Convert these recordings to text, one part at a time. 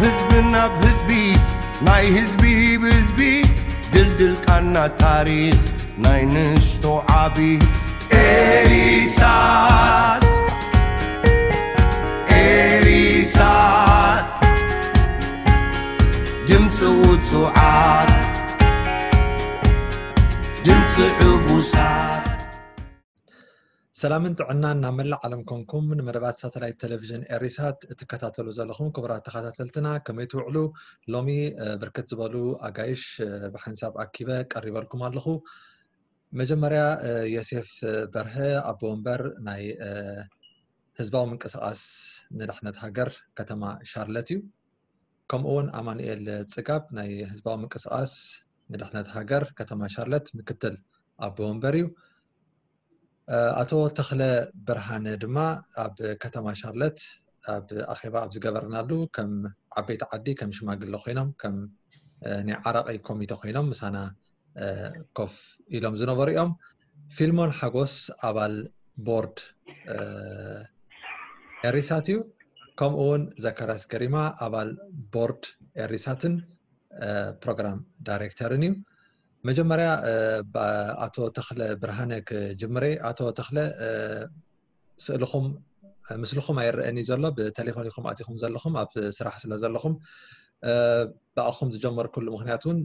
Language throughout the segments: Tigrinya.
ህዝቢ ናብ ህዝቢ ናይ ህዝቢ ብህዝቢ ድልድል ቃና ታሪኽ ናይ ንሽቶ ዓቢ ኤሪሳት ኤሪሳት ድምፂ ውፁዓት ድምፂ ዕቡሳት። ሰላምን ጥዕናን ናብ መላእ ዓለም ኮንኩም ንመደባት ሳተላይት ቴሌቪዥን ኤሪሳት እትከታተሉ ዘለኹም ክቡራት ተኸታተልትና ከመይ ትውዕሉ? ሎሚ ብርክት ዝበሉ ኣጋይሽ ብሓንሳብ ኣኪበ ቀሪበልኩም ኣለኹ። መጀመርያ ዮሴፍ በርሀ ኣቦ ወንበር ናይ ህዝባዊ ምንቅስቃስ ንድሕነት ሃገር ከተማ ሻርለት እዩ። ከምኡ እውን ኣማኑኤል ፅጋብ ናይ ህዝባዊ ምንቅስቃስ ንድሕነት ሃገር ከተማ ሻርለት ምክትል ኣቦ ወንበር እዩ። ኣቶ ተኽለ ብርሃነ ድማ ኣብ ከተማ ሻርለት ኣብ ኣኼባ ኣብ ዝገበርናሉ ከም ዓበይቲ ዓዲ ከም ሽማግለ ኮይኖም ከም ናይ ዓራቂ ኮሚተ ኮይኖም ምሳና ኮፍ ኢሎም ዝነበሩ እዮም። ፊልሞን ሓጎስ ኣባል ቦርድ ኤሪሳት እዩ። ከምኡ እውን ዘካርያስ ገሪማ ኣባል ቦርድ ኤሪሳትን ፕሮግራም ዳይሬክተርን እዩ። መጀመርያ ኣቶ ተኽለ ብርሃነ ክጅምር። ኣቶ ተኽለ ስእልኹም ምስልኹም ኣይረኣን እዩ ዘሎ፣ ብቴሌፎን ኢኹም ኣቲኹም ዘለኹም ኣብ ስራሕ ስለ ዘለኹም ብኣኹም ዝጀመርኩሉ ምክንያት እውን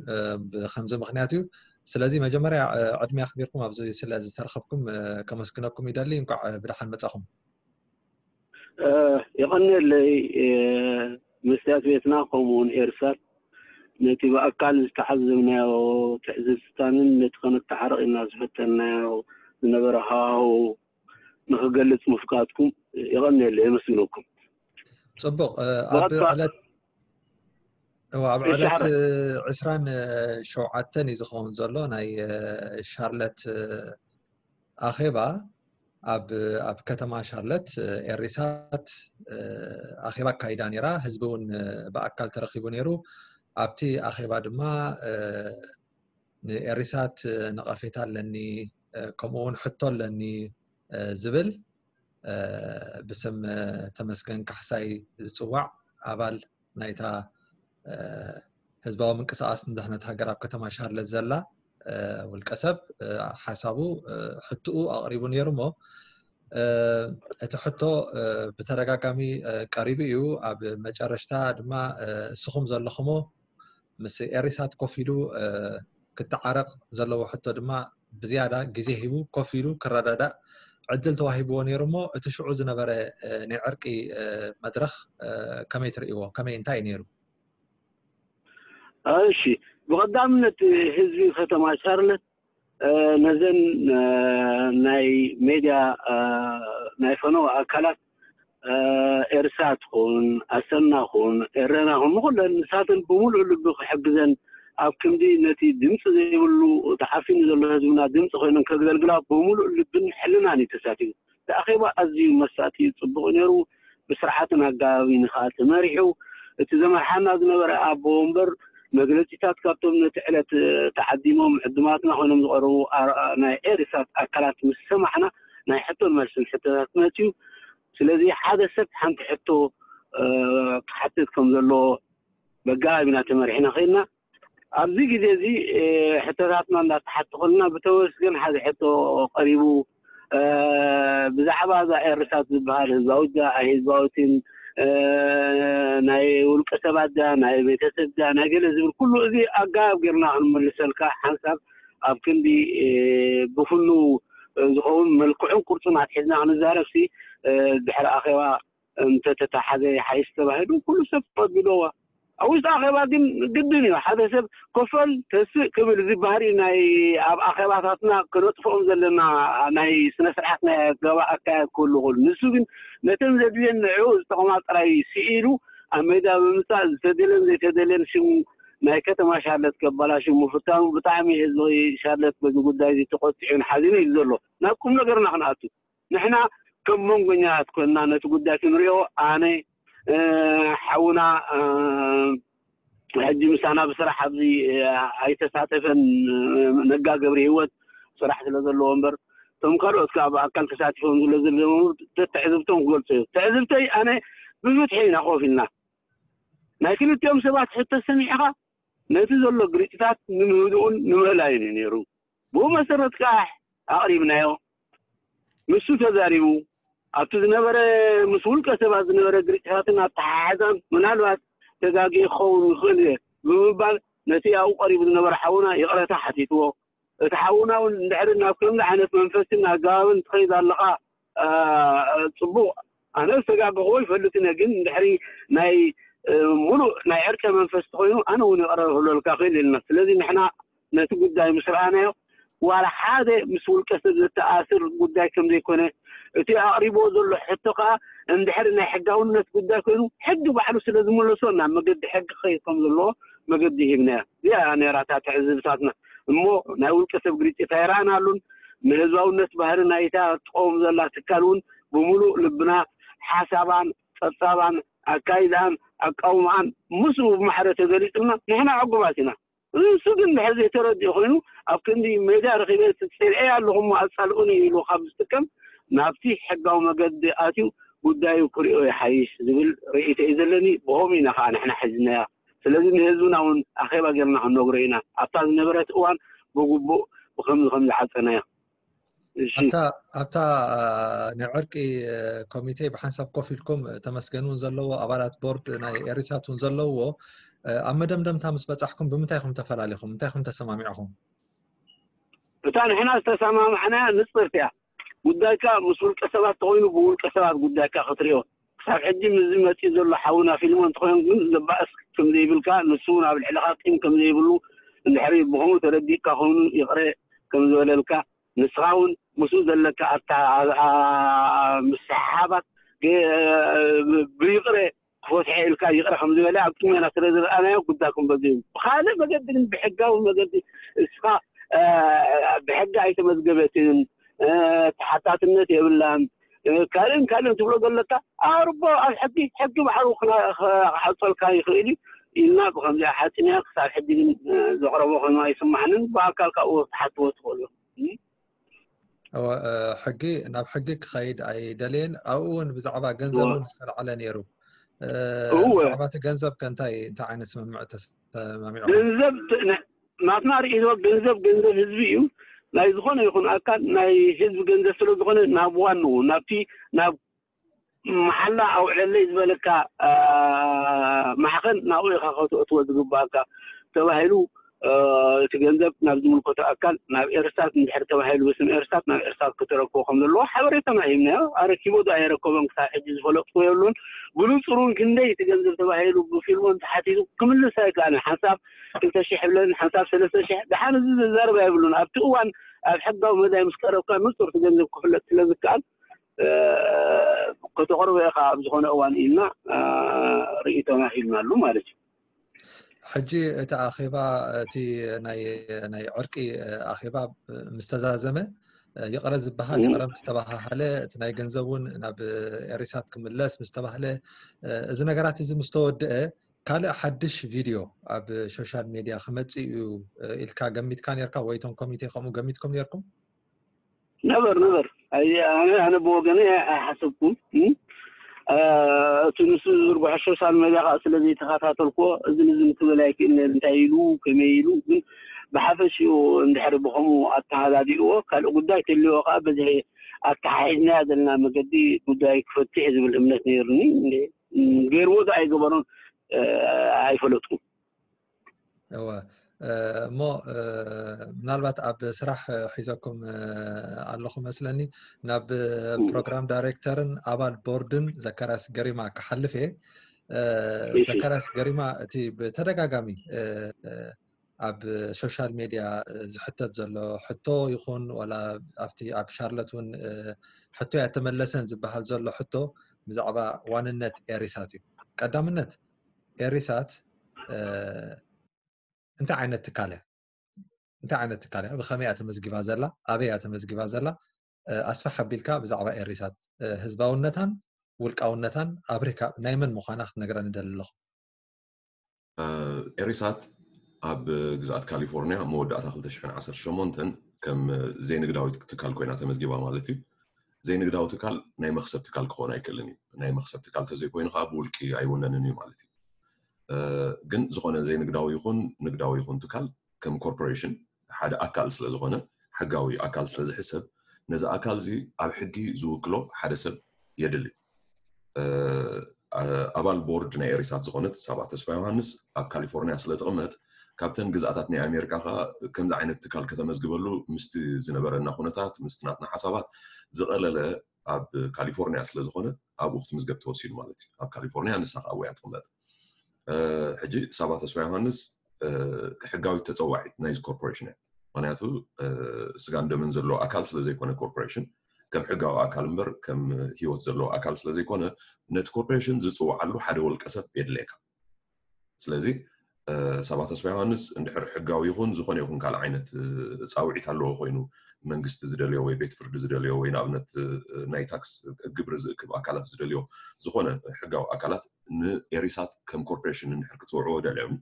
ብከምዚ ምክንያት እዩ። ስለዚ መጀመርያ ዕድመ ኣኽቢርኩም ኣብዚ ስለ ዝተረኸብኩም ከመስግነኩም ይደሊ። እንኳዕ ብደሓን መጻኹም። የቐንየለይ መስትያት ቤትና ከምኡውን ኤርሳት ነቲ ብኣካል ዝተዓዘብናዮ ትዕዝብትታንን ነቲ ከነተዓርቕ ኢና ዝፈተናዮ ዝነበረ ሃዋህው ንክገልጽ ምፍቃድኩም የቐንየለይ፣ የመስግነኩም። ጽቡቕ። ኣብ ዕለት ኣብ ዕለት ዕስራን ሸውዓተን እዩ ዝኸውን ዘሎ ናይ ሻርለት ኣኼባ ኣብ ኣብ ከተማ ሻርለት ኤሪሳት ኣኼባ ኣካይዳ ነይራ። ህዝቢ እውን ብኣካል ተረኺቡ ነይሩ። ኣብቲ ኣኼባ ድማ ንኤሪሳት ነቐፌታ ኣለኒ፣ ከምኡ እውን ሕቶ ኣለኒ ዝብል ብስም ተመስገን ካሕሳይ ዝፅዋዕ ኣባል ናይታ ህዝባዊ ምንቅስቃስ ንድሕነት ሃገር ኣብ ከተማ ሻርለት ዘላ ውልቀ ሰብ ሓሳቡ ሕትኡ ኣቕሪቡ ነይሩ እሞ እቲ ሕቶ ብተደጋጋሚ ቀሪቡ እዩ። ኣብ መጨረሽታ ድማ እስኹም ዘለኹሞ ምስ ኤሪሳት ኮፍ ኢሉ ክተዓረቕ ዘለዎ ሕቶ ድማ ብዝያዳ ግዜ ሂቡ ኮፍ ኢሉ ክረዳዳእ ዕድል ተዋሂብዎ ነይሩ እሞ እቲ ሽዑ ዝነበረ ናይ ዕርቂ መድረኽ ከመይ ትርእይዎ? ከመይ እንታይ እዩ ነይሩ? እሺ፣ ብቐዳምነት ህዝቢ ከተማ ሻርለት ነዘን ናይ ሜድያ ናይ ፈነወ ኣካላት ኤርሳት ኹን ኣሰና ኹን ኤረና ኹን ንኹለን ንሳተን ብምሉእ ልቢ ክሕግዘን ኣብ ክንዲ ነቲ ድምፂ ዘይብሉ ተዓፊኑ ዘሎ ህዝብና ድምፂ ኮይነን ከገልግላ ብምሉእ ልብን ሕልናን እዩ ተሳቲፉ። እቲ ኣኼባ ኣዝዩ መሳጢ እዩ፣ ፅቡቕ ነይሩ። ብስርዓትን ኣገባብን ከዓ ተመሪሑ። እቲ ዘመርሓና ዝነበረ ኣቦ ወንበር መግለፂታት ካብቶም ነቲ ዕለት ተዓዲሞም ዕዱማትና ኮይኖም ዝቐረቡ ናይ ኤሪሳት ኣካላት ምስ ሰማዕና ናይ ሕቶን መልስን ሕቶታት መፅዩ። ስለዚ ሓደ ሰብ ሓንቲ ሕቶ ክሓትት ከም ዘለዎ በጋቢና ተመሪሕና ከይድና ኣብዚ ግዜ እዚ ሕቶታትና እንዳተሓቱ ከለና ብተመስገን ሓደ ሕቶ ቀሪቡ ብዛዕባ እዛ ኤርሳት ዝበሃል ህዝባዊት ድያ ኣይህዝባዊትን ናይ ውልቀ ሰባት ድያ ናይ ቤተሰብ ድያ ናይ ገለ ዝብል ኩሉ እዚ ኣጋባብ ጌርና ክንመልሰልካ ሓንሳብ ኣብ ክንዲ ብፍኑ ዝኸውን መልክዑን ቅርጹን ኣትሒዝና ክንዛረብ ሲ ድሕሪ ኣኼባ እንተተታሓዘ ይሓይሽ ተባሂሉ ኩሉ ሰብ ተቐቢልዎ። ኣብ ውሽጢ ኣኼባ ግን ግድን እዩ ሓደ ሰብ ኮፈል ተስእ ክብል እዚ ባህሪ ናይ ኣብ ኣኼባታትና ክነጥፍኦም ዘለና ናይ ስነ ስርዓት ናይ ኣገባ ኣካያድ ክህሉ ክእሉ ንሱ ግን ነተን ዘድልየን ንዕኡ ዝጠቕማ ጥራይ ስኢሉ ኣብ ሜዳ ብምምፃእ ዝተደልየን ዘይተደልየን ሽም ናይ ከተማ ሻርለት ከበላሹ ምፍታኑ ብጣዕሚ ህዝቢ ሻርለት በዚ ጉዳይ እዚ ተቆጢዑን ሓዚኑ እዩ ዘሎ። ናብ ቁም ነገርና ክንኣቱ ንሕና ከም መንጎኛታት ኮይንና ነቲ ጉዳይ ክንሪኦ ኣነ ሓውና ሕጂ ምሳና ብስራሕ ኣብዚ ኣይተሳተፈን ነጋ ገብሪ ህይወት ስራሕ ስለ ዘለዎ እምበር እቶም ካልኦት ከዓ ብኣካል ተሳቲፎም ዝለ ዘለዉ ተትዕዝብቶም ክገልፁ እዩ ትዕዝብተይ ኣነ ብፍትሒ ኢና ኮፍ ኢልና ናይ ክልቲኦም ሰባት ሕቶ ሰሚዕኻ ነቲ ዘሎ ግርጭታት ንምህድኡን ንምእላዩን እዩ ነይሩ። ብኡ መሰረት ከዓ ኣቕሪብናዮ። ንሱ ተዛሪቡ ኣብቲ ዝነበረ ምስ ውልቀ ሰባት ዝነበረ ግርጭታትን ኣተሓሕዛን ምናልባት ተጋጊ ክኸውን ይኽእል እየ ብምባል ነቲ ኣብኡ ቀሪቡ ዝነበረ ሓውና ይቕረታ ሓቲትዎ። እቲ ሓውና እውን እንድሕሪ ናብ ከምዚ ዓይነት መንፈስን ኣገባብን ትኸይድ ኣለኻ ጽቡቕ፣ ኣነ ዝተጋገኽዎ ይፈልጥን እየ፣ ግን እንድሕሪ ናይ ሙሉእ ናይ ዕርቀ መንፈስ ተኮይኑ ኣነ እውን ይቕረ ክብለልካ ክእል ኢልና። ስለዚ ንሕና ነቲ ጉዳይ ምስ ረኣናዮ ዋላ ሓደ ምስ ውልቀ ሰብ ዘተኣስር ጉዳይ ከም ዘይኮነ እቲ ኣቕሪብዎ ዘሎ ሕቶ ከዓ እንድሕሪ ናይ ሕጋውነት ጉዳይ ኮይኑ ሕጊ ባዕሉ ስለ ዝመለሶ ናብ መገዲ ሕጊ ክኸይድ ከም ዘለዎ መገዲ ሂብናዮ። እዚኣ ነራታ ትዕዝብታትና እሞ ናይ ውልቀ ሰብ ግርጭት ኣይረኣናሉን። ንህዝባውነት ባህሪ ናይታ ትቀውም ዘላ ትካል እውን ብምሉእ ልብና ሓሳባን ጸብጻባን ኣካይዳን ኣቃውማኣን ምስኡ ብማሕረ ተገሊጹልና ንሕና ዕጉባት ኢና። እሱ ግን ድሕር ዘይተረድኡ ኮይኑ ኣብ ክንዲ ሜዳ ረኺበ ጽልኤ ኣለኹም ኣጻልኡኒ ኢሉ ካብ ዝጥቀም ናብቲ ሕጋዊ መገዲ ኣትዩ ጉዳዩ ክሪኦ ይሓይሽ ዝብል ርእይቶ እዩ ዘለኒ። ብኸምኡ ኢና ከዓ ንሕና ሒዝናያ። ስለዚ ንህዝብና እውን ኣኼባ ጌርና ክንነግሮ ኢና። ኣብታ ዝነበረት እዋን ብግቡእ ብከምዚ ከም ዝዓጸናዮ። እሺ። ኣብታ ኣብታ ናይ ዕርቂ ኮሚቴ ብሓንሳብ ኮፍ ኢልኩም ተመስገን እውን ዘለዎ ኣባላት ቦርድ ናይ ኤሪሳት እውን ዘለውዎ ኣብ መደምደምታ ምስ በጻሕኩም ብምንታይ ኢኹም ተፈላለኹም? እንታይ ኢኹም ተሰማሚዕኹም? እታ ንሕና ዝተሰማማዕናያ ንጽርቲ እያ። ጉዳይካ ምስ ውልቀ ሰባት ተኮይኑ ብውልቀ ሰባት ጉዳይካ ክትሪኦ ክሳብ ሕጂ ምስዚ መፂኡ ዘሎ ሓውና ፊልሞን እንተኮይኑ ግን ዘባእስ ከም ዘይብልካ ንሱ እውን ኣብ ልዕልካ ቂም ከም ዘይብሉ እንድሕሪ ብከምኡ ተረዲእካ ኮይኑ ይቕረ ከም ዝበለልካ ንስኻ እውን ምስኡ ዘለካ ኣታ ምስሓሓባት ብይቕረ ክፈትሐ ኢልካ ይቕረ ከም ዝበለ ኣብ ቅድሜና ስለ ዝረኣናዮ ጉዳኩም በዚ እዩ። ብካልእ መገዲ ግን ብሕጋዊ መገዲ እስኻ ብሕጊ ኣይተመዝገበትን ተሓታትነት የብላን ካልእን ካልእን ትብሎ ዘለካ ኣርቦ ኣብ ሕጊ ሕጊ ባዕሉ ክሓፀልካ ይኽእል እዩ ኢልና ብከምዚኣ ሓፂንያ ክሳብ ሕጂ ግን ዘቕረቦ ኮይኑ ኣይስማዕንን ብኣካል ካብኡ ክትሓትዎ ትኽእሉ። ሕጊ ናብ ሕጊ ክኸይድ ኣይደልየን። ኣብኡ እውን ብዛዕባ ገንዘብ እውን ዝተላዕለ ነይሩ። ብዛዕባ እቲ ገንዘብ ከ እንታይ እንታይ ዓይነት ስምምዕ ተሰማሚዑ? ገንዘብ ናትና ርእይቶ ገንዘብ ገንዘብ ህዝቢ እዩ። ናይ ዝኾነ ይኹን ኣካል ናይ ህዝቢ ገንዘብ ስለ ዝኾነ ናብ ዋንኡ ናብቲ ናብ መሓላ ኣውዕለለይ ዝበለካ ማሕኸል ናብኡ ኢኻ ከተእትዎ ዝግባኣካ ተባሂሉ እቲ ገንዘብ ናብ ዝምልከቶ ኣካል ናብ ኤርስታት እንድሕር ተባሂሉ ብስም ኤርስታት ናብ ኤርስታት ክተረክቦ ከም ዘለዎ ሓበሬታና ሂብናዮ። ኣረኪቦ ዶ ኣየረከቦን ክሳብ ሕጂ ዝፈለጥኩ የብሉን። ብንጹር እውን ክንደይ እቲ ገንዘብ ተባሂሉ ብፊልሞን ተሓቲቱ ክምልስ ኣይከኣልን። ሓንሳብ ክልተ ሽሕ ይብለኒ ሓንሳብ ሰለስተ ሽሕ ደሓን እዚ ዘዛርባ የብሉን። ኣብቲ እዋን ኣብ ሕጋዊ መዳይ ምስ ቀረብካ ንጹር እቲ ገንዘብ ክፍለጥ ስለ ዝከኣል ከተቕርቦ ኢኻ ኣብ ዝኾነ እዋን ኢልና ርእይቶና ሂብናሉ ማለት እዩ። ሕጂ እቲ ኣኼባ እቲ ናይ ናይ ዕርቂ ኣኼባ ምስ ተዛዘመ ይቕረ ዝበሃል ይቕረ ምስ ተባሃሃለ እቲ ናይ ገንዘብ እውን ናብ ኤሪሳት ክምለስ ምስ ተባህለ እዚ ነገራት እዚ ምስ ተወድአ ካልእ ሓድሽ ቪድዮ ኣብ ሶሻል ሜድያ ክመፅእ እዩ ኢልካ ገሚትካ ነርካ ወይ እቶም ኮሚቴ ከምኡ ገሚትኩም ነርኩም? ነበር ነበር ኣነ ኣነ ብወገነ ኣይሓሰብኩም። እቲ ንሱ ዝዝርግሖ ሶሻል ሜድያ ከዓ ስለ ዘይተኸታተልኩዎ እዚ ንዚ ክብል ኣይክእልን እንታይ ኢሉ ከመይ ኢሉ ግን ብሓፈሽኡ እንድሕሪ ብኸምኡ ኣተሃዳዲእዎ ካልእ ጉዳይ ተልዎ ከዓ በዚ ኣተሓሒዝናያ ዘለና መገዲ ጉዳይ ክፈትሕ ዝብል እምነት ነይሩኒ። ገይርዎ ዶ ኣይገበሮን ኣይፈለጥኩም። እወ እሞ ምናልባት ኣብ ስራሕ ሒዘኩም ኣለኹ መስለኒ ናብ ፕሮግራም ዳይሬክተርን ኣባል ቦርድን ዘካርያስ ገሪማ ክሓልፍ እየ። ዘካርያስ ገሪማ እቲ ብተደጋጋሚ ኣብ ሶሻል ሜድያ ዝሕተት ዘሎ ሕቶ ይኹን ዋላ ኣብቲ ኣብ ሻርለት እውን ሕቶ ያተመለሰን ዝበሃል ዘሎ ሕቶ ብዛዕባ ዋንነት ኤሪሳት እዩ። ቀዳምነት ኤሪሳት እንታይ ዓይነት ትካል እያ? እንታይ ዓይነት ትካል እያ? ብኸመይ እያ ተመዝጊባ ዘላ? ኣበይ እያ ተመዝጊባ ዘላ? ኣስፍሕ ኣቢልካ ብዛዕባ ኤሪሳት ህዝባውነታን ውልቃውነታን ኣብሪካ ናይ መን ምዃና ክትነግረኒ ደሊ ኣለኹ። ኤሪሳት ኣብ ግዝኣት ካሊፎርኒያ መወዳእታ ክልተ ሽሕን ዓሰርተ ሸሞንተን ከም ዘይንግዳዊት ትካል ኮይና ተመዝጊባ ማለት እዩ። ዘይንግዳዊ ትካል ናይ መኽሰብ ትካል ክኸውን ኣይክእልን እዩ። ናይ መኽሰብ ትካል ተዘይኮይኑ ከዓ ብውልቂ ኣይውነንን እዩ ማለት እዩ። ግን ዝኾነ ዘይንግዳዊ ይኹን ንግዳዊ ይኹን ትካል ከም ኮርፖሬሽን ሓደ ኣካል ስለ ዝኾነ፣ ሕጋዊ ኣካል ስለ ዝሕሰብ፣ ነዚ ኣካል እዚ ኣብ ሕጊ ዝውክሎ ሓደ ሰብ የድሊ። ኣባል ቦርድ ናይ ኤሪሳት ዝኾነት ሳባ ተስፋ ዮሃንስ ኣብ ካሊፎርኒያ ስለ ትቕመጥ፣ ካብተን ግዝኣታት ናይ ኣሜሪካ ከዓ ከምዚ ዓይነት ትካል ከተመዝግበሉ ምስቲ ዝነበረና ኩነታት፣ ምስቲ ናትና ሓሳባት ዝቐለለ ኣብ ካሊፎርኒያ ስለ ዝኾነ፣ ኣብኡ ክትምዝገብ ተወሲኑ ማለት እዩ። ኣብ ካሊፎርኒያ ንሳ ከዓ ኣብኡ እያ ትቕመጥ። ሕጂ ሳባ ተስፋ ዮሃንስ ሕጋዊት ተፀዋዒት ናይዚ ኮርፖሬሽን እያ። ምክንያቱ ስጋን ደምን ዘለዎ ኣካል ስለ ዘይኮነ ኮርፖሬሽን፣ ከም ሕጋዊ ኣካል እምበር ከም ህይወት ዘለዎ ኣካል ስለ ዘይኮነ፣ ነቲ ኮርፖሬሽን ዝፅውዓሉ ሓደ ውልቀ ሰብ የድልየካ። ስለዚ ሳባ ተስፋ ዮሃንስ እንድሕር ሕጋዊ ይኹን ዝኾነ ይኹን ካልእ ዓይነት ፃውዒት ኣለዎ ኮይኑ፣ መንግስቲ ዝደልዮ ወይ ቤት ፍርዲ ዝደልዮ ወይ ንኣብነት ናይ ታክስ ግብሪ ዝእክብ ኣካላት ዝደልዮ ዝኾነ ሕጋዊ ኣካላት ንኤሪሳት ከም ኮርፖሬሽን እንድሕር ክፅውዕዎ ደልዮም፣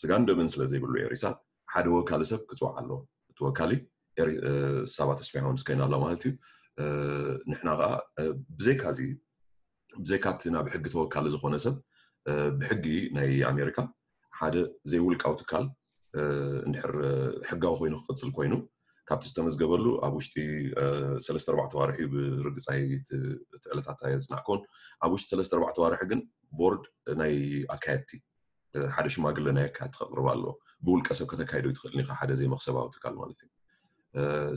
ስጋን ደምን ስለ ዘይብሉ ኤሪሳት ሓደ ወካሊ ሰብ ክፅዋዕ ኣለዎ። እቲ ወካሊ ሳባ ተስፋ ዮሃንስ ኮይና ኣላ ማለት እዩ። ንሕና ከዓ ብዘይካዚ ብዘይካቲ ናብ ሕጊ ተወካሊ ዝኾነ ሰብ ብሕጊ ናይ ኣሜሪካ ሓደ ዘይውልቃዊ ትካል እንድሕር ሕጋዊ ኮይኑ ክቕፅል ኮይኑ፣ ካብቲ ዝተመዝገበሉ ኣብ ውሽጢ ሰለስተ ኣርባዕተ ዋርሒ፣ ብርግፃይ እቲ ዕለታት ኣየፅናዕኮን፣ ኣብ ውሽጢ ሰለስተ ኣርባዕተ ዋርሒ ግን ቦርድ ናይ ኣካየድቲ ሓደ ሽማግለ ናይ ኣካየድቲ ከቕርብ ኣለዎ። ብውልቀ ሰብ ከተካይዶ ይትኽእል ኢኻ፣ ሓደ ዘይመኽሰባዊ ትካል ማለት እዩ።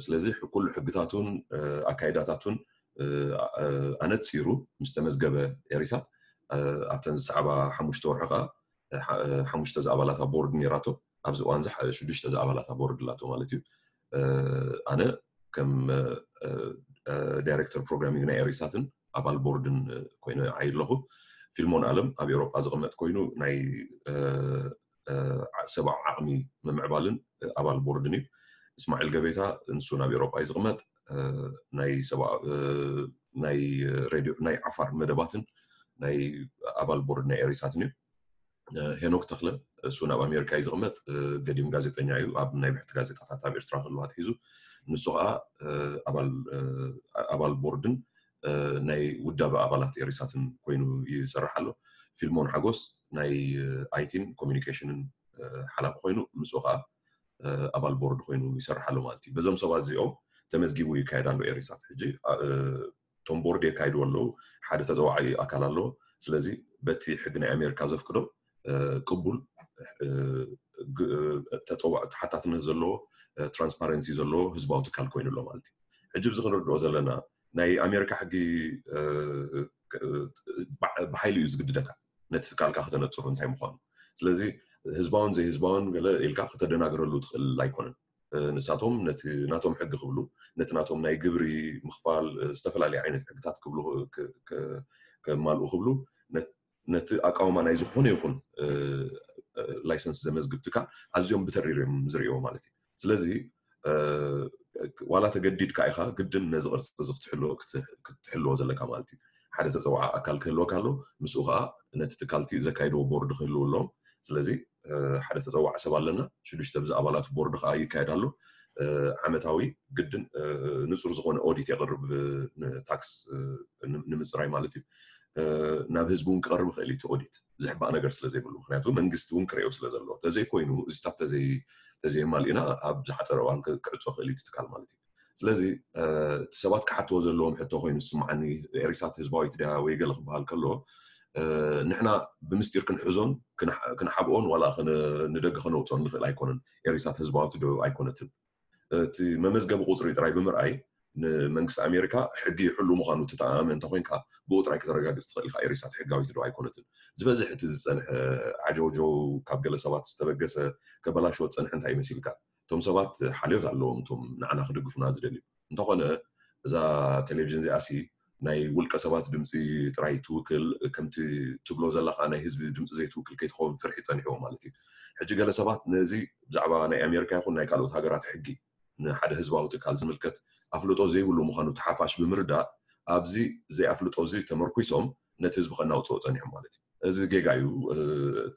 ስለዚ ኩሉ ሕግታቱን ኣካይዳታቱን ኣነፂሩ ምስ ተመዝገበ ኤሪሳት፣ ኣብተን ዝሰዕባ ሓሙሽተ ወርሒ ከዓ ሓሙሽተ ዝኣባላታ ቦርድ ነይራቶ። ኣብዚ እዋን እዚ ሽዱሽተ ዝኣባላታ ቦርድ ኣላቶ ማለት እዩ። ኣነ ከም ዳይሬክተር ፕሮግራሚንግ ናይ ኤሪሳትን ኣባል ቦርድን ኮይነ ዓይ ኣለኹ። ፊልሞን ኣለም ኣብ ኤውሮጳ ዝቕመጥ ኮይኑ ናይ ሰብኣዊ ዓቕሚ ምምዕባልን ኣባል ቦርድን እዩ። እስማዒል ገቤታ ንሱ ናብ ኤውሮጳ እዩ ዝቕመጥ። ናይ ሰብኣዊ ናይ ሬድዮ ናይ ዓፋር መደባትን ናይ ኣባል ቦርድ ናይ ኤሪሳትን እዩ። ሄኖክ ተኽለ እሱ ናብ ኣሜሪካ እዩ ዝቕመጥ። ገዲም ጋዜጠኛ እዩ። ኣብ ናይ ብሕቲ ጋዜጣታት ኣብ ኤርትራ ክህልዋ ኣትሒዙ፣ ንሱ ከዓ ኣባል ቦርድን ናይ ውዳበ ኣባላት ኤሪሳትን ኮይኑ ይሰርሕ ኣሎ። ፊልሞን ሓጎስ ናይ ኣይቲን ኮሚኒኬሽንን ሓላፊ ኮይኑ፣ ምስኡ ከዓ ኣባል ቦርድ ኮይኑ ይሰርሕ ኣሎ ማለት እዩ። በዞም ሰባት እዚኦም ተመዝጊቡ ይካየድ ኣሎ ኤሪሳት። ሕጂ እቶም ቦርድ የካይድዎ ኣለዉ። ሓደ ተፀዋዒ ኣካል ኣለዎ። ስለዚ በቲ ሕጊ ናይ ኣሜሪካ ዘፍቅዶ ቅቡል ተሓታትነት ዘለዎ፣ ትራንስፓረንሲ ዘለዎ ህዝባዊ ትካል ኮይኑ ኣሎ ማለት እዩ። ሕጂ ብዚ ክንርድኦ ዘለና ናይ ኣሜሪካ ሕጊ ብሓይሊ እዩ ዝግድደካ ነቲ ትካልካ ከተነፅሩ እንታይ ምዃኑ። ስለዚ ህዝባውን ዘይህዝባውን ገለ ኢልካ ከተደናግረሉ ትኽእል ኣይኮነን። ንሳቶም ነቲ ናቶም ሕጊ ክብሉ፣ ነቲ ናቶም ናይ ግብሪ ምኽፋል፣ ዝተፈላለዩ ዓይነት ሕግታት ክብሉ ከማልኡ ክብሉ፣ ነቲ ኣቃውማ ናይ ዝኾነ ይኹን ላይሰንስ ዘመዝግብ ትካል ኣዝዮም ብተሪር እዮም ዝርእይዎ ማለት እዩ። ስለዚ ዋላ ተገዲድካ ኢኻ ግድን ነዚ ቅርፂ እዚ ክትሕልዎ ዘለካ ማለት እዩ። ሓደ ተፀዋዓ ኣካል ክህልወካ ኣሎ፣ ምስኡ ከዓ ነቲ ትካልቲ ዘካይድዎ ቦርድ ክህልው ኣለዎም። ስለዚ ሓደ ተፀዋዕ ሰብ ኣለና፣ ሽዱሽተ ብዚ ኣባላት ቦርድ ከዓ ይካየድ ኣሎ። ዓመታዊ ግድን ንፁር ዝኾነ ኦዲት የቕርብ ንታክስ ንምፅራይ ማለት እዩ። ናብ ህዝቢ እውን ክቐርብ ይኽእል እዩ እቲ ኦዲት፣ ዝሕባእ ነገር ስለ ዘይብሉ፣ ምክንያቱ መንግስቲ እውን ክርእዮ ስለ ዘለዎ። ተዘይኮይኑ እዚታት ተዘይማልእና ኣብ ዝሓፀረ እዋን ክዕፆ ክእል እዩ ትካል ማለት እዩ። ስለዚ እቲ ሰባት ክሓትዎ ዘለዎም ሕቶ ኮይኑ ዝስምዓኒ፣ ኤሪሳት ህዝባዊት ድያ ወይ ገለ ክበሃል ከሎ፣ ንሕና ብምስጢር ክንሕዞን ክንሓብኦን ዋላ ንደገ ከነውፅኦን ንኽእል ኣይኮነን። ኤሪሳት ህዝባዊት ዶ ኣይኮነትን፣ እቲ መመዝገቢ ቁፅሪ ጥራይ ብምርኣይ ንመንግስቲ ኣሜሪካ ሕጊ ይሕሉ ምዃኑ ትተኣማመን እንተኮይንካ፣ ብኡ ጥራይ ከተረጋግፅ ትኽእል ኢኻ ኤሪሳት ሕጋዊት ዶ ኣይኮነትን። ዝበዝሕ እቲ ዝፀንሐ ዓጀውጀው፣ ካብ ገለ ሰባት ዝተበገሰ፣ ከበላሽዎ ዝፀንሐ እንታይ ይመሲልካ? እቶም ሰባት ሓልዮት ኣለዎም፣ እቶም ንዓና ክድግፉና ዝደልዩ። እንተኾነ እዛ ቴሌቪዥን እዚኣሲ ናይ ውልቀ ሰባት ድምፂ ጥራይ ትውክል፣ ከምቲ ትብሎ ዘለኻ ናይ ህዝቢ ድምፂ ዘይትውክል ከይትኸውን ፍርሒ ፀኒሕዎ ማለት እዩ። ሕጂ ገለ ሰባት ነዚ ብዛዕባ ናይ ኣሜሪካ ይኹን ናይ ካልኦት ሃገራት ሕጊ ንሓደ ህዝባዊ ትካል ዝምልከት ኣፍልጦ ዘይብሉ ምዃኑ ተሓፋሽ ብምርዳእ፣ ኣብዚ ዘይኣፍልጦ እዚ ተመርኩሶም ነቲ ህዝቢ ከናውፅኦ ፀኒሖም ማለት እዩ። እዚ ጌጋ እዩ።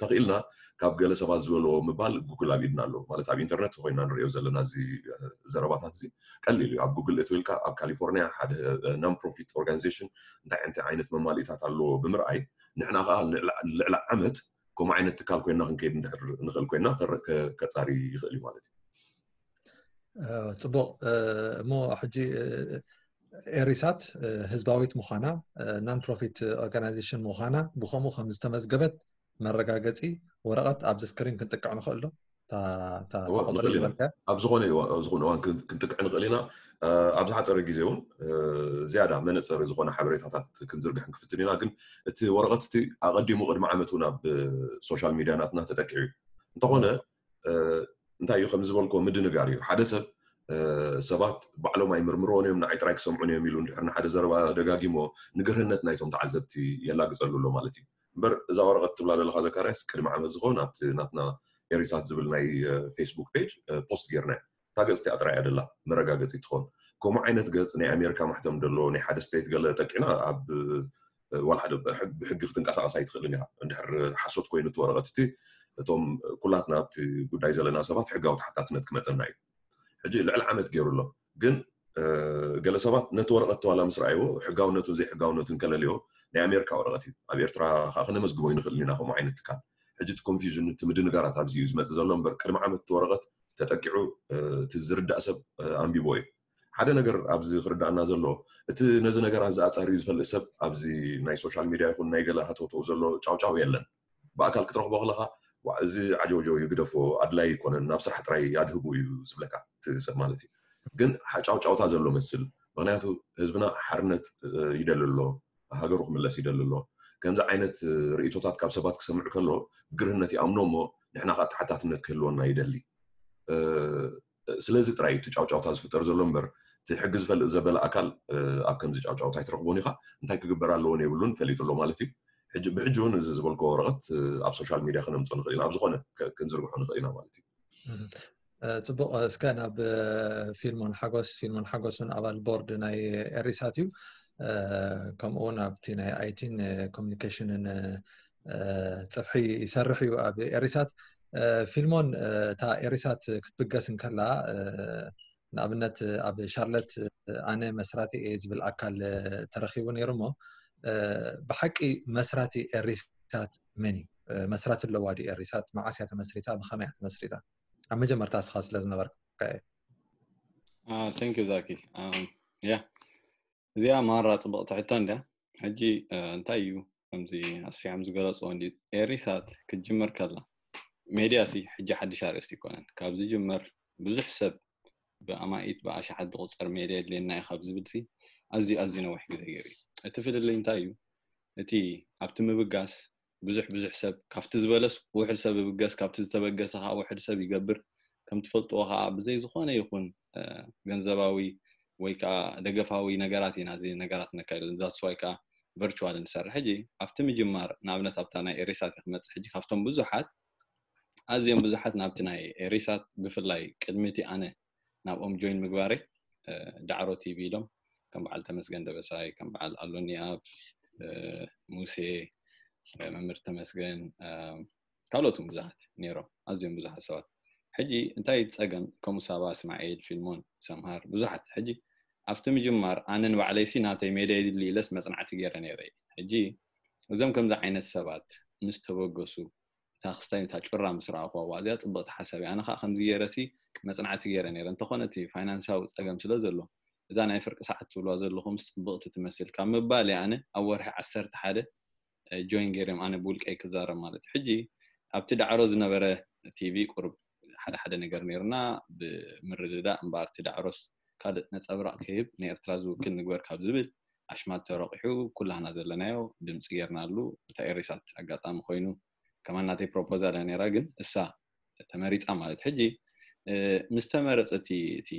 ተኽኢልና ካብ ገለ ሰባት ዝበልዎ ምባል ጉግል ኣብ ኢድና ኣሎ። ማለት ኣብ ኢንተርነት ኮይና ንሪኦ ዘለና እዚ ዘረባታት እዚ ቀሊል እዩ። ኣብ ጉግል እትው ኢልካ ኣብ ካሊፎርኒያ ሓደ non profit organization እንታይ እንታይ ዓይነት መማልኢታት ኣለዎ ብምርኣይ፣ ንሕና ከዓ ልዕሊ ዓመት ከምኡ ዓይነት ትካል ኮይና ክንከይድ እንድሕር ንኽእል ኮይና ከረ- ከ- ከጻሪ ይኽእል እዩ ማለት እዩ። ጽቡቕ። እሞ ሕጂ ኤሪሳት ህዝባዊት ምዃና፣ non profit organization ምዃና ብኸምኡ ከም ዝተመዝገበት መረጋገጺ ወረቐት ኣብዚ ስክሪን ክንጥቅዕ ንኽእል ዶ? ኣብ ዝኾነ እዋን ክንጥቅዕ ንኽእል ኢና። ኣብ ዝሓፀረ ግዜ እውን ዝያዳ መነፀሪ ዝኾነ ሓበሬታታት ክንዝርግሕ ክንክፍትን ኢና። ግን እቲ ወረቐት እቲ ኣቐዲሙ ቅድሚ ዓመት እውን ኣብ ሶሻል ሚድያ ናትና ተጠቂዑ እዩ። እንተኾነ እንታይ እዩ ከም ዝበልኮ ምድንጋር እዩ። ሓደ ሰብ ሰባት ባዕሎም ኣይምርምርዎን እዮም፣ ንዓይ ጥራይ ክሰምዑን እዮም ኢሉ እንድሕር ንሓደ ዘረባ ደጋጊሞ ንግርህነት ናይቶም ተዓዘብቲ የላግፀሉ ኣሎ ማለት እዩ። እምበር እዛ ወረቐት ትብላ ዘለኻ ዘካርያስ ቅድሚ ዓመት ዝኸውን ኣብቲ ናትና ኤሪሳት ዝብል ናይ ፌስቡክ ፔጅ ፖስት ጌርና እታ ገፅ እቲኣ ጥራይ እያ ደላ መረጋገፂ ትኸውን። ከምኡ ዓይነት ገፅ ናይ ኣሜሪካ ማሕተም ደሎ ናይ ሓደ ስቴት ገለ ጠቂዕና ኣብ ዋላ ሓደ ብሕጊ ክትንቀሳቀስ ኣይትኽእልን ኢኻ። እንድሕር ሓሶት ኮይኑ እቲ ወረቐት እቲ እቶም ኩላትና ኣብቲ ጉዳይ ዘለና ሰባት ሕጋዊ ተሓታትነት ክመፀና እዩ። ሕጂ ልዕሊ ዓመት ገይሩ ኣሎ። ግን ገለ ሰባት ነቲ ወረቐት ተዋላ ምስ ረኣይዎ ሕጋውነቱን ዘይሕጋውነቱን ከለልዮ ናይ ኣሜሪካ ወረቐት እዩ። ኣብ ኤርትራ ከዓ ክነመዝግቦ ይንኽእል ኢና ከምኡ ዓይነት ትካል። ሕጂ እቲ ኮንፊውዥን እቲ ምድንጋራት ኣብዚ እዩ ዝመፅእ ዘሎ እምበር ቅድሚ ዓመት እቲ ወረቐት ተጠቂዑ እቲ ዝርዳእ ሰብ ኣንቢቦ እዩ። ሓደ ነገር ኣብዚ ክርዳእና ዘሎ እቲ ነዚ ነገራት ዝኣፃሪ ዝፈልጥ ሰብ ኣብዚ ናይ ሶሻል ሚድያ ይኹን ናይ ገለ ሃተውተው ዘሎ ጫውጫው የለን። ብኣካል ክትረኽቦ ከለኻ እዚ ዓጀውጀው ይግደፎ ኣድላይ ኣይኮነን ናብ ስራሕ ጥራይ ኣድህቡ እዩ ዝብለካ እቲ ሰብ ማለት እዩ። ግን ሓጫውጫውታ ዘሎ መስል ምክንያቱ ህዝብና ሓርነት ይደሊ ኣሎ፣ ሃገሩ ክምለስ ይደሊ ኣሎ። ከምዚ ዓይነት ርእቶታት ካብ ሰባት ክሰምዕ ከሎ ግርህነት ይኣምኖ እሞ ንሕና ከዓ ተሓታትነት ክህልወና ይደሊ። ስለዚ ጥራይ እቲ ጫውጫውታ ዝፍጠር ዘሎ እምበር እቲ ሕጊ ዝፈልጥ ዘበለ ኣካል ኣብ ከምዚ ጫውጫውታ ኣይትረኽቦን ኢኻ። እንታይ ክግበር ኣለዎን የብሉን ፈሊጡ ኣሎ ማለት እዩ። ብሕጂ እውን እዚ ዝበልኮ ወረቐት ኣብ ሶሻል ሚድያ ክነምፅኦ ንኽእል ኢና፣ ኣብ ዝኾነ ክንዝርግሖ ንኽእል ኢና ማለት እዩ። ፅቡቕ። እስከ ናብ ፊልሞን ሓጎስ፣ ፊልሞን ሓጎስ እውን ኣባል ቦርድ ናይ ኤሪሳት እዩ። ከምኡ እውን ኣብቲ ናይ ኣይቲን ኮሚኒኬሽንን ፅፍሒ ይሰርሕ እዩ ኣብ ኤሪሳት። ፊልሞን፣ እታ ኤሪሳት ክትብገስ እንከላ ንኣብነት ኣብ ሻርለት ኣነ መስራቲ እየ ዝብል ኣካል ተረኺቡ ነይሩ እሞ ብሓቂ መስራቲ ኤሪሳት መን እዩ? መስራቲ ኣለዋ ድዩ ኤሪሳት? መዓስ እያ ተመስሪታ? ብኸመይ እያ ተመስሪታ? ኣብ መጀመርታ እስኻ ስለ ዝነበርካ እየ። Thank you ዛኪ። ያ እዚኣ ማራ ፅብቕቲ ሕቶ እንድያ። ሕጂ እንታይ እዩ ከምዚ ኣስፊሖም ዝገለፅዎ እንዲ ኤሪሳት ክትጅምር ከላ ሜድያ ሲ ሕጂ ሓድሽ ኣርእስቲ ይኮነን። ካብ ዝጅመር ብዙሕ ሰብ ብኣማኢት ብኣሽሓት ዝቁፀር ሜድያ የድልየና እዩ ካብ ዝብል ሲ ኣዝዩ ኣዝዩ ነዊሕ ግዜ ገይሩ እዩ። እቲ ፍልልይ እንታይ እዩ? እቲ ኣብቲ ምብጋስ ብዙሕ ብዙሕ ሰብ ካብቲ ዝበለስ ውሕድ ሰብ ይብገስ፣ ካብቲ ዝተበገሰ ከዓ ውሕድ ሰብ ይገብር። ከም ትፈልጥዎ ከዓ ብዘይ ዝኾነ ይኹን ገንዘባዊ ወይ ከዓ ደገፋዊ ነገራት ኢና እዚ ነገራት ነካይድ። ዛስዋይ ከዓ ቨርቹዋል ንሰርሕ። ሕጂ ኣብቲ ምጅማር ንኣብነት ኣብታ ናይ ኤሪሳት ክመፅእ ሕጂ ካብቶም ብዙሓት ኣዝዮም ብዙሓት ናብቲ ናይ ኤሪሳት ብፍላይ ቅድሚ እቲ ኣነ ናብኦም ጆይን ምግባረይ ዳዕሮ ቲቪ ኢሎም ከም በዓል ተመስገን ደበሳይ ከም በዓል ኣሎኒ ኣብ ሙሴ መምህር ተመስገን ካልኦትን ብዙሓት ነይሮም ኣዝዮም ብዙሓት ሰባት። ሕጂ እንታይ ጸገም ከምኡ ሳባ እስማኤል ፊልሞን ሰምሃር ብዙሓት ሕጂ ኣብቲ ምጅማር ኣነ ንባዕለይሲ ናተይ ሜዳ ይድሊ ኢለስ መጽናዕቲ ገይረ ነይረ። ሕጂ እዞም ከምዚ ዓይነት ሰባት ምስ ተበገሱ እታ ክስታይ እታ ጩራ ምስ ረኣኹዋ እዚኣ ጽብቕቲ ሓሳብ እያ። ኣነ ከዓ ከምዚ ገይረሲ መጽናዕቲ ገይረ ነይረ። እንተኾነ እቲ ፋይናንሳዊ ጸገም ስለ ዘሎ እዛ ናይ ፍርቂ ሰዓት ትብልዋ ዘለኹም ጽብቕቲ ትመስል ካብ ምባል እየ ኣነ ኣብ ወርሒ ዓሰርተ ሓደ ጆይን ገይረም ኣነ ብውልቀይ ክዛረብ ማለት እዩ። ሕጂ ኣብቲ ዳዕሮ ዝነበረ ቲቪ ቁሩብ ሓደ ሓደ ነገር ነይርና ብምርድዳእ እምበኣር እቲ ዳዕሮስ ካልእ ነጸብራቕ ክህብ ንኤርትራ ዝውክል ንግበር ካብ ዝብል ኣሽማት ተረቂሑ ኩላህና ዘለናዮ ድምፂ ጌርናሉ። እታ ኤሪሳት ኣጋጣሚ ኮይኑ ከማን ናተይ ፕሮፖዛል እያ ነይራ ግን እሳ ተመሪፃ ማለት ሕጂ ምስ ተመረፀ እቲ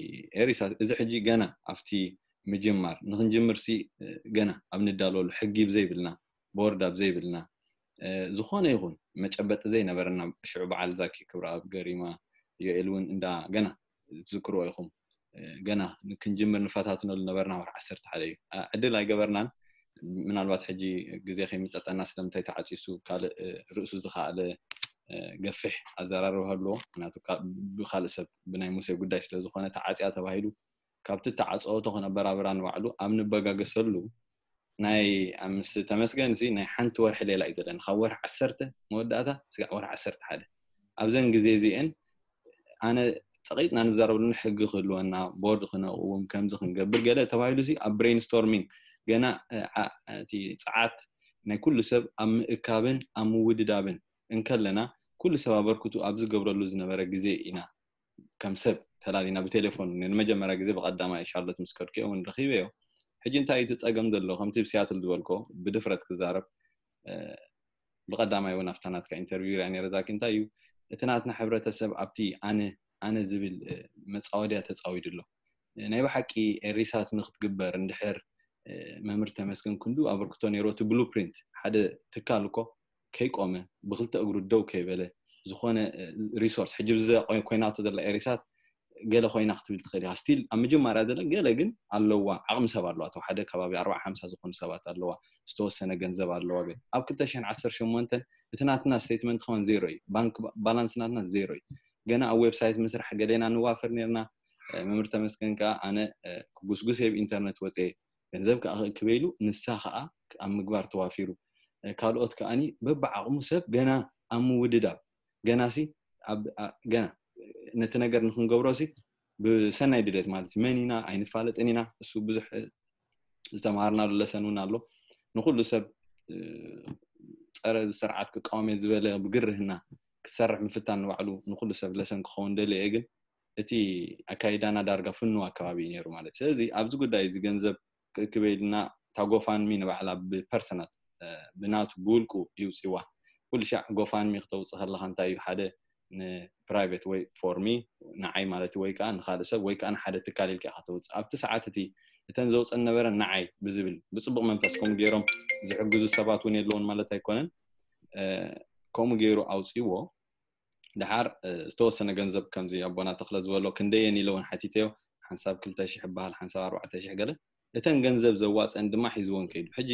ኤሪሳት እዚ ሕጂ ገና ኣብቲ ምጅማር ንክንጅምር ሲ ገና ኣብ ንዳለሉ ሕጊ ብዘይብልና ቦርድ ኣብ ዘይብልና ዝኾነ ይኹን መጨበጢ ዘይነበረና ሽዑ በዓል ዛኪ ክብረኣብ ገሪማ ዮኤል እውን እንዳ ገና ትዝክርዎ ኢኹም ገና ክንጅምር ንፈታትነሉ ነበርና ወርሒ ዓሰርተ ሓደ እዩ ዕድል ኣይገበርናን ምናልባት ሕጂ ግዜ ከይምጠጠና ስለምንታይ ተዓፂሱ ካልእ ርእሱ ዝኸኣለ ገፊሕ ኣዘራርባ ኣለዎ ምክንያቱ ብካልእ ሰብ ብናይ ሙሴ ጉዳይ ስለዝኮነ ተዓፅያ ተባሂሉ ካብቲ ተዓፀወቶ ከነበራብራ ንባዕሉ ኣብ ንበጋገሰሉ ናይ ምስ ተመስገን እዚ ናይ ሓንቲ ወርሒ ሌላ እዩ ዘለኒ፣ ካብ ወርሒ ዓሰርተ መወዳእታ ስጋዕ ወርሒ ዓሰርተ ሓደ። ኣብዘን ግዜ እዚአን ኣነ ጸቒጥና ንዛረበሉን ሕጊ ክህልወና፣ ቦርድ ክነቕውም፣ ከምዚ ክንገብር ገለ ተባሂሉ ሲ ኣብ ብሬንስቶርሚንግ ገና እቲ ጸዓት ናይ ኩሉ ሰብ ኣብ ምእካብን ኣብ ምውድዳብን እንከለና፣ ኩሉ ሰብ ኣበርክቱ ኣብ ዝገብረሉ ዝነበረ ግዜ ኢና ከም ሰብ ተላሊና ብቴሌፎን ንመጀመርያ ግዜ ብቀዳማይ ሻርሎት ምስ ከድኩ እውን ረኺበዮ። ሕጂ እንታይ እዩ እቲ ጸገም ዘሎ? ከምቲ ብሲያትል ዝበልኮ ብድፍረት ክዛረብ፣ ብቀዳማይ እውን ኣብታ ናትካ ኢንተርቪው ሪኣ ነረ ዛኪ። እንታይ እዩ እቲ ናትና ሕብረተሰብ ኣብቲ ኣነ ኣነ ዝብል መጻወድያ ተጻዊዱ ኣሎ? ናይ ብሓቂ ኤሪሳት ንክትግበር እንድሕር መምህር ተመስገን ክንዱ ኣበርክቶ ነይሩ። እቲ ብሉፕሪንት ሓደ ትካል እኮ ከይቆመ ብክልተ እግሩ ደው ከይበለ ዝኾነ ሪሶርስ ሕጂ ብዘ ኮይናቶ ዘላ ኤሪሳት ገለ ኮይና ክትብል ትኽእል ኢኻ። ስቲል ኣብ መጀመርያ ዘለ ገለ ግን ኣለዋ፣ ዓቕሚ ሰብ ኣለዋ። እቶም ሓደ ከባቢ ኣርባዓ ሓምሳ ዝኾኑ ሰባት ኣለዋ፣ ዝተወሰነ ገንዘብ ኣለዋ። ግን ኣብ ክልተ ሽሕን ዓሰርተ ሸሞንተን እቲ ናትና ስቴትመንት ከማን ዜሮ እዩ። ባንክ ባላንስ ናትና ዜሮ እዩ። ገና ኣብ ዌብሳይት ምስራሕ ገሌና ንዋፈር ነርና። መምህር ተመስገን ከዓ ኣነ ክጉስጉስ የብ ኢንተርነት ወፅየ፣ ገንዘብ ከዓ ክእክበ ኢሉ፣ ንሳ ከዓ ኣብ ምግባር ተዋፊሩ። ካልኦት ከዓኒ በብዓቕሙ ሰብ ገና ኣብ ምውድዳብ፣ ገና ሲ ገና ነቲ ነገር ንክንገብሮ ሲ ብሰናይ ድሌት ማለት እዩ። መን ኢና ኣይንፋለጥን ኢና። እሱ ብዙሕ ዝተምሃርናሉ ለሰን እውን ኣሎ። ንኩሉ ሰብ ጸረ እዚ ስርዓት ክቃወም እየ ዝበለ ብግርህና ክሰርሕ ምፍታን ንባዕሉ ንኩሉ ሰብ ለሰን ክኸውን ደልየ እየ። ግን እቲ ኣካይዳና ዳርጋ ፍኑው ኣከባቢ እዩ ነይሩ ማለት እዩ። ስለዚ ኣብዚ ጉዳይ እዚ ገንዘብ ክእክበ ኢልና እታ ጎፋንሚ ንባዕላ ብፐርሰናል ብናቱ ብውልቁ ይውፅዋ። ኩሉ ሻዕ ጎፋንሚ ክተውፅእ ከለካ እንታይ እዩ ሓደ ንፕራይቬት ወይ ፎርሚ ንዓይ ማለት ወይ ከዓ ንካልእ ሰብ ወይ ከዓ ንሓደ ትካል ኢልካ ኢካ ተውፅእ። ኣብቲ ሰዓት እቲ እተን ዘውፀን ነበረ ንዓይ ብዝብል ብፅቡቅ መንፈስ ከምኡ ገይሮም ዝሕግዙ ሰባት እውን የለውን ማለት ኣይኮነን። ከምኡ ገይሩ ኣውፅዎ። ድሓር ዝተወሰነ ገንዘብ ከምዚ ኣቦና ተክለ ዝበሎ ክንደየን ኢለ እውን ሓቲተዮ። ሓንሳብ ክልተ ሽሕ ይበሃል፣ ሓንሳብ ኣርባዕተ ሽሕ ገለ። እተን ገንዘብ ዘዋፀን ድማ ሒዝወን ከይዱ። ሕጂ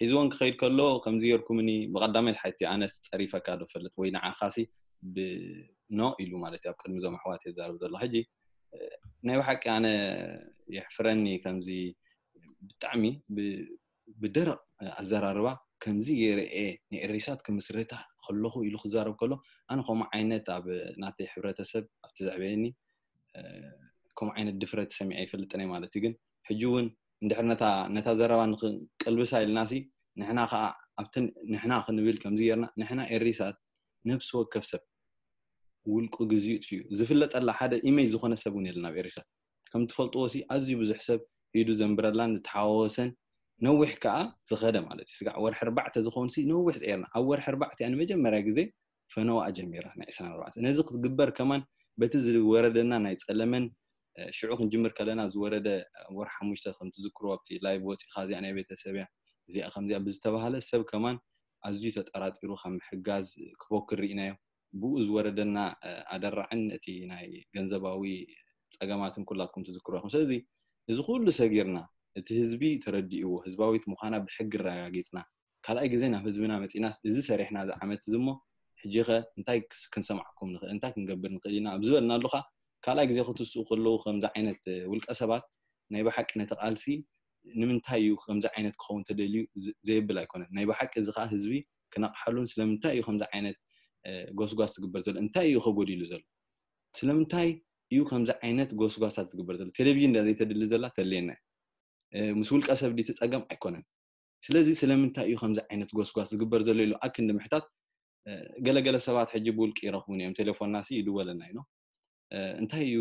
ሒዝወን ክኸይድ ከሎ ከምዚ ጌርኩምኒ ብቐዳማይ ሓቲ ኣነስ ፀሪፈካ ዶ ፈልጥ ወይ ንዓኻሲ ብኖ ኢሉ ማለት እዩ ኣብ ቅድሚ እዞም ኣሕዋት የዛርብ ዘሎ። ሕጂ ናይ ብሓቂ ኣነ የሕፍረኒ ከምዚ ብጣዕሚ ብደረቕ ኣዘራርባ ከምዚ ገይረ እየ ንኤሪሳት ክምስርታ ከለኹ ኢሉ ክዛረብ ከሎ ኣነ ከምኡ ዓይነት ኣብ ናተይ ሕብረተሰብ ኣብቲ ዘዕበየኒ ከምኡ ዓይነት ድፍረት ሰሚዐ ኣይፈልጥን እየ ማለት እዩ። ግን ሕጂ እውን እንድሕር ነታ ነታ ዘረባ ንክንቅልብሳ ኢልናሲ ንሕና ከዓ ኣብቲ ንሕና ክንብል ከምዚ ጌርና ንሕና ኤሪሳት ነብሲ ወከፍ ሰብ ውልቁ ግዚኡ ጥፊኡ ዝፍለጠላ ሓደ ኢሜጅ ዝኾነ ሰብ እውን የለን ኣብ ኤሪሳት። ከም ትፈልጥዎ ሲ ኣዝዩ ብዙሕ ሰብ ኢዱ ዘንብረላን ዝተሓዋወሰን ነዊሕ ከዓ ዝኸደ ማለት እዩ። ስጋዕ ወርሒ ኣርባዕተ ዝኸውን ሲ ነዊሕ ፀይርና ኣብ ወርሒ ኣርባዕተ እያ ንመጀመርያ ግዜ ፈነዋ ጀሚራ ናይ ዕስራን ኣርባዕተን። ነዚ ክትግበር ከማን በቲ ዝወረደና ናይ ፀለመን ሽዑ ክንጅምር ከለና ዝወረደ ወርሒ ሓሙሽተ ከም ትዝክርዎ ኣብቲ ላይቭ ወፂኻ እዚኣ ናይ ቤተሰብ እያ እዚኣ ከምዚኣ ብዝተባሃለ ሰብ ከማን ኣዝዩ ተጠራጢሩ ካብ ምሕጋዝ ክቦክር ርኢናዮ። ብኡ ዝወረደና ኣደራዕን እቲ ናይ ገንዘባዊ ፀገማትን ኩላትኩም ትዝክርዎ ኢኹም። ስለዚ እዚ ኩሉ ሰጊርና እቲ ህዝቢ ተረዲእዎ ህዝባዊት ምዃና ብሕጊ ኣረጋጊፅና ካልኣይ ግዜ ናብ ህዝብና መፂናስ እዚ ሰሪሕና እዚ ዓመት እዚ እሞ ሕጂ ኸ እንታይ ክንሰማዕኩም ንኽእል እንታይ ክንገብር ንኽእል ኢና ኣብ ዝበልናሉ ኸ ካልኣይ ግዜ ክትስኡ ከለዉ ከምዚ ዓይነት ውልቀ ሰባት ናይ ብሓቂ ነቲ ቃልሲ ንምንታይ እዩ ከምዚ ዓይነት ክኸውን ተደልዩ ዘየብል ኣይኮነን። ናይ ብሓቂ እዚ ከዓ ህዝቢ ክነቕሓሉን ስለምንታይ እዩ ከምዚ ዓይነት ጎስጓስ ትግበር ዘሎ እንታይ እዩ ከጎዲሉ ዘሎ ስለምንታይ እዩ ከምዚ ዓይነት ጎስጓሳት ትግበር ዘሎ ቴሌቪዥን ዳ ዘይተድሊ ዘላ ተልየና ምስ ውልቀ ሰብ ዲቲ ፀገም ኣይኮነን። ስለዚ ስለምንታይ እዩ ከምዚ ዓይነት ጎስጓስ ዝግበር ዘሎ ኢሉ ኣክንዲ ምሕታት ገለገለ ሰባት ሕጂ ብውልቂ ይረኽቡን እዮም ቴሌፎንና ሲ ይድወለና እዩ እንታይ እዩ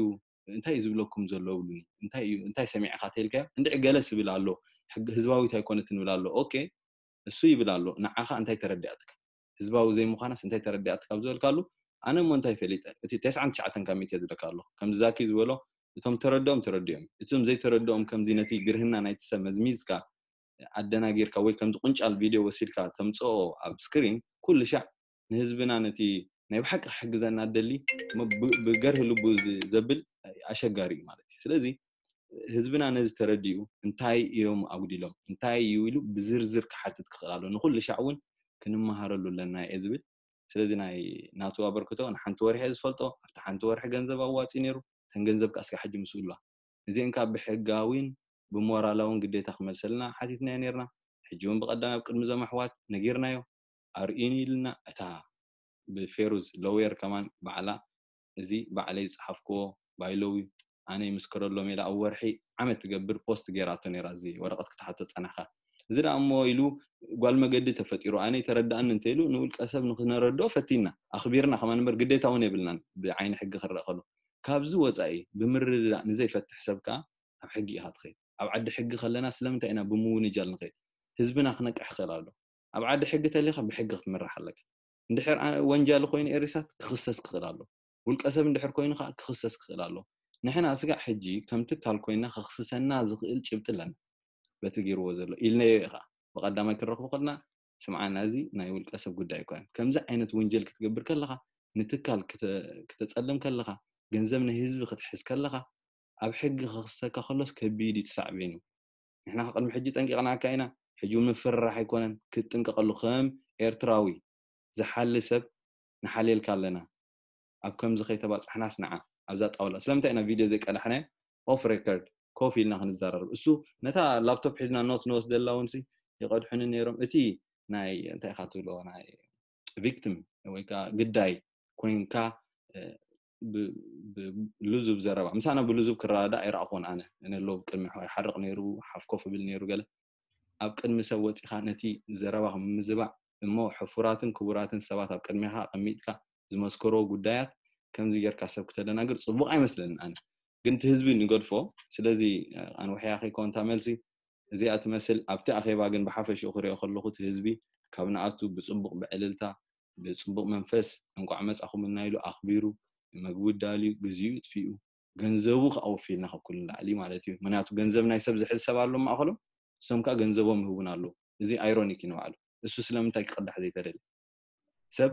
እንታይ እዩ ዝብለኩም ዘሎ ብሉኒ እንታይ እዩ እንታይ ሰሚዕካ ተልካዮ እንድዒ ገለ ስብል ኣሎ ህዝባዊት ኣይኮነትን ብል ኣሎ ኦኬ እሱ ይብል ኣሎ ንዓኻ እንታይ ተረዲኣትካ ህዝባዊ ዘይምዃናስ እንታይ ተረዲኣትካ ኣብ ዝበልካሉ ኣነ እሞ እንታይ ፈሊጠ እቲ ተስዓን ትሽዓተን ካብ ሚእቲ ዝብለካ ኣሎ ከምዚ ዛኪ ዝበሎ እቶም ተረድኦም ተረዲኦም እቶም ዘይተረድኦም ከምዚ ነቲ ግርህና ናይቲ ሰብ መዝሚዝካ ኣደናጊርካ ወይ ከምዚ ቁንጫል ቪድዮ ወሲድካ ተምፅኦ ኣብ ስክሪን ኩሉ ሻዕ ንህዝብና ነቲ ናይ ብሓቂ ክሕግዘና ደሊ ብገርህ ልቡ ዘብል ኣሸጋሪ እዩ ማለት እዩ ስለዚ ህዝብና ነዚ ተረዲኡ እንታይ እዮም ኣጉዲሎም እንታይ እዩ ኢሉ ብዝርዝር ክሓትት ክኽእል ኣሎ ንኩሉ ሻዕ እውን ክንመሃረሉ ኣለና እየ ዝብል ስለዚ ናይ ናቱ ኣበርክቶ ንሓንቲ ወርሒ ዝፈልጦ ኣብቲ ሓንቲ ወርሒ ገንዘብ ኣዋፂ ነይሩ ተን ገንዘብ ከዓ ስጋ ሕጂ ምስኡ ኣለዋ እዚአን ከዓ ብሕጋዊን ብሞራላውን ግዴታ ክመልሰልና ሓቲትናዮ ነርና ሕጂ እውን ብቐዳም ኣብ ቅድሚ እዞም ኣሕዋት ነጊርናዮ። ኣርእዩኒ ኢልና፣ እታ ብፌሩዝ ሎየር ከማን ባዕላ፣ እዚ ባዕለይ ዝጸሓፍክዎ ባይሎዊ፣ ኣነ ይምስክረሎም ኢላ ኣብ ወርሒ ዓመት ትገብር ፖስት ገይራቶ ነይራ፣ እዚ ወረቐት ክትሓቶ ጸናሕካ። እዚ ደኣ እሞ ኢሉ ጓል መገዲ ተፈጢሩ፣ ኣነ ይተረድኣኒ እንተ ኢሉ ንውልቀ ሰብ ንክነረድኦ ፈቲና፣ ኣኽቢርና ከማን እምበር ግዴታ እውን የብልናን ብዓይኒ ሕጊ ክረአ ከሎ። ካብዚ ወጻኢ ብምርድዳእ ንዘይፈትሕ ሰብ ከኣ ኣብ ሕጊ ኢኻ ትኸይድ። ኣብ ዓዲ ሕጊ ከለና ስለምንታይ ኢና ብምውንጃል ንኸይድ? ህዝብና ክነቅሕ ክኽእል ኣሎ። ኣብ ዓዲ ሕጊ ተሊኻ ብሕጊ ክትምራሕ ኣለካ። እንድሕር ኣ-፣ ወንጃሊ ኮይኑ ኤሪሳት ክኽሰስ ክኽእል ኣሎ። ውልቀ ሰብ እንድሕር ኮይኑ ከዓ ክኽሰስ ክኽእል ኣሎ። ንሕና ስጋዕ ሕጂ ከም ትካል ኮይና ከኽስሰና ዝኽእል ጭብጢ ኣለና። በቲ ገይርዎ ዘሎ ኢልናዮ እዩ ከዓ። ብቐዳማይ ክንረኽቦ ከለና ስምዓና፣ እዚ ናይ ውልቀ ሰብ ጉዳይ ኣይኮነን። ከምዚ ዓይነት ወንጀል ክትገብር ከለኻ፣ ንትካል ክተ-፣ ክተጸልም ከለኻ፣ ገንዘብ ናይ ህዝቢ ክትሕዝ ከለኻ፣ ኣብ ሕጊ ከኽሰካ ከሎስ ከቢድ እዩ፣ እቲ ሳዕቤኑ። ንሕና ቅድሚ ሕጂ ጠንቂቕናካ ኢና። ሕጂ እውን ምፍርራሕ ኣይኮነን፣ ክትጥንቀቐሉ። ከም ኤርትራዊ ዝሓሊ ሰብ ንሓልየልካ ኣለና። ኣብ ከምዚ ከይተባጻሕናስ ንዓ ኣብዛ ጣውላ ስለምንታይ ኢና ቪድዮ ዘይቀዳሕናዮ? ኦፍ ሬከርድ ኮፍ ኢልና ክንዘራረብ። እሱ ነታ ላፕቶፕ ሒዝና ኖት ንወስደላ እውን ሲ ይቐድሑኒ ነይሮም። እቲ ናይ እንታይ ኢኻ ትብሎ፣ ናይ ቪክቲም ወይ ከዓ ግዳይ ኮይንካ፣ እ፣ ብ-፣ ብ-፣ ልዙብ ዘረባ ምሳና ብልዙብ ክረዳዳእ ኣይረኣኹን ኣነ። እነ ኣሎ ቅድሚ ይሓርቕ ነይሩ፣ ሓፍ ኮፍ ብል ነይሩ ገለ። ኣብ ቅድሚ ሰብ ወጺኻ ነቲ ዘረባኹም ምዝባዕ እሞ ሕፉራትን ክቡራትን ሰባት ኣብ ቅድሜኻ ኣቐሚጥካ ዝመስከርዎ ጉዳያት ከምዚ ጌርካ ሰብ ክተደናግር ጽቡቕ ኣይመስለንን ኣነ። ግን እቲ ህዝቢ ንገድፎ። ስለዚ ኣንውሕያ ከይኮን እታ መልሲ እዚኣ ትመስል። ኣብቲ ኣኼባ ግን ብሓፈሽኡ ክሪኦ ከለኹ እቲ ህዝቢ ካብ ንኣቱ ብጽቡቕ ብዕልልታ ብጽቡቕ መንፈስ እንቋዕ መጻኹምልና ኢሉ ኣኽቢሩ መግቢ ዳልዩ ግዜኡ ጥፊኡ ገንዘቡ ከኣ ወፊልና ካብ ኩሉ ንላዕሊ ማለት እዩ። ምክንያቱ ገንዘብ ናይ ሰብ ዝሕዝ ሰብ ኣሎ ማእኸሎም፣ እሶም ከኣ ገንዘቦም ይህቡና ኣለዉ። እዚ ኣይሮኒክ እዩ ንባዕሉ። እሱ ስለምንታይ ክቕዳሕ ዘይተደልየ? ሰብ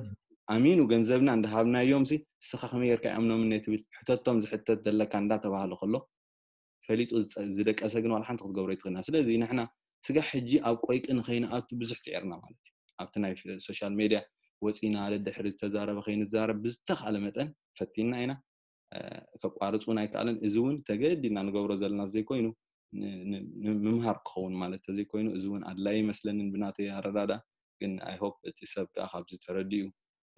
ኣሚኑ ገንዘብና እንዳሃብናዮም ሲ እስኻ ከመይ ጌርካ ይኣምኖምኒ ትብል ሕተቶም ዝሕተት ዘለካ እንዳተባህለ ከሎ ፈሊጡ ዝጸ-፣ ዝደቀሰ ግን ዋላ ሓንቲ ክትገብሮ ኣይትኽእልና። ስለዚ ንሕና ስጋ ሕጂ ኣብ ቆይቂ ንኸይንኣቱ ብዙሕ ጽዒርና ማለት እዩ። ኣብቲ ናይ ፍ-፣ ሶሻል ሜድያ ወጺና ደድሕሪ ዝተዛረበ ከይንዛረብ ብዝተኻእለ መጠን ፈቲና ኢና። እ፣ ከቋርጽ እውን ኣይከኣለን። እዚ እውን ተገዲድና ንገብሮ ዘለና ዘይኮይኑ ን-፣ ን-፣ ንምምሃር ክኸውን ማለት ተዘይኮይኑ እዚ እውን ኣድላይ ይመስለንን ብናተይ ኣረዳዳ። ግን ኣይ ሆፕ እቲ ሰብ ከኣ ካብዚ ተረዲኡ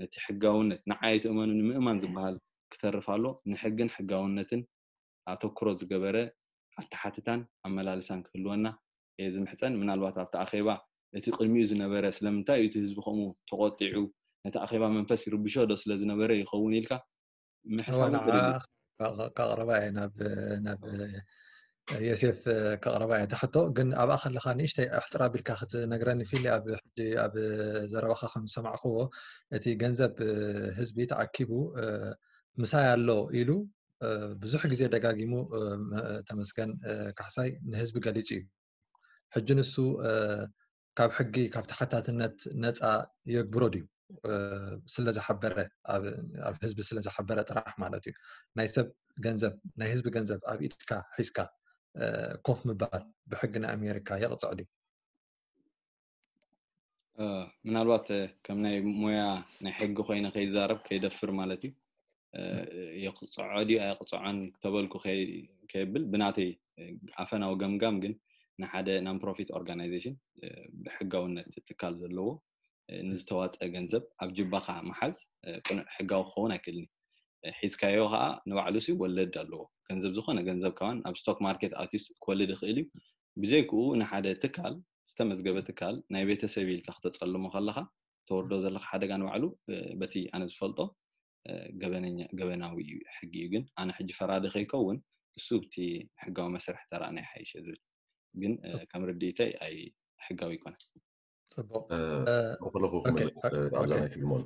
ነቲ ሕጋውነት ንዓይ ትእመኑ ንምእማን ዝበሃል ክተርፍ ኣሎ። ንሕግን ሕጋውነትን ኣተኩሮ ዝገበረ ኣተሓትታን ኣመላልሳን ክህልወና እየ ዝምሕጸን። ምናልባት ኣብቲ ኣኼባ እቲ ቅድሚኡ ዝነበረ ስለምንታይ እዩ እቲ ህዝቢ ከምኡ ተቖጢዑ፣ ነቲ ኣኼባ መንፈስ ይርብሾ ዶ ስለ ዝነበረ ይኸውን ኢልካ ምሕሳብ እውን ተደልዩ። ከቕርባ እየ ናብ፣ ናብ ዮሴፍ ከቕርባ እየ። እታ ሕቶ ግን ኣብኣ ከለኻ ንእሽተይ ኣሕፅር ኣቢልካ ክትነግረኒ ፊሊ። ኣብ ሕጂ ኣብ ዘረባኻ ከም ዝሰማዕክዎ እቲ ገንዘብ ህዝቢ ተኣኪቡ ምሳይ ኣሎ ኢሉ ብዙሕ ግዜ ደጋጊሙ ተመስገን ካሕሳይ ንህዝቢ ገሊጹ እዩ። ሕጂ ንሱ ካብ ሕጊ ካብ ተሓታትነት ነፃ የግብሮ ድዩ? ስለ ዝሓበረ፣ ኣብ ህዝቢ ስለ ዝሓበረ ጥራሕ ማለት እዩ። ናይ ሰብ ገንዘብ፣ ናይ ህዝቢ ገንዘብ ኣብ ኢድካ ሒዝካ ኮፍ ምባል ብሕጊ ናይ ኣሜሪካ የቕፅዕ ድዩ? ምናልባት ከም ናይ ሞያ ናይ ሕጊ ኮይነ ከይዛረብ ከይደፍር ማለት እዩ። የቕፅዖ ድዩ ኣየቕፅዖን ተበልኩ ከይብል ብናተይ ኣፈናዊ ገምጋም ግን ንሓደ non profit organization ብሕጋውነት ትካል ዘለዎ ንዝተዋፀ ገንዘብ ኣብ ጅባኻ ምሓዝ ቅኑዕ ሕጋዊ ክኸውን ኣይክእልን እዩ። ሒዝካዮ ከዓ ንባዕሉ ሲ ወለድ ኣለዎ። ገንዘብ ዝኾነ ገንዘብ ከማን ኣብ ስቶክ ማርኬት ኣትዩስ ክወልድ ይኽእል እዩ። ብዘይክኡ ንሓደ ትካል ዝተመዝገበ ትካል ናይ ቤተሰብ ኢልካ ክተፀልሞ ከለኻ ተወርዶ ዘለካ ሓደጋ ንባዕሉ በቲ ኣነ ዝፈልጦ ገበነኛ ገበናዊ እዩ ሕጊ እዩ። ግን ኣነ ሕጂ ፈራዲ ከይከውን እሱ ብቲ ሕጋዊ መስርሕ ተራእና ይሓይሽ ዝብል ግን ከም ርድኢተይ ኣይ ሕጋዊ ይኮነ። ጽቡቅ። ከለኹ ክመልእ ኣብዛ ናይ ፊልሞን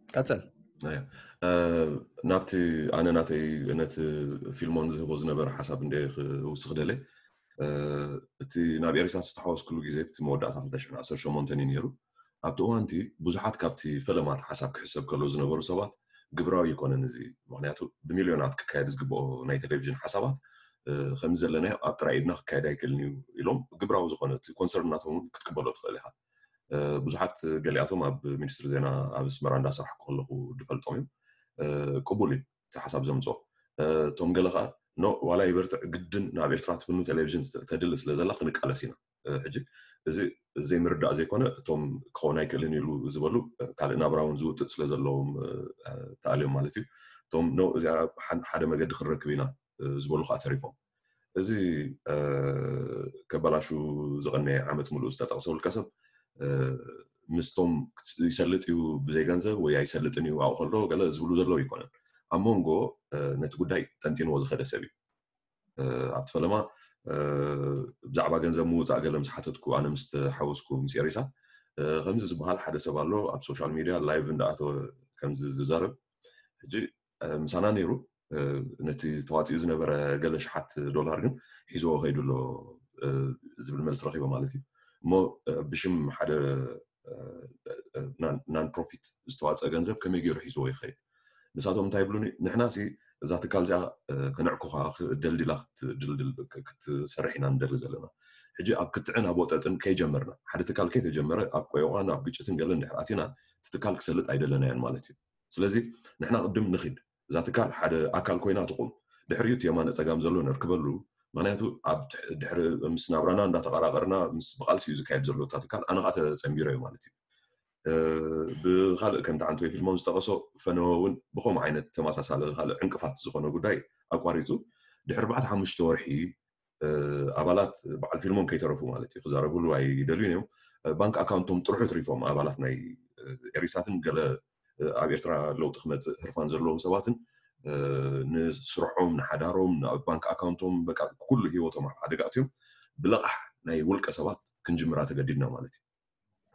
ቀጽል። ናብቲ ኣነ ናተይ ነቲ ፊልሞን ዝህቦ ዝነበረ ሓሳብ እንደ ክውስኽ ደለ እቲ ናብ ኤሪሳት ዝተሓወስኩሉ ግዜ እቲ መወዳእታ ክልተ ሽሕን ዓሰርተ ሸሞንተን እዩ ነይሩ። ኣብቲ እዋንቲ ብዙሓት ካብቲ ፈለማት ሓሳብ ክሕሰብ ከለዉ ዝነበሩ ሰባት ግብራዊ ይኮነን እዚ፣ ምክንያቱ ብሚልዮናት ክካየድ ዝግብኦ ናይ ቴሌቪዥን ሓሳባት ከምዚ ዘለናዮ ኣብ ጥራይ ኢድና ክካየድ ኣይክእልን እዩ ኢሎም ግብራዊ ዝኾነ እቲ ኮንሰርን ናቶም ክትቅበሎ ትኽእል ኢኻ። ብዙሓት ገሊኣቶም ኣብ ሚኒስትሪ ዜና ኣብ ኣስመራ እንዳሰራሕኩ ከለኹ ዝፈልጦም እዮም። ቅቡል እዩ እቲ ሓሳብ ዘምፅኦ። እቶም ገለ ከዓ ኖ ዋላ ይበርትዕ ግድን ናብ ኤርትራ ትፍኑ ቴሌቪዥን ተድሊ ስለ ዘላ ክንቃለስ ኢና። ሕጂ እዚ ዘይምርዳእ ዘይኮነ እቶም ክኸውን ኣይክእልን ኢሉ ዝበሉ ካልእ ናብራ እውን ዝውጥጥ ስለ ዘለዎም ተኣልዮም ማለት እዩ። እቶም ኖ እዚኣ ሓደ መገዲ ክንረክብ ኢና ዝበሉ ከዓ ተሪፎም። እዚ ከባላሹ ዝቐነየ ዓመት ሙሉእ ዝተጠቕሰ ውልቀ ሰብ ምስቶም ይሰልጥ እዩ ብዘይ ገንዘብ ወይ ኣይሰልጥን እዩ ኣብኡ ከሎ ገለ ዝብሉ ዘለዉ ኣይኮነን። ኣብ መንጎ ነቲ ጉዳይ ጠንጢንዎ ዝኸደ ሰብ እዩ። ኣብቲ ፈለማ ብዛዕባ ገንዘብ ምውፃእ ገለ ምስ ሓተትኩ ኣነ ምስ ተሓወስኩ ምስ ኤሪሳ ከምዚ ዝበሃል ሓደ ሰብ ኣሎ ኣብ ሶሻል ሚድያ ላይቭ እንዳኣተወ ከምዚ ዝዛረብ ሕጂ ምሳና ነይሩ ነቲ ተዋፂኡ ዝነበረ ገለ ሽሓት ዶላር ግን ሒዝዎ ከይዱ ኣሎ ዝብል መልሲ ረኪቦ ማለት እዩ። እሞ ብሽም ሓደ ናን ፕሮፊት ዝተዋፀ ገንዘብ ከመይ ገይሩ ሒዝዎ ይኸይድ? ንሳቶም እንታይ ይብሉኒ ንሕና ሲ እዛ ትካል እዚኣ ከነዕኩኻ ክደልድላ ክትሰርሕ ኢና ንደሊ ዘለና። ሕጂ ኣብ ክትዕን ኣብ ወጠጥን ከይጀመርና ሓደ ትካል ከይተጀመረ ኣብ ቆይቋን ኣብ ግጭትን ገለን ድሕር ኣቲና እቲ ትካል ክሰልጥ ኣይደለናያን ማለት እዩ። ስለዚ ንሕና ቅድም ንኺድ እዛ ትካል ሓደ ኣካል ኮይና ትቑም ድሕሪኡ እቲ የማነ ፀጋም ዘሎ ነርክበሉ። ምክንያቱ ኣብ ድሕሪ ምስ ናብራና እንዳተቐራቐርና ምስ ብቃልሲ እዩ ዝካየድ ዘሎ እታ ትካል ኣነ ከዓ ተፀንቢረ እዩ ማለት እዩ። ብካልእ ከምቲ ዓንቶ ፊልሞን ዝጠቐሶ ፈነወ እውን ብከምኡ ዓይነት ተመሳሳሊ ካልእ ዕንቅፋት ዝኾነ ጉዳይ ኣቋሪፁ ድሕሪ ኣርባዕተ ሓሙሽተ ወርሒ ኣባላት በዓል ፊልሞን ከይተረፉ ማለት እዩ ክዛረብሉ ኣይደልዩን እዮም። ባንክ ኣካውንቶም ጥርሑ ትሪፎም ኣባላት ናይ ኤሪሳትን ገለ ኣብ ኤርትራ ለውጢ ክመፅእ ህርፋን ዘለዎም ሰባትን ንስርሖም ንሓዳሮም ናብ ባንክ ኣካውንቶም በቃ ኩሉ ሂወቶም ኣብ ሓደጋ ኣትዮም ብለቓሕ ናይ ውልቀ ሰባት ክንጅምራ ተገዲድና ማለት እዩ።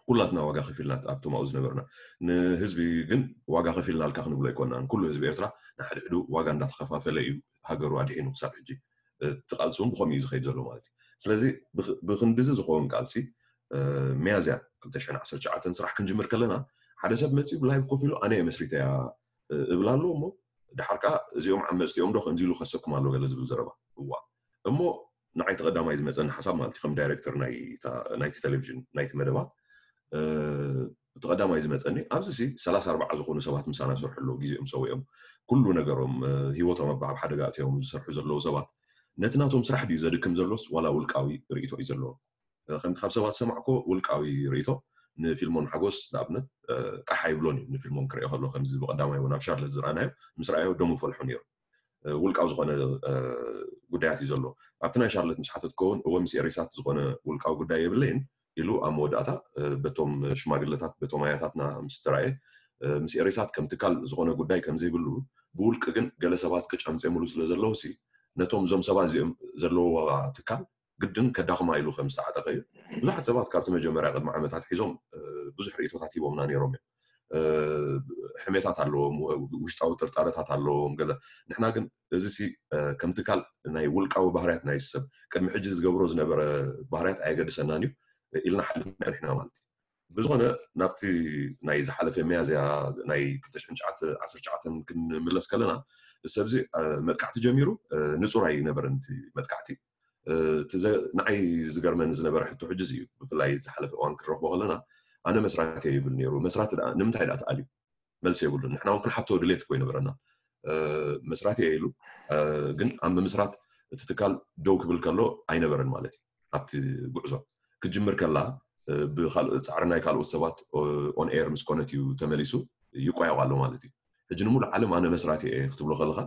ኩላትና ዋጋ ከፊልናት ኣብቶም ኣብኡ ዝነበርና ንህዝቢ ግን ዋጋ ከፊልናልካ ክንብሎ ኣይኮናን። ኩሉ ህዝቢ ኤርትራ ንሓድሕዱ ዋጋ እንዳተኸፋፈለ እዩ ሃገሩ ኣድሒኑ ክሳብ ሕጂ። እቲ ቃልሲ እውን ብኸምኡ እዩ ዝኸይድ ዘሎ ማለት እዩ። ስለዚ ብክንድዚ ዝኸውን ቃልሲ ሚያዝያ ክልተ ሽሕን ዓሰርተ ትሽዓተን ስራሕ ክንጅምር ከለና ሓደ ሰብ መፂኡ ብላይቭ ኮፍ ኢሉ ኣነ እየ መስሪተያ እብል ኣለዎ እሞ ድሓር ከዓ እዚኦም ዓመፅቲ እዮም ዶ ከምዚ ኢሉ ከሰኩም ኣሎ ገለ ዝብል ዘረባ እዋ እሞ ንዓይ ተቐዳማይ ዝመፀኒ ሓሳብ ማለት ከም ዳይሬክተር ናይቲ ቴሌቪዥን ናይቲ መደባት ተቐዳማይ ዝመፀኒ ኣብዚ ሲ ሰላሳ ኣርባዓ ዝኾኑ ሰባት ምሳና ሰርሑ ኣለዉ ግዜኦም ሰዊኦም ኩሉ ነገሮም ሂወቶም ኣብ ሓደጋ እትዮም ዝሰርሑ ዘለዉ ሰባት ነቲ ናቶም ስራሕ ድዩ ዘድክም ዘሎስ ዋላ ውልቃዊ ርእቶ እዩ ዘለዎ? ከምቲ ካብ ሰባት ዝሰማዕኮ ውልቃዊ ርእቶ ንፊልሞን ሓጎስ ንኣብነት ቃሕ ኣይብሎን እዩ ንፊልሞን ክሪኦ ከሎ ከምዚ ብቀዳማይ እውን ኣብ ሻርለት ዝረኣናዮ ምስ ረኣዮ ደሙ ፈልሑ ነይሩ። ውልቃዊ ዝኾነ ጉዳያት እዩ ዘሎ። ኣብቲ ናይ ሻርለት ምስ ሓተትኮ እውን እወ ምስ ኤሪሳት ዝኾነ ውልቃዊ ጉዳይ የብለይን ኢሉ ኣብ መወዳእታ በቶም ሽማግለታት በቶም ኣያታትና ምስ ተራእየ ምስ ኤሪሳት ከም ትካል ዝኾነ ጉዳይ ከም ዘይብሉ ብውልቂ ግን ገለ ሰባት ቅጭ ኣምፅኦምሉ ስለ ዘለዉ ሲ ነቶም እዞም ሰባት እዚኦም ዘለውዋ ትካል ግድን ከዳኽማ ኢሉ ከም ዝተዓጠቐ እዩ። ብዙሓት ሰባት ካብቲ መጀመርያ ቅድሚ ዓመታት ሒዞም ብዙሕ ርእቶታት ሂቦምና ነይሮም እዮም። ሕሜታት ኣለዎም፣ ውሽጣዊ ጥርጣረታት ኣለዎም ገለ። ንሕና ግን እዚ ሲ ከም ትካል ናይ ውልቃዊ ባህርያት ናይ ሰብ ቅድሚ ሕጂ ዝገብሮ ዝነበረ ባህርያት ኣየገድሰናን እዩ ኢልና ሓሊፍና ርሕና ማለት እዩ። ብዝኾነ ናብቲ ናይ ዝሓለፈ ሚያዝያ ናይ ክልተ ሽሕን ትሽዓተ ዓሰርተ ትሽዓተ ክንምለስ ከለና ሰብዚ መጥቃዕቲ ጀሚሩ ንጹር ኣይነበረን እቲ መጥቃዕቲ። ንዓይ ዝገርመኒ ዝነበረ ሕቶ ሕጂ እዩ ብፍላይ ዝሓለፈ እዋን ክንረኽቦ ከለና ኣነ መስራቲ ይብል ነይሩ መስራቲ ንምንታይ ዳ ተኣልዩ መልሲ የብሉን ንሕና እውን ክንሓቶ ድሌት እኮ ይነበረና መስራቲ እየ ኢሉ ግን ኣብ ምምስራት እቲ ትካል ደው ክብል ከሎ ኣይነበረን ማለት እዩ ኣብቲ ጉዕዞ ክጅምር ከላ ብካልእ ፃዕሪ ናይ ካልኦት ሰባት ኦን ኤር ምስ ኮነት እዩ ተመሊሱ ይቋየቕ ኣሎ ማለት እዩ ሕጂ ንሙሉ ዓለም ኣነ መስራቲ እየ ክትብሎ ከለካ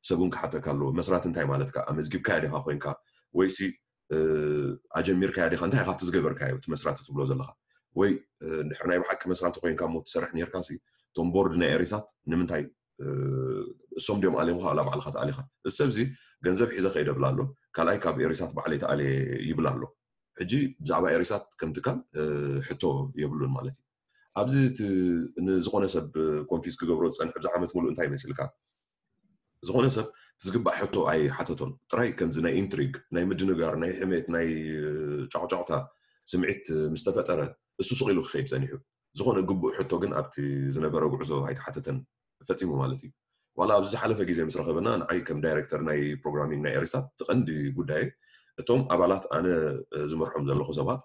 ሰብ እውን ክሓተካ ኣለዎ መስራት እንታይ ማለትካ ኣመዝጊብካያ ዲካ ኮይንካ ወይሲ ኣጀሚርካያ ዲካ እንታይ ኢካ እቲ ዝገበርካዮ እቲ መስራት ትብሎ ዘለካ ወይ ድሕሪ ናይ ብሓቂ መስራት ኮይንካ እሞ ትሰርሕ ነርካ ሲ እቶም ቦርድ ናይ ኤሪሳት ንምንታይ እሶም ድዮም ኣልዮም ካብ ባዕልካ ተኣሊካ እዚ ሰብ እዚ ገንዘብ ሒዘ ከይደ ብላ ኣሎ ካልኣይ ካብ ኤሪሳት ባዕለይ ተኣልየ ይብል ኣሎ ሕጂ ብዛዕባ ኤሪሳት ከም ትካል ሕቶ የብሉን ማለት እዩ ኣብዚ ንዝኾነ ሰብ ኮንፊዝ ክገብሮ ዝፀንሕ ብዚ ዓመት ሙሉእ እንታይ ይመስልካ ዝኾነ ሰብ ዝግባእ ሕቶ ኣይሓተቶን ጥራይ ከምዚ ናይ ኢንትሪግ ናይ ምድንጋር ናይ ሕሜት ናይ ጫቕጫቕታ ስምዒት ምስ ተፈጠረ እሱ ስቕ ኢሉ ክኸይድ ጸኒሑ ዝኾነ ግቡእ ሕቶ ግን ኣብቲ ዝነበረ ጉዕዞ ኣይተሓተተን ፈጺሙ ማለት እዩ ዋላ ኣብዚ ዝሓለፈ ግዜ ምስ ረኸበና ንዓይ ከም ዳይሬክተር ናይ ፕሮግራሚንግ ናይ ኤሪሳት እቲ ቀንዲ ጉዳይ እቶም ኣባላት ኣነ ዝመርሖም ዘለኹ ሰባት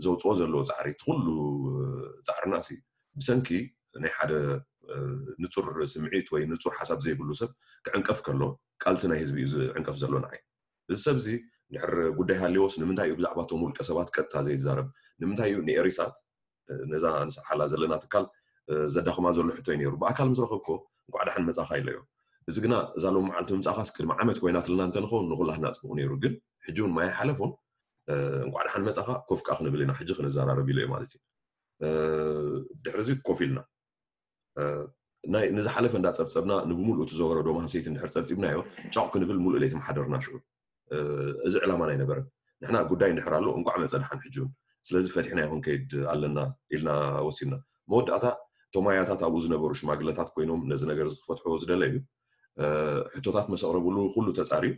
ዘውፅኦ ዘለዎ ፃዕሪ እቲ ኩሉ ፃዕርና ሲ ብሰንኪ ናይ ሓደ ንፁር ስምዒት ወይ ንፁር ሓሳብ ዘይብሉ ሰብ ክዕንቀፍ ከሎ ቃልሲ ናይ ህዝቢ እዩ ዝዕንቀፍ ዘሎ ንዓይ። እዚ ሰብ እዚ ድሕር ጉዳይ ሃልዮስ ንምንታይ እዩ ብዛዕባ እቶም ውልቀ ሰባት ቀጥታ ዘይዛረብ? ንምንታይ እዩ ንኤሪሳት ነዛ ንሰሓላ ዘለና ትካል ዘዳኽማ ዘሎ ሕቶ እዩ ነይሩ። ብኣካል ምስ ረኸብኮ እንኳዕ ደሓን መጻኻ ኢለዮ። እዚ ግና እዛ ሎም መዓልቲ ምምጻኻስ ቅድሚ ዓመት ኮይናትልና እንተንኸውን ንኹላህና ጽቡቕ ነይሩ። ግን ሕጂ እውን ማይ ሓለፎን እንኳዕ ደሓን መጻኻ ኮፍ ከዓ ክንብል ኢና ሕጂ ክንዘራረብ ኢለዮ ማለት እዩ። ድሕርዚ ኮፍ ኢልና ናይ ንዝሓለፈ እንዳጸብጸብና ንብሙሉኡ እቲ ዘወረዶ ማህሰይቲ እንድሕር ጸብጺብናዮ ጫቕ ክንብል ሙሉእ ለይቲ ምሓደርና ሽዑ። እዚ ዕላማና ኣይነበረን። ንሕና ጉዳይ እንድሕር ኣሎ እንቋዕ መጸ ደሓን ሕጂ እውን። ስለዚ ፈቲሕናዮ ክንከይድ ኣለና ኢልና ወሲድና። መወዳእታ እቶም ኣያታት ኣብኡ ዝነበሩ ሽማግለታት ኮይኖም ነዚ ነገር እዚ ክፈትሕዎ ዝደለዩ ሕቶታት መሰቕረብሉ ኩሉ ተጻርዩ።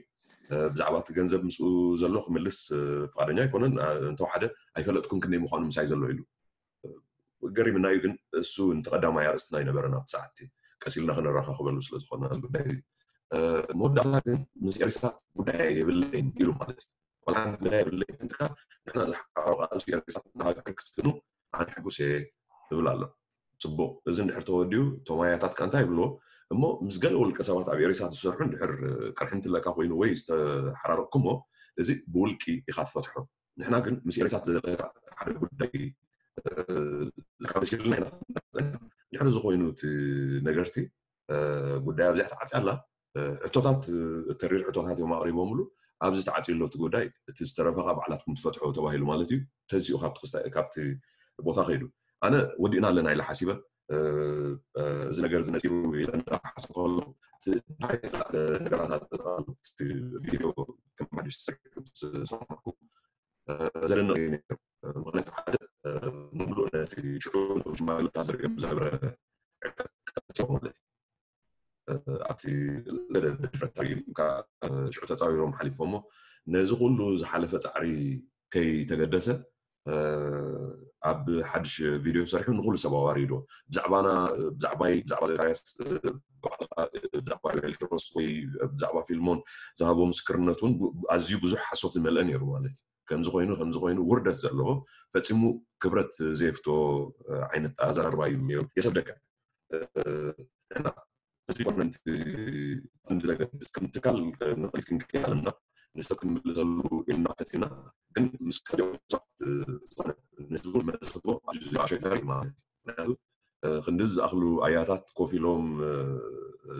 ብዛዕባ እቲ ገንዘብ ምስኡ ዘሎ ክምልስ ፍቓደኛ ኣይኮነን። እንተወሓደ ኣይፈለጥኩን ክንደይ ምዃኑ ምሳይ ዘሎ ኢሉ። ገሪምና እዩ ግን እሱ እንተ ቀዳማይ ኣርእስትና ኣይነበረን ኣብቲ ሰዓት እቲ ቀስ ኢልና ክንረኻኸበሉ ስለ ዝኾነ ጉዳይ እዩ። መወዳእታ ግን ምስ ኤሪሳት ጉዳይ የብለይን ኢሉ ማለት እዩ። ቆልዓ ጉዳይ የብለይን እንትካ ንሕና ዝሓሮ ቃልሲ ኤሪሳት ንሃገር ክትፍኑ ኣነ ሕጉስ እየ ይብል ኣሎ። ጽቡቕ፣ እዚ እንድሕር ተወዲኡ ቶማያታት ከ እንታይ ይብልዎ? እሞ ምስ ገለ ውልቀ ሰባት ኣብ ኤሪሳት ዝሰርሑ እንድሕር ቅርሒ እንትለካ ኮይኑ ወይ ዝተሓራረቕኩሞ እዚ ብውልቂ ኢኻ ትፈትሖ። ንሕና ግን ምስ ኤሪሳት ዘለካ ሓደ ጉዳይ ዝካበሲልና ኢና። ድሕሪ ዝኾይኑ እቲ ነገርቲ ጉዳይ ኣብዚኣ ተዓፅያ ኣላ። ሕቶታት ተሪር ሕቶታት እዮም ኣቕሪቦምሉ። ኣብዚ ተዓፅዩ ኣሎ እቲ ጉዳይ፣ እቲ ዝተረፈ ከዓ ባዕላትኩም ትፈትሖ ተባሂሉ ማለት እዩ። ተዚኡ ካብቲ ክስታ- ካብቲ ቦታ ከይዱ ኣነ ወዲእና ኣለና ኢለ ሓሲበ። እዚ ነገር እዚ ነፂሩ ኢለ እንዳሓሰብኩ ከለኹ እቲ እንታይ ነገራት ኣሎ፣ እቲ ቪድዮ ከም ሓድሽ ተሰሪሑ ዝሰማዕኩ ዘደንቕ እዩ ነይሩ። ምኽንያቱ ሓደ ሙሉእ ነቲ ሽዑ ሽማግለታት ዘርእዮም ዝነበረ ዕቀት ቀፂዎ ማለት እዩ። ኣብቲ ድፍረት እዩ ሽዑ ተፃዊሮም ሓሊፎሞ ነዚ ኩሉ ዝሓለፈ ፃዕሪ ከይተገደሰ ኣብ ሓድሽ ቪድዮ ሰሪሑ ንኩሉ ሰብ ኣዋሪዶ ብዛዕባና ብዛዕባይ ብዛዕባ ዘካርያስ ብዛዕባ ሄልኪሮስ ወይ ብዛዕባ ፊልሞን ዝሃቦ ምስክርነት እውን ኣዝዩ ብዙሕ ሓሶት ዝመልአ ነይሩ ማለት እዩ። ከምዚ ኮይኑ ከምዚ ኮይኑ ውርደት ዘለዎ ፈፂሙ ክብረት ዘየፍቶ ዓይነት ኣዘራርባ እዩ ነይሩ። የሰብ ደቀ እዚ ኮነ ከምቲ ትካል ንቕድሚት ክንከይድ ኣለና። ንሰብ ክንምልሰሉ ኢልና ፈቲና ግን ምስ ከዚኦም ሰባት ዝኾነ ንህዝቡ መልሲ ክትቦ ኣሸጋሪ ማለት እዩ። ምክንያቱ ክንድዚ ዝኣኽሉ ኣያታት ኮፍ ኢሎም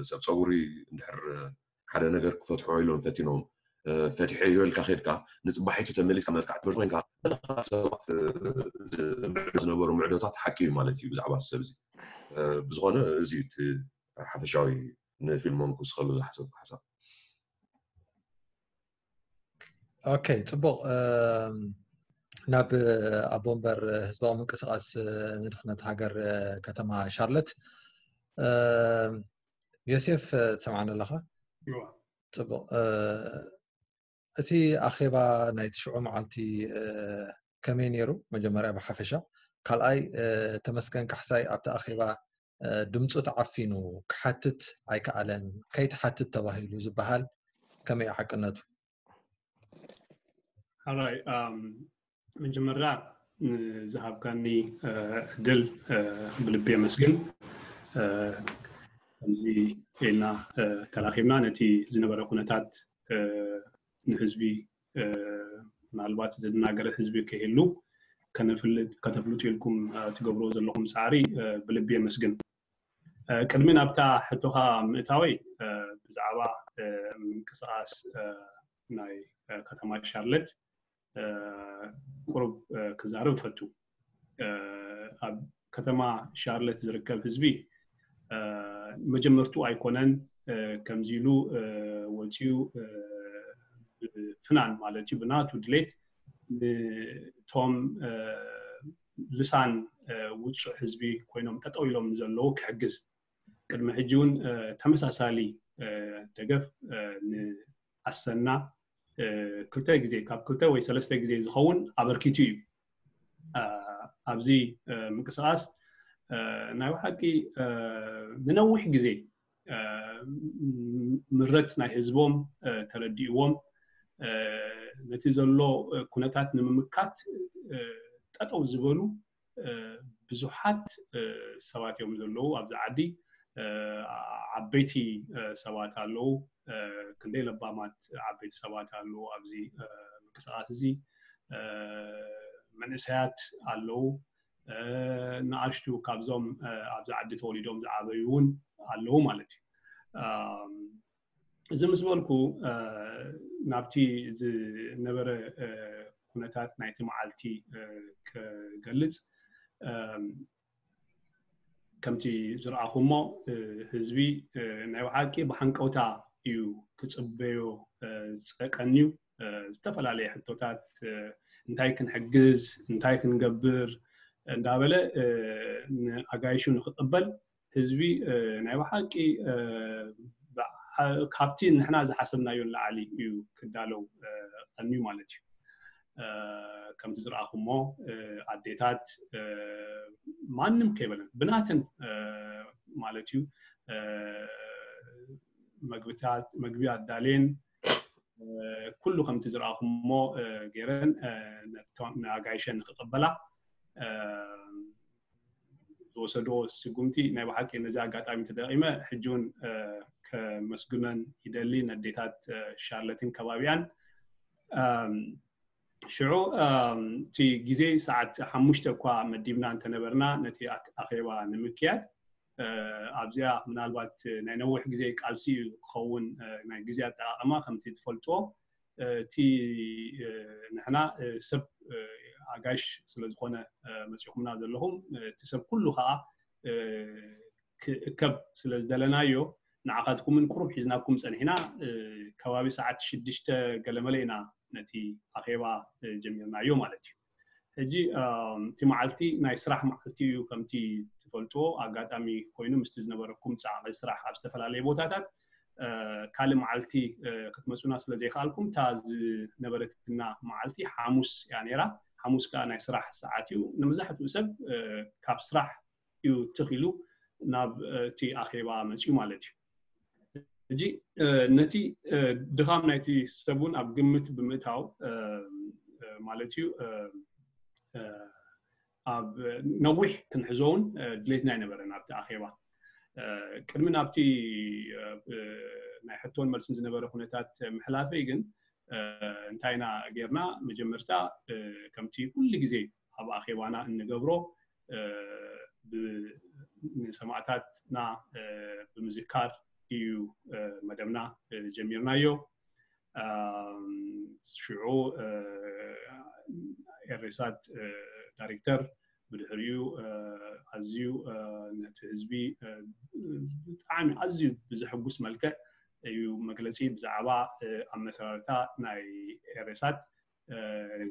ሰብ ፀጉሪ እንድሕር ሓደ ነገር ክፈትሖ ኢሎም ፈቲኖም ፈቲሐዮ ኢልካ ከድካ ንፅባሒቱ ተመሊስካ መጥካዕቲ ብርቱ ኮይንካ ሰባት ዝምዕዱ ዝነበሩ ምዕዶታት ሓቂ እዩ ማለት እዩ ብዛዕባ ሰብ እዚ። ብዝኾነ እዚ እቲ ሓፈሻዊ ንፊልሞን ክውስኸሉ ዝሓሰብኩ ሓሳብ። ኦኬ፣ ፅቡቕ። ናብ ኣቦ ወንበር ህዝባዊ ምንቅስቃስ ንድሕነት ሃገር ከተማ ሻርለት ዮሴፍ ትሰምዓኒ ኣለኻ? ፅቡቕ። እቲ ኣኼባ ናይ ትሽዑ መዓልቲ ከመይ ነይሩ? መጀመርያ ብሓፈሻ። ካልኣይ ተመስገን ካሕሳይ ኣብቲ ኣኼባ ድምፁ ተዓፊኑ ክሓትት ኣይከኣለን፣ ከይትሓትት ተባሂሉ ዝበሃል ከመይ ሓቅነቱ? ሓራይ መጀመርያ ንዝሃብካኒ ዕድል ብልቢ የመስግን። ከምዚ ኢልና ተራኺብና ነቲ ዝነበረ ኩነታት ንህዝቢ ምናልባት ዝደናገረ ህዝቢ ከይህሉ ከተፍልጡ ኢልኩም ትገብርዎ ዘለኹም ፃዕሪ ብልቢ የመስግን። ቅድሚ ናብታ ሕቶኻ ምእታወይ ብዛዕባ ምንቅስቃስ ናይ ከተማ ሻርለት ቁሩብ ክዛረብ እፈቱ። ኣብ ከተማ ሻርለት ዝርከብ ህዝቢ መጀመርቱ ኣይኮነን ከምዚ ኢሉ ወፂኡ ፍናን ማለት እዩ ብናቱ ድሌት ንቶም ልሳን ውፁዕ ህዝቢ ኮይኖም ጠጠው ኢሎም ንዘለዉ ክሕግዝ ቅድሚ ሕጂ እውን ተመሳሳሊ ደገፍ ንኣሰና ክልተ ግዜ ካብ ክልተ ወይ ሰለስተ ግዜ ዝኸውን ኣበርኪቱ እዩ። ኣብዚ ምንቅስቃስ ናይ ብሓቂ ንነዊሕ ግዜ ምረት ናይ ህዝቦም ተረዲእዎም ነቲ ዘሎ ኩነታት ንምምካት ጠጠው ዝበሉ ብዙሓት ሰባት እዮም ዘለዉ ኣብዚ ዓዲ። ዓበይቲ ሰባት ኣለዉ፣ ክንደይ ለባማት ዓበይቲ ሰባት ኣለዉ ኣብዚ ምንቅስቃስ እዚ። መንእሰያት ኣለዉ፣ ንኣሽቱ ካብዞም ኣብዚ ዓዲ ተወሊዶም ዝዓበዩ እውን ኣለዉ ማለት እዩ። እዚ ምስ በልኩ ናብቲ ዝነበረ ኩነታት ናይቲ መዓልቲ ክገልጽ፣ ከምቲ ዝረኣኹሞ ህዝቢ ናይ ብሓቂ ብሓንቀውታ እዩ ክጽበዮ ዝጸቀንዩ። ዝተፈላለየ ሕቶታት፣ እንታይ ክንሕግዝ፣ እንታይ ክንገብር እንዳበለ ንኣጋይሹ ንክቕበል ህዝቢ ናይ ብሓቂ ካብቲ ንሕና ዝሓሰብናዮ ንላዕሊ እዩ ክዳለው ቀንዩ ማለት እዩ። ከምቲ ዝረኣኹሞ ኣዴታት ማንም ከይበለን ብናተን ማለት እዩ መግብታት፣ መግቢ ኣዳልየን ኩሉ ከምቲ ዝረኣኹሞ ገይረን ንኣጋይሸን ንክቕበላ ዝወሰድዎ ስጉምቲ ናይ ብሓቂ ነዚ ኣጋጣሚ ተጠቂመ ሕጂ እውን ከመስግነን ይደሊ፣ ነዴታት ሻርለትን ከባቢያን። ሽዑ እቲ ግዜ ሰዓት ሓሙሽተ እኳ መዲብና እንተነበርና ነቲ ኣኼባ ንምክያድ ኣብዚኣ ምናልባት ናይ ነዊሕ ግዜ ቃልሲ ክኸውን ናይ ግዜ ኣጠቃቀማ ከምቲ ትፈልጥዎ እቲ ንሕና ሰብ ኣጋሽ ስለዝኾነ መፂኹምና ዘለኹም እቲ ሰብ ኩሉ ከዓ ክእከብ ስለ ዝደለናዮ ንዓኻትኩምን ቁሩብ ሒዝናኩም ፀኒሕና። ከባቢ ሰዓት ሽዱሽተ ገለመለ ኢና ነቲ ኣኼባ ጀሚርናዮ ማለት እዩ። ሕጂ እቲ መዓልቲ ናይ ስራሕ መዓልቲ እዩ። ከምቲ ትፈልጥዎ ኣጋጣሚ ኮይኑ ምስቲ ዝነበረኩም ፃዕቂ ስራሕ ኣብ ዝተፈላለየ ቦታታት ካልእ መዓልቲ ክትመፁና ስለ ዘይከኣልኩም እታ ዝነበረትና መዓልቲ ሓሙስ እያ ነይራ። ሓሙስ ከዓ ናይ ስራሕ ሰዓት እዩ። ንመብዛሕትኡ ሰብ ካብ ስራሕ እዩ ትኽ ኢሉ ናብ እቲ ኣኼባ መፅዩ ማለት እዩ። ሕጂ ነቲ ድኻም ናይቲ ሰብ እውን ኣብ ግምት ብምእታው ማለት እዩ ኣብ ነዊሕ ክንሕዞ እውን ድሌትና ኣይነበረን ኣብቲ ኣኼባ። ቅድሚ ናብቲ ናይ ሕቶን መልስን ዝነበረ ኩነታት ምሕላፈይ ግን እንታይ ኢና ጌርና? መጀመርታ ከምቲ ኩሉ ግዜ ኣብ ኣኼባና እንገብሮ ንሰማእታትና ብምዝካር እዩ መደብና ጀሚርናዮ። ሽዑ ኤሬሳት ዳይሬክተር ብድሕሪኡ ኣዝዩ ነቲ ህዝቢ ብጣዕሚ ኣዝዩ ብዘሐጉስ መልክዕ እዩ መግለፂ ብዛዕባ ኣመሰራርታ ናይ ኤሬሳት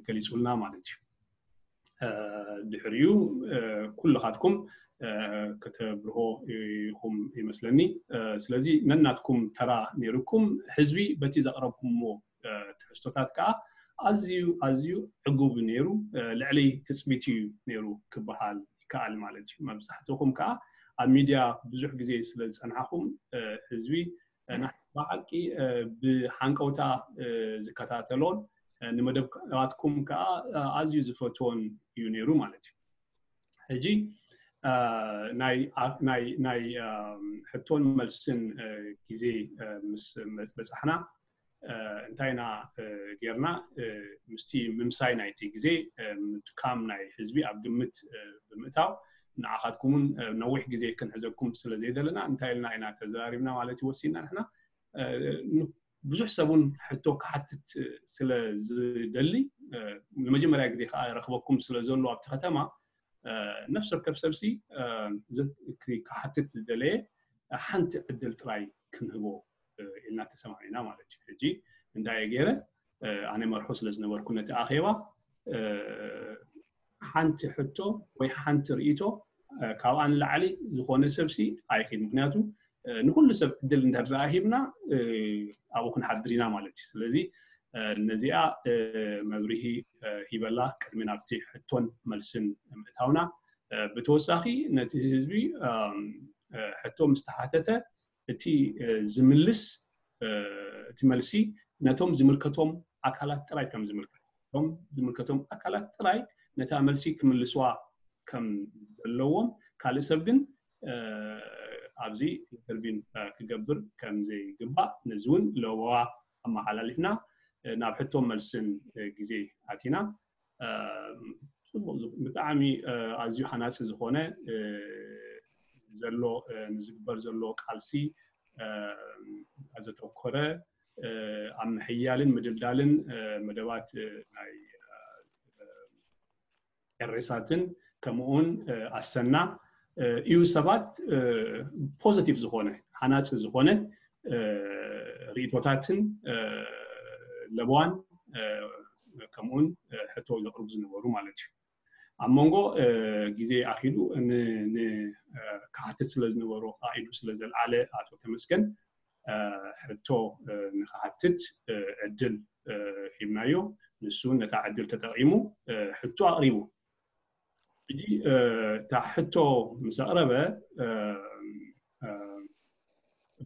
ገሊፁልና ማለት እዩ። ድሕሪኡ ኩልኻትኩም ከተብርሆ ኢኹም ይመስለኒ። ስለዚ ነናትኩም ተራ ነይሩኩም ህዝቢ በቲ ዘቕረብኩምዎ ትሕዝቶታት ከዓ ኣዝዩ ኣዝዩ ዕጉብ ነይሩ። ልዕሊ ትፅቢት እዩ ነይሩ ክበሃል ይከኣል ማለት እዩ። መብዛሕትኹም ከዓ ኣብ ሚድያ ብዙሕ ግዜ ስለ ዝፀናሕኹም ህዝቢ ብሓንቀውታ ዝከታተሎን ንመደባትኩም ከዓ ኣዝዩ ዝፈትዎን እዩ ነይሩ ማለት እዩ። ሕጂ ናይ ሕቶን መልስን ግዜ ምስ በፃሕና እንታይ ኢና ጌርና? ምስቲ ምምሳይ ናይቲ ግዜ ምድካም ናይ ህዝቢ ኣብ ግምት ብምእታው ንዓኻትኩምን ነዊሕ ግዜ ክንሕዘኩም ስለ ዘይደለና እንታይ ኢልና ኢና ተዘራሪብና ማለት እዩ ወሲና ንሕና ብዙሕ ሰብ እውን ሕቶ ክሓትት ስለ ዝደሊ ንመጀመርያ ግዜ ከዓ ረኽበኩም ስለ ዘሎ ኣብቲ ከተማ ነፍሲ ወከፍ ሰብሲ ክሓትት ዝደለየ ሓንቲ ዕድል ጥራይ ክንህቦ ኢልና ተሰማሚና ማለት እዩ። ሕጂ እንታይ ገይረ ኣነ መርሑ ስለ ዝነበርኩ ነቲ ኣኼባ ሓንቲ ሕቶ ወይ ሓንቲ ርእቶ ካብኣ ንላዕሊ ዝኾነ ሰብሲ ኣይክድ ምክንያቱ ንኩሉ ሰብ ዕድል እንተደኣ ሂብና ኣብኡ ክንሓድር ኢና ማለት እዩ። ስለዚ ነዚኣ መብርሂ ሂበላ ቅድሚ ናብቲ ሕቶን መልስን ምእታውና ብተወሳኺ ነቲ ህዝቢ ሕቶ ምስ ተሓተተ እቲ ዝምልስ እቲ መልሲ ነቶም ዝምልከቶም ኣካላት ጥራይ ከም ዝምልከት እቶም ዝምልከቶም ኣካላት ጥራይ ነታ መልሲ ክምልስዋ ከም ዘለዎም ካልእ ሰብ ግን ኣብዚ ኢንተርቪን ክገብር ከም ዘይግባእ፣ ነዚ እውን ለበዋ ኣመሓላሊፍና ናብ ሕቶ መልስን ግዜ ኣቲና። ብጣዕሚ ኣዝዩ ሃናፂ ዝኾነ ዘሎ ንዝግበር ዘሎ ቃልሲ ዘተኮረ ኣብ ምሕያልን ምድልዳልን መደባት ናይ ኤሬሳትን ከምኡውን ኣሰና እዩ። ሰባት ፖዘቲቭ ዝኾነ ሃናፂ ዝኾነ ርእቶታትን ለበዋን ከምኡውን ሕቶ ዘቕርቡ ዝነበሩ ማለት እዩ። ኣብ መንጎ ግዜ ኣኺሉ ንክሓትት ስለ ዝነበሮ ኣኢዱ ስለ ዘልዓለ ኣቶ ተመስገን ሕቶ ንክሓትት ዕድል ሂብናዮ። ንሱ ነታ ዕድል ተጠቒሙ ሕቶ ኣቕሪቡ። ሕጂ እታ ሕቶ ምስ ኣቕረበ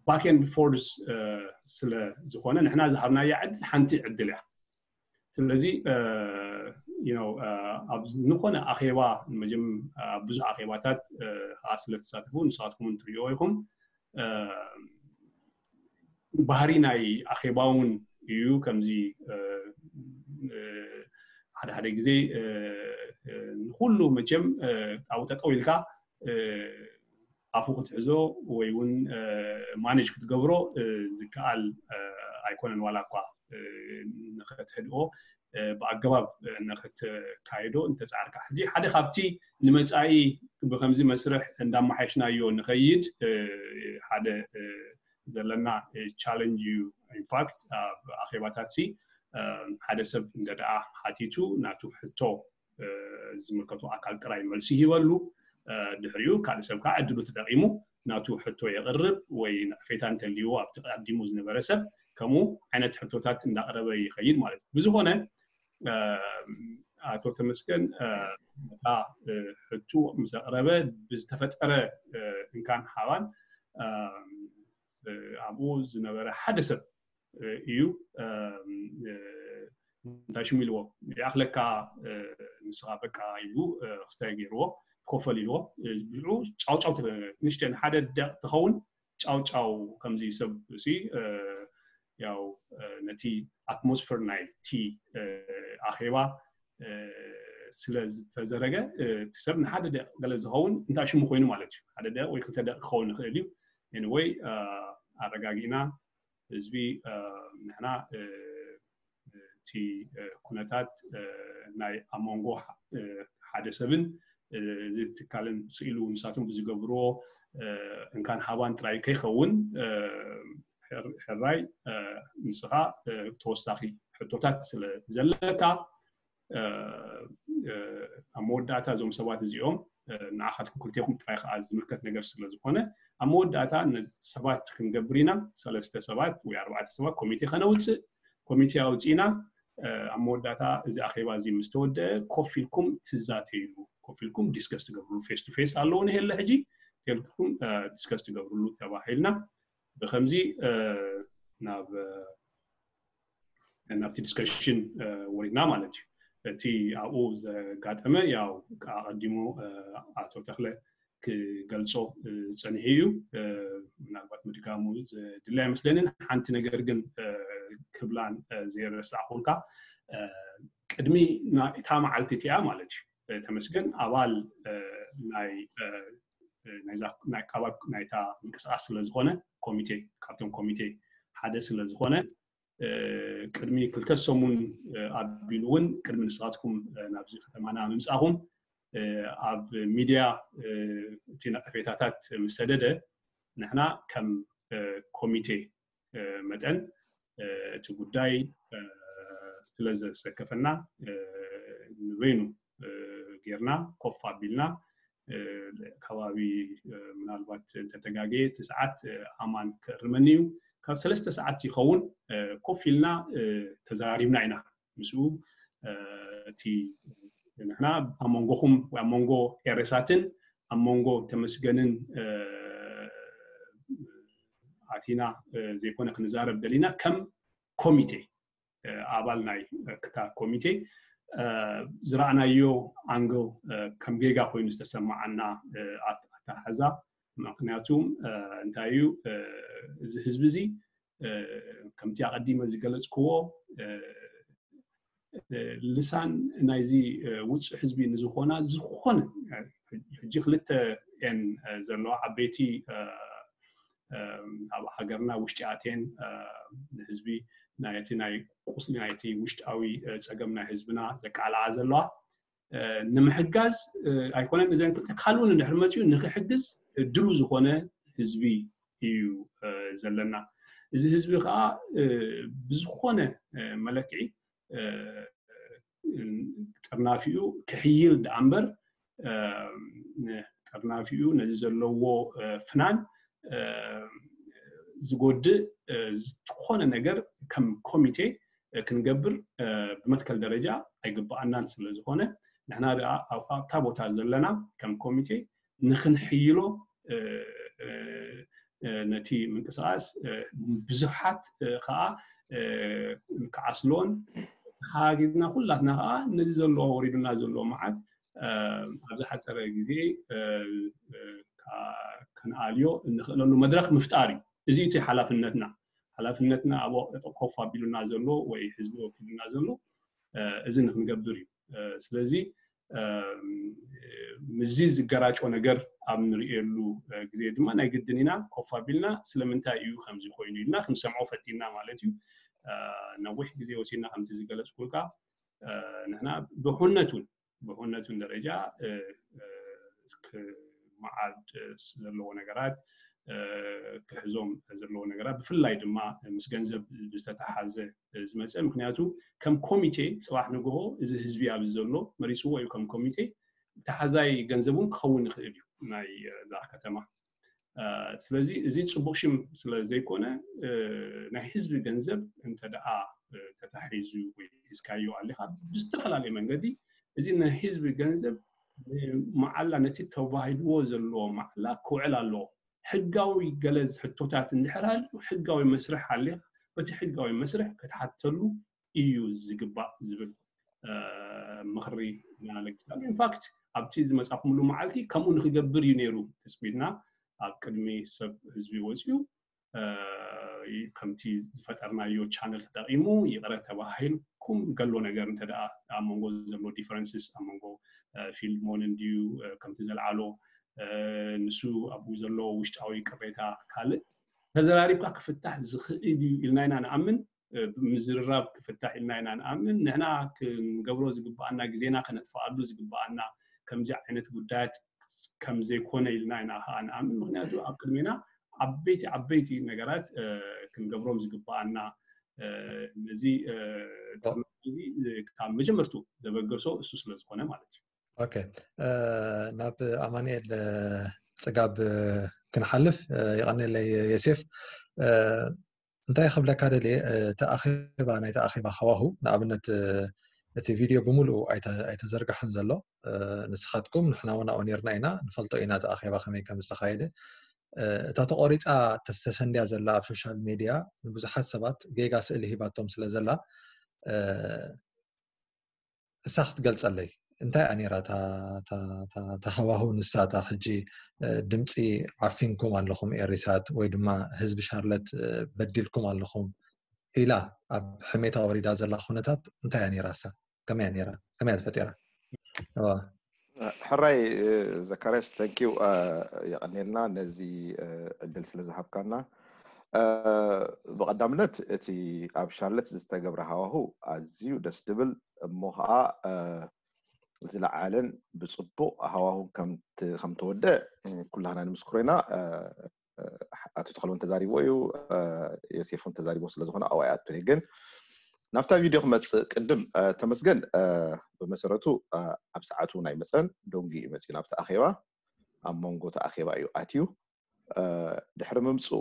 ባክ ኤንድ ፎርስ ስለ ዝኾነ ንሕና ዝሃብናያ ዕድል ሓንቲ ዕድል እያ። ስለዚ ኣብ ዝኾነ ኣኼባ ኣብ ብዙሕ ኣኼባታት ከዓ ስለ ትሳተፉ ንስኻትኩም እውን ትሪእዎ ኢኹም። ባህሪ ናይ ኣኼባ እውን እዩ። ከምዚ ሓደ ሓደ ግዜ ንኩሉ መቸም ኣብኡ ጠጠው ኢልካ ኣፉ ክትሕዞ ወይ እውን ማኔጅ ክትገብሮ ዝከኣል ኣይኮነን። ዋላ እኳ ንኸትህድኦ ብኣገባብ ንኸተካይዶ እንተፃዕርካ፣ ሕጂ ሓደ ካብቲ ንመፃኢ ብከምዚ መስርሕ እንዳመሓየሽናዮ ንኸይድ ሓደ ዘለና ቻለንጅ እዩ። ኢንፋክት ኣብ ኣኼባታት ሲ ሓደ ሰብ እንተ ደኣ ሓቲቱ ናቱ ሕቶ ዝምልከቶ ኣካል ጥራይ መልሲ ይህበሉ። ድሕሪኡ ካልእ ሰብ ከዓ ዕድሉ ተጠቒሙ ናቱ ሕቶ የቕርብ ወይ ነቐፌታ እንተልይዎ ኣብቲ ቀዲሙ ዝነበረ ሰብ ከምኡ ዓይነት ሕቶታት እንዳቕረበ ይኸይድ ማለት እዩ። ብዝኾነ ኣቶ ተመስገን ነታ ሕቱ ምስ ኣቕረበ ብዝተፈጠረ እንካን ሓባን ኣብኡ ዝነበረ ሓደ ሰብ እዩ እንታይ ሽሙ ኢልዎ ይኣኽለካ ንስኻ በቃ ኢሉ ክስታይ ገይርዎ ኮፈል ኢልዎ ብኡ ጫውጫው ንሽተን ሓደ ደቕ ትኸውን ጫውጫው ከምዚ ሰብ ሲ ያው ነቲ ኣትሞስፈር ናይ ቲ ኣኼባ ስለ ዝተዘረገ እቲ ሰብ ንሓደ ደቕ ገለ ዝኸውን እንታይ ሽሙ ኮይኑ ማለት እዩ ሓደ ደቕ ወይ ክልተ ደቕ ክኸውን ይኽእል እዩ። ኤኒወይ ኣረጋጊእና ህዝቢ ንሕና እቲ ኩነታት ናይ ኣብ መንጎ ሓደ ሰብን እዚ ትካልን ስኢሉ ንሳቶም ብዝገብርዎ እንካን ሃባን ጥራይ ከይኸውን ሕራይ ንስኻ ተወሳኺ ሕቶታት ስለ ዘለካ ኣብ መወዳእታ እዞም ሰባት እዚኦም ንዓኻትኩም ክልቴኹም ጥራይ ከዓ ዝምልከት ነገር ስለ ዝኾነ ኣብ መወዳእታ ሰባት ክንገብር ኢና ሰለስተ ሰባት ወይ ኣርባዕተ ሰባት ኮሚቴ ከነውፅእ ኮሚቴ ኣውፂእና ኣብ መወዳእታ እዚ ኣኼባ እዚ ምስ ተወደአ ኮፍ ኢልኩም ትዛተይሉ ኮፍ ኢልኩም ዲስከስ ትገብርሉ ፌስ ቱ ፌስ ኣለዎ ንሄለ ሕጂ ጌልኩም ዲስከስ ትገብርሉ ተባሂልና ብከምዚ ናብ ናብቲ ዲስከሽን ወሪድና ማለት እዩ። እቲ ኣብኡ ዘጋጠመ ያው ኣቐዲሙ ኣቶ ተኽለ ክገልጾ ጸኒሑ እዩ። ምናልባት ምድጋሙ ዘድሊ ኣይመስለንን። ሓንቲ ነገር ግን ክብላን ዘይረሳዕኩልካ ቅድሚ እታ መዓልቲ እቲኣ ማለት እዩ ተመስገን ኣባል ናይ ናይ ካባብ ናይታ ምንቅስቃስ ስለ ዝኾነ ኮሚቴ ካብቶም ኮሚቴ ሓደ ስለ ዝኾነ ቅድሚ ክልተ ሰሙን ኣቢሉ እውን ቅድሚ ንስኻትኩም ናብዚ ከተማና ምምፃኹም ኣብ ሚድያ እቲ ነቀፌታታት ምስ ሰደደ ንሕና ከም ኮሚቴ መጠን እቲ ጉዳይ ስለ ዘሰከፈና ንበይኑ ጌርና ኮፍ ኣቢልና ከባቢ ምናልባት እንተተጋገየ እቲ ሰዓት ኣማን ክእርመኒ እዩ ካብ ሰለስተ ሰዓት ይኸውን ኮፍ ኢልና ተዘራሪብና ኢና ምስኡ እቲ ንሕና ኣብ መንጎኹም ኣብ መንጎ ኤሬሳትን ኣብ መንጎ ተመስገንን ኣቲና ዘይኮነ ክንዛረብ ደሊና ከም ኮሚቴ ኣባል ናይ ክታ ኮሚቴ ዝረኣናዮ ኣንግል ከም ጌጋ ኮይኑ ዝተሰማዓና ኣተሓሕዛ ምክንያቱ እንታይ እዩ፣ እዚ ህዝቢ እዚ ከምቲ ኣቐዲመ ዝገለፅክዎ ልሳን ናይዚ ውፁዕ ህዝቢ ንዝኾና ዝኾነ ሕጂ ክልተ እየን ዘለዋ ዓበይቲ ኣብ ሃገርና ውሽጢ ኣትየን ንህዝቢ ናይቲ ናይ ቁስሊ ናይቲ ውሽጣዊ ፀገም ናይ ህዝብና ዘቃልዓ ዘለዋ ንምሕጋዝ ኣይኮነን እዘን ክልተ ካልኡ ንድሕር መፅኡ ንክሕግዝ ድሉ ዝኾነ ህዝቢ እዩ ዘለና። እዚ ህዝቢ ከዓ ብዝኾነ መለክዒ ጥርናፊኡ ክሕይል ደኣ እምበር ጥርናፊኡ ነዚ ዘለዎ ፍናን ዝጎድእ ዝኾነ ነገር ከም ኮሚቴ ክንገብር ብመትከል ደረጃ ኣይግብኣናን ስለ ዝኾነ ንሕና ደኣ ኣብታ ቦታ ዘለና ከም ኮሚቴ ንክንሕይሎ ነቲ ምንቅስቃስ ብዙሓት ከዓ ክዓስሎን ተሓጋጊዝና ኩላትና ከዓ ነዚ ዘሎ ወሪዱና ዘሎ መዓት ኣብ ዝሓፀረ ግዜ ክንኣልዮ እንኽእለሉ መድረክ ምፍጣር እዩ። እዚ እቲ ሓላፍነትና ሓላፍነትና ኣብ ኮፍ ኣቢሉና ዘሎ ወይ ህዝቢ ወኪሉና ዘሎ እዚ ንክንገብር እዩ። ስለዚ ምስዚ ዝገራጮ ነገር ኣብ ንርእየሉ ግዜ ድማ ናይ ግድን ኢና ኮፍ ኣቢልና ስለምንታይ እዩ ከምዚ ኮይኑ ኢልና ክንሰምዖ ፈቲና ማለት እዩ። ነዊሕ ግዜ ወሲድና ከምቲ ዝገለፅኩልካ ንሕና ብኹነቱን ብኹነቱን ደረጃ ክመዓድ ዘለዎ ነገራት ክሕዞም ዘለዎ ነገራት ብፍላይ ድማ ምስ ገንዘብ ዝተተሓዘ ዝመፀ ምክንያቱ ከም ኮሚቴ ፅባሕ ንግሆ እዚ ህዝቢ ኣብዚ ዘሎ መሪፅዎ እዩ ከም ኮሚቴ ተሓዛይ ገንዘብ እውን ክኸውን ይኽእል እዩ ናይ እዛ ከተማ ስለዚ እዚ ፅቡቅ ሽም ስለ ዘይኮነ ናይ ህዝቢ ገንዘብ እንተ ደኣ ተታሒዙ ወይ ሒዝካዮ ኣሊካ ብዝተፈላለየ መንገዲ እዚ ናይ ህዝቢ ገንዘብ መዓላ ነቲ ተባሂልዎ ዘለዎ መዓላ ክውዕል ኣለዎ። ሕጋዊ ገለ ሕቶታት እንድሕር ሃልዩ ሕጋዊ መስርሕ ኣሊካ በቲ ሕጋዊ መስርሕ ክትሓተሉ እዩ ዝግባእ ዝብል ምኽሪ ኢና ለጊስና። ኢንፋክት ኣብቲ ዝመፃኹምሉ መዓልቲ ከምኡ ንክገብር እዩ ነይሩ ትፅቢትና። ኣብ ቅድሚ ሰብ ህዝቢ ወፂኡ ከምቲ ዝፈጠርናዮ ቻነል ተጠቂሙ ይቕረ ተባሂልኩም ገሎ ነገር እንተ ደኣ ኣብ መንጎ ዘሎ ዲፈረንስስ ኣብ መንጎ ፊልሞን እንድዩ ከምቲ ዘልዓሎ ንሱ ኣብኡ ዘሎ ውሽጣዊ ቅሬታ ካልእ ተዘራሪብካ ክፍታሕ ዝኽእል እዩ ኢልና ኢና ንኣምን። ብምዝርራብ ክፍታሕ ኢልና ኢና ንኣምን። ንሕና ክንገብሮ ዝግብኣና ግዜና ከነጥፍኣሉ ዝግብኣና ከምዚ ዓይነት ጉዳያት ከም ዘይኮነ ኢልና ኢና ከዓ ንኣምን። ምክንያቱ ኣብ ቅድሜና ዓበይቲ ዓበይቲ ነገራት ክንገብሮም ዝግብኣና ነዚ ካብ መጀመርቱ ዘበገሶ እሱ ስለ ዝኾነ ማለት እዩ። ኦኬ ናብ ኣማኑኤል ፅጋብ ክንሓልፍ ይቐንየለይ የሴፍ እንታይ ክብለካ ደልየ እቲ ኣኼባ ናይቲ ኣኼባ ሃዋሁ ንኣብነት እቲ ቪድዮ ብምሉኡ ኣይተዘርግሐን ዘሎ ንስኻትኩም ንሕና እውን ኣብኡ ነርና ኢና ንፈልጦ ኢና እቲ ኣኼባ ከመይ ከም ዝተኻየደ እታ ተቆሪፃ ተሰንድያ ዘላ ኣብ ሶሻል ሜድያ ንብዙሓት ሰባት ጌጋ ስእሊ ሂባቶም ስለ ዘላ እሳ ክትገልፀለይ እንታይ እያ ነይራ ተሃዋሁ ንሳታ ሕጂ ድምፂ ዓፊንኩም ኣለኹም ኤሪሳት ወይ ድማ ህዝቢ ሻርለት በዲልኩም ኣለኹም ኢላ ኣብ ሕሜታ ወሪዳ ዘላ ኩነታት እንታይ እያ ነይራ እሳ ከመይ እያ ነይራ ከመይ እያ ተፈጢራ ሕራይ ዘካርያስ ተንኪው የቐኔልና ነዚ ዕድል ስለ ዝሃብካና ብቐዳምነት እቲ ኣብ ሻርለት ዝተገብረ ሃዋሁ ኣዝዩ ደስ ድብል እሞ ከዓ ዝለዓለን ብፅቡቅ ሃዋሁን ከምተወደ ኩላህና ንምስክሮ ኢና ኣቶ ተክለውን ተዛሪቦ እዩ ዮሴፍ እውን ተዛሪቦ ስለዝኮነ ኣብኡ ኣይኣቱን ግን ናብታ ቪድዮ ክመፅእ ቅድም ተመስገን ብመሰረቱ ኣብ ሰዓቱ ናይ መፀን ዶንጊ እዩ መፅኡ ናብቲ ኣኼባ ኣብ መንጎ እቲ ኣኼባ እዩ ኣትዩ ድሕሪ ምምፅኡ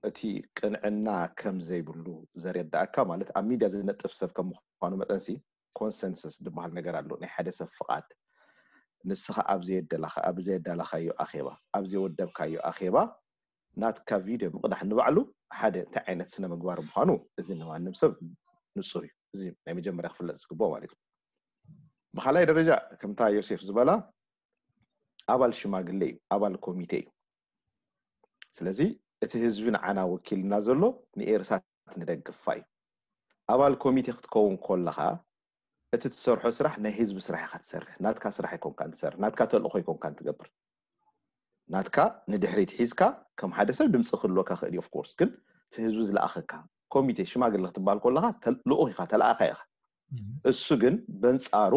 እቲ ቅንዕና ከም ዘይብሉ ዘረዳእካ ማለት ኣብ ሚድያ ዝነጥፍ ሰብ ከም ምኳኑ መጠንሲ ኮንሰንሰስ ዝበሃል ነገር ኣሎ ናይ ሓደ ሰብ ፍቓድ ንስኻ ኣብ ዘየዳላኻዮ ኣኼባ ኣብ ዘየወደብካዮ ኣኼባ ናትካ ቪድዮ ምቕዳሕ ንባዕሉ ሓደ እንታይ ዓይነት ስነ ምግባር ምዃኑ እዚ ንማንም ሰብ ንፁር እዩ እዚ ናይ መጀመርያ ክፍለጥ ዝግብኦ ማለት እዩ ብካልኣይ ደረጃ ከምታ ዮሴፍ ዝበላ ኣባል ሽማግሌ እዩ ኣባል ኮሚቴ እዩ ስለዚ እቲ ህዝቢ ንዓና ወኪልና ዘሎ ንኤርሳት ንደግፋ እዩ። ኣባል ኮሚቴ ክትከውን ከለኻ እቲ ትሰርሖ ስራሕ ናይ ህዝቢ ስራሕ ኢኻ ትሰርሕ። ናትካ ስራሕ ኣይኮንካን ትሰርሕ፣ ናትካ ተልእኾ ኣይኮንካን ትገብር። ናትካ ንድሕሪት ሒዝካ ከም ሓደ ሰብ ድምፂ ክህልወካ ክእል እዩ። ኦፍኮርስ ግን እቲ ህዝቢ ዝለኣኸካ ኮሚቴ ሽማግለ ክትበሃል ከለኻ ተል- ልኡኽ ኢኻ፣ ተለኣኻ ኢኻ። እሱ ግን በንፃሩ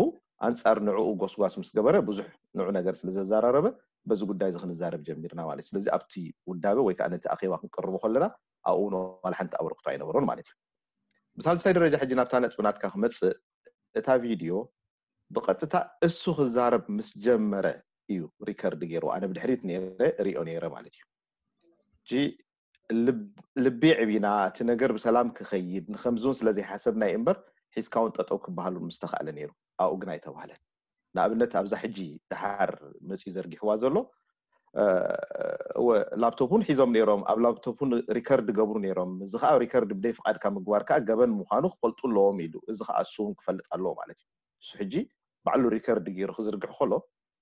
ኣንፃር ንዕኡ ጎስጓስ ምስ ገበረ ብዙሕ ንዑ ነገር ስለ ዘዘራረበ በዚ ጉዳይ እዚ ክንዛረብ ጀሚርና ማለት እዩ። ስለዚ ኣብቲ ውዳበ ወይ ከዓ ነቲ ኣኼባ ክንቅርቦ ከለና ኣብኡ እውን ዋላ ሓንቲ ኣበርክቶ ኣይነበሮን ማለት እዩ። ብሳልሳይ ደረጃ ሕጂ ናብታ ነጥቢ ናትካ ክመፅእ፣ እታ ቪድዮ ብቐጥታ እሱ ክዛረብ ምስ ጀመረ እዩ ሪከርድ ገይሩ። ኣነ ብድሕሪት ነይረ እሪኦ ነይረ ማለት እዩ። ሕጂ ልብ- ልቢ ዕቢና እቲ ነገር ብሰላም ክኸይድ ንከምዚ እውን ስለ ዘይሓሰብና እዩ እምበር ሒዝካ እውን ጠጠው ክበሃል እውን ምስተኻእለ ነይሩ። ኣብኡ ግን ኣይተባህለን። ንኣብነት ኣብዛ ሕጂ ደሓር መፅዩ ዘርጊሕዋ ዘሎ እ፣ እወ ላፕቶፕ እውን ሒዞም ነይሮም፣ ኣብ ላፕቶፕ እውን ሪከርድ ገብሩ ነይሮም። እዚ ከዓ ሪከርድ ብደይ ፍቃድካ ምግባር ከዓ ገበን ምዃኑ ክፈልጡ ኣለዎም ኢሉ። እዚ ከዓ እሱ እውን ክፈልጥ ኣለዎ ማለት እዩ። እሱ ሕጂ ባዕሉ ሪከርድ ገይሩ ክዝርግሕ ከሎ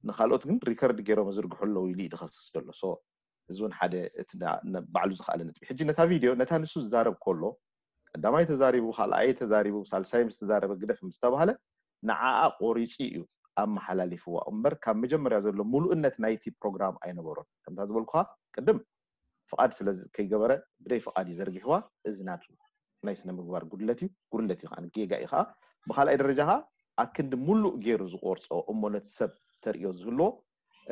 ንካልኦት ግን ሪከርድ ገይሮም ዝርግሑ ኣለዉ ኢሉ እዩ ዝኸስስ ዘሎ። ሶ እዚ እውን ሓደ እቲ ዳ- ነ- ባዕሉ ዝኸኣለ ነጥቢ። ሕጂ ነታ ቪድዮ ነታ ንሱ ዝዛረብ ከሎ ቀዳማይ ተዛሪቡ፣ ካልኣይ ተዛሪቡ፣ ሳልሳይ ምስ ተዛረበ ግደፍ ምስ ተባሃለ ንዓኣ ቆሪፁ እዩ ኣመሓላሊፍዋ እምበር ካብ መጀመርያ ዘሎ ሙሉእነት ናይቲ ፕሮግራም ኣይነበሮን። ከምታ ዝበልኩኻ ቅድም ፍቓድ ስለ ዝ- ከይገበረ ብደይ ፍቓድ እዩ ዘርጊሕዋ። እዚ ናቱ ናይ ስነ ምግባር ጉድለት እዩ፣ ጉድለት እዩ ከዓ ጌጋ እዩ ከዓ። ብካልኣይ ደረጃ ከዓ ኣክንዲ ሙሉእ ገይሩ ዝቆርፆ እሞ ነቲ ሰብ ተርእዮ ዝህልዎ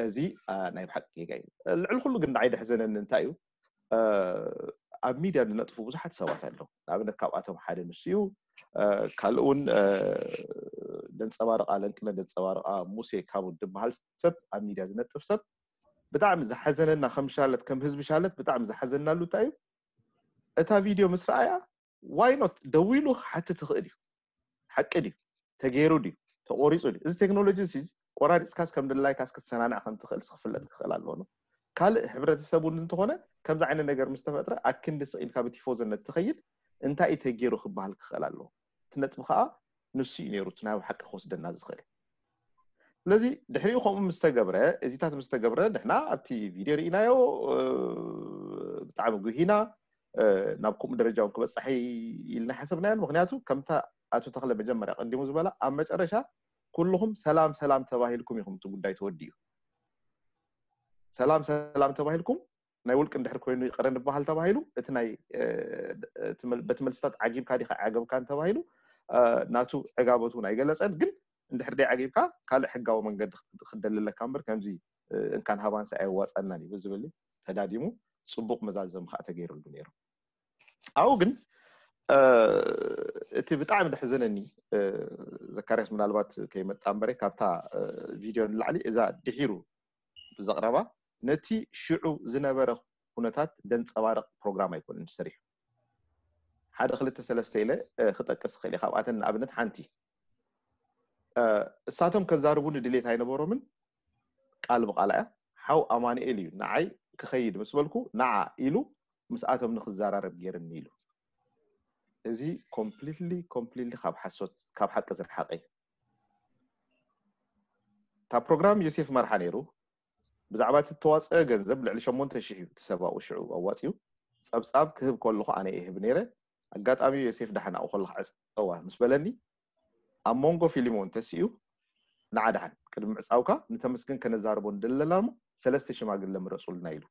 እዚ አ፣ ናይ ብሓቂ ጌጋ እዩ። ልዕሊ ኩሉ ግን ንዓይ ደሕዘነኒ እንታይ እዩ እ፣ ኣብ ሚድያ ዝነጥፉ ብዙሓት ሰባት ኣለዉ። ንኣብነት ካብኣቶም ሓደ ንሱ እዩ። እ፣ ካልእ እውን እ፣ ደንፀባርቃ ለንቅነ ደንፀባርቃ ሙሴ ካብ ድበሃል ሰብ ኣብ ሚድያ ዝነጥፍ ሰብ ብጣዕሚ ዝሓዘነና ከም ሻለት ከም ህዝቢ ሻለት ብጣዕሚ ዝሓዘናሉ እንታይ እዩ እታ ቪድዮ ምስ ረኣያ ዋይ ኖት ደዊሉ ክሓትት ይኽእል እዩ። ሓቂ ድዩ? ተገይሩ ድዩ? ተቆሪፁ ድዩ? እዚ ቴክኖሎጂ እዚ ቆራሪፅካስ ከም ድላይካስ ክትሰናንዕ ከም ትኽእል ክፍለጥ ክኽእል ኣለዎ። ካልእ ሕብረተሰብ እውን እንተኾነ ከምዚ ዓይነት ነገር ምስ ተፈጥረ ኣክንዲ ስቕ ኢልካ ብቲፎዞነት ትኸይድ እንታይ እዩ ተገይሩ ክበሃል ክኽእል ኣለዎ። እቲ ነጥቢ ከዓ ንሱ እዩ ነይሩ እቲ ናይ ሓቂ ክወስደና ዝኽእል። ስለዚ ድሕሪኡ ከምኡ ምስ ተገብረ እዚታት ምስ ተገብረ ንሕና ኣብቲ ቪድዮ ርኢናዮ እ፣ ብጣዕሚ ጉሂና እ፣ ናብ ከምኡ ደረጃ እውን ክበፅሕ ኢልና ሓሰብናዮን ምክንያቱ ከምታ ኣቶ ተኽለ መጀመርያ ቀዲሙ ዝበላ ኣብ መጨረሻ ኩልኹም ሰላም ሰላም ተባሂልኩም ኢኹም እቲ ጉዳይ ተወዲኡ። ሰላም ሰላም ተባሂልኩም ናይ ውልቂ እንድሕር ኮይኑ ይቕረ ንበሃል ተባሂሉ እቲ ናይ እ፣ እቲ መል- በቲ መልስታት ዓጊብካ ዲኻ ዓገብካን ተባሂሉ እ፣ ናቱ ዕጋበቱ እውን ኣይገለፀን። ግን እንድሕር ደይ ዓጊብካ ካልእ ሕጋዊ መንገዲ ክት- ክደልለካ እምበር ከምዚ እ፣ እንካን ሃባንሳ ኣየዋፀናን እዩ ብዝብል ተዳዲሙ ፅቡቕ መዛዘም ከዓ ተገይሩሉ ነይሩ። ኣብኡ ግን እ፣ እቲ ብጣዕሚ ደሕዘነኒ እ፣ ዘካርያስ ምናልባት ከይመጣ እምበረ ካብታ እ፣ ቪድዮ ንላዕሊ እዛ ድሒሩ ብዘቕረባ ነቲ ሽዑ ዝነበረ ኩነታት ደንፀባርቕ ፕሮግራም ኣይኮነን ተሰሪሑ። ሓደ ክልተ ሰለስተ ኢለ እ፣ ክጠቅስ ይኽእል እየ። ካብኣተን ንኣብነት ሓንቲ እ፣ እሳቶም ከዛርቡኒ ድሌት ኣይነበሮምን። ቃል ብቃል እያ ሓው ኣማኑኤል እዩ ንዓይ ክኸይድ ምስ በልኩ ንዓ ኢሉ ምስኣቶም ንክዘራረብ ገይርኒ ኢሉ። እዚ ኮምፕሊትሊ ኮምፕሊትሊ ካብ ሓሶት ካብ ሓቂ ዝረሓቀ እዩ። እታ ፕሮግራም ዮሴፍ መርሓ ነይሩ። ብዛዕባ እቲ እተዋፀአ ገንዘብ ልዕሊ ሸሞንተ ሽሕ እዩ እቲ ሰብኣዊ ሽዑ ኣዋፂኡ። ፀብፃብ ክህብ ከለኹ ኣነ ይህብ ነይረ። ኣጋጣሚ ዮሴፍ ዳሕና ከለኹ ዕፀዋ ምስ በለኒ ኣብ መንጎ ፊሊሞን ተሲኡ ንዓ ደሓን ቅድሚ ምዕፃውካ ንተመስገን ከነዛርቦ ንደሊ ኣለና እሞ ሰለስተ ሽማግለ ምረፁልና ኢሉ።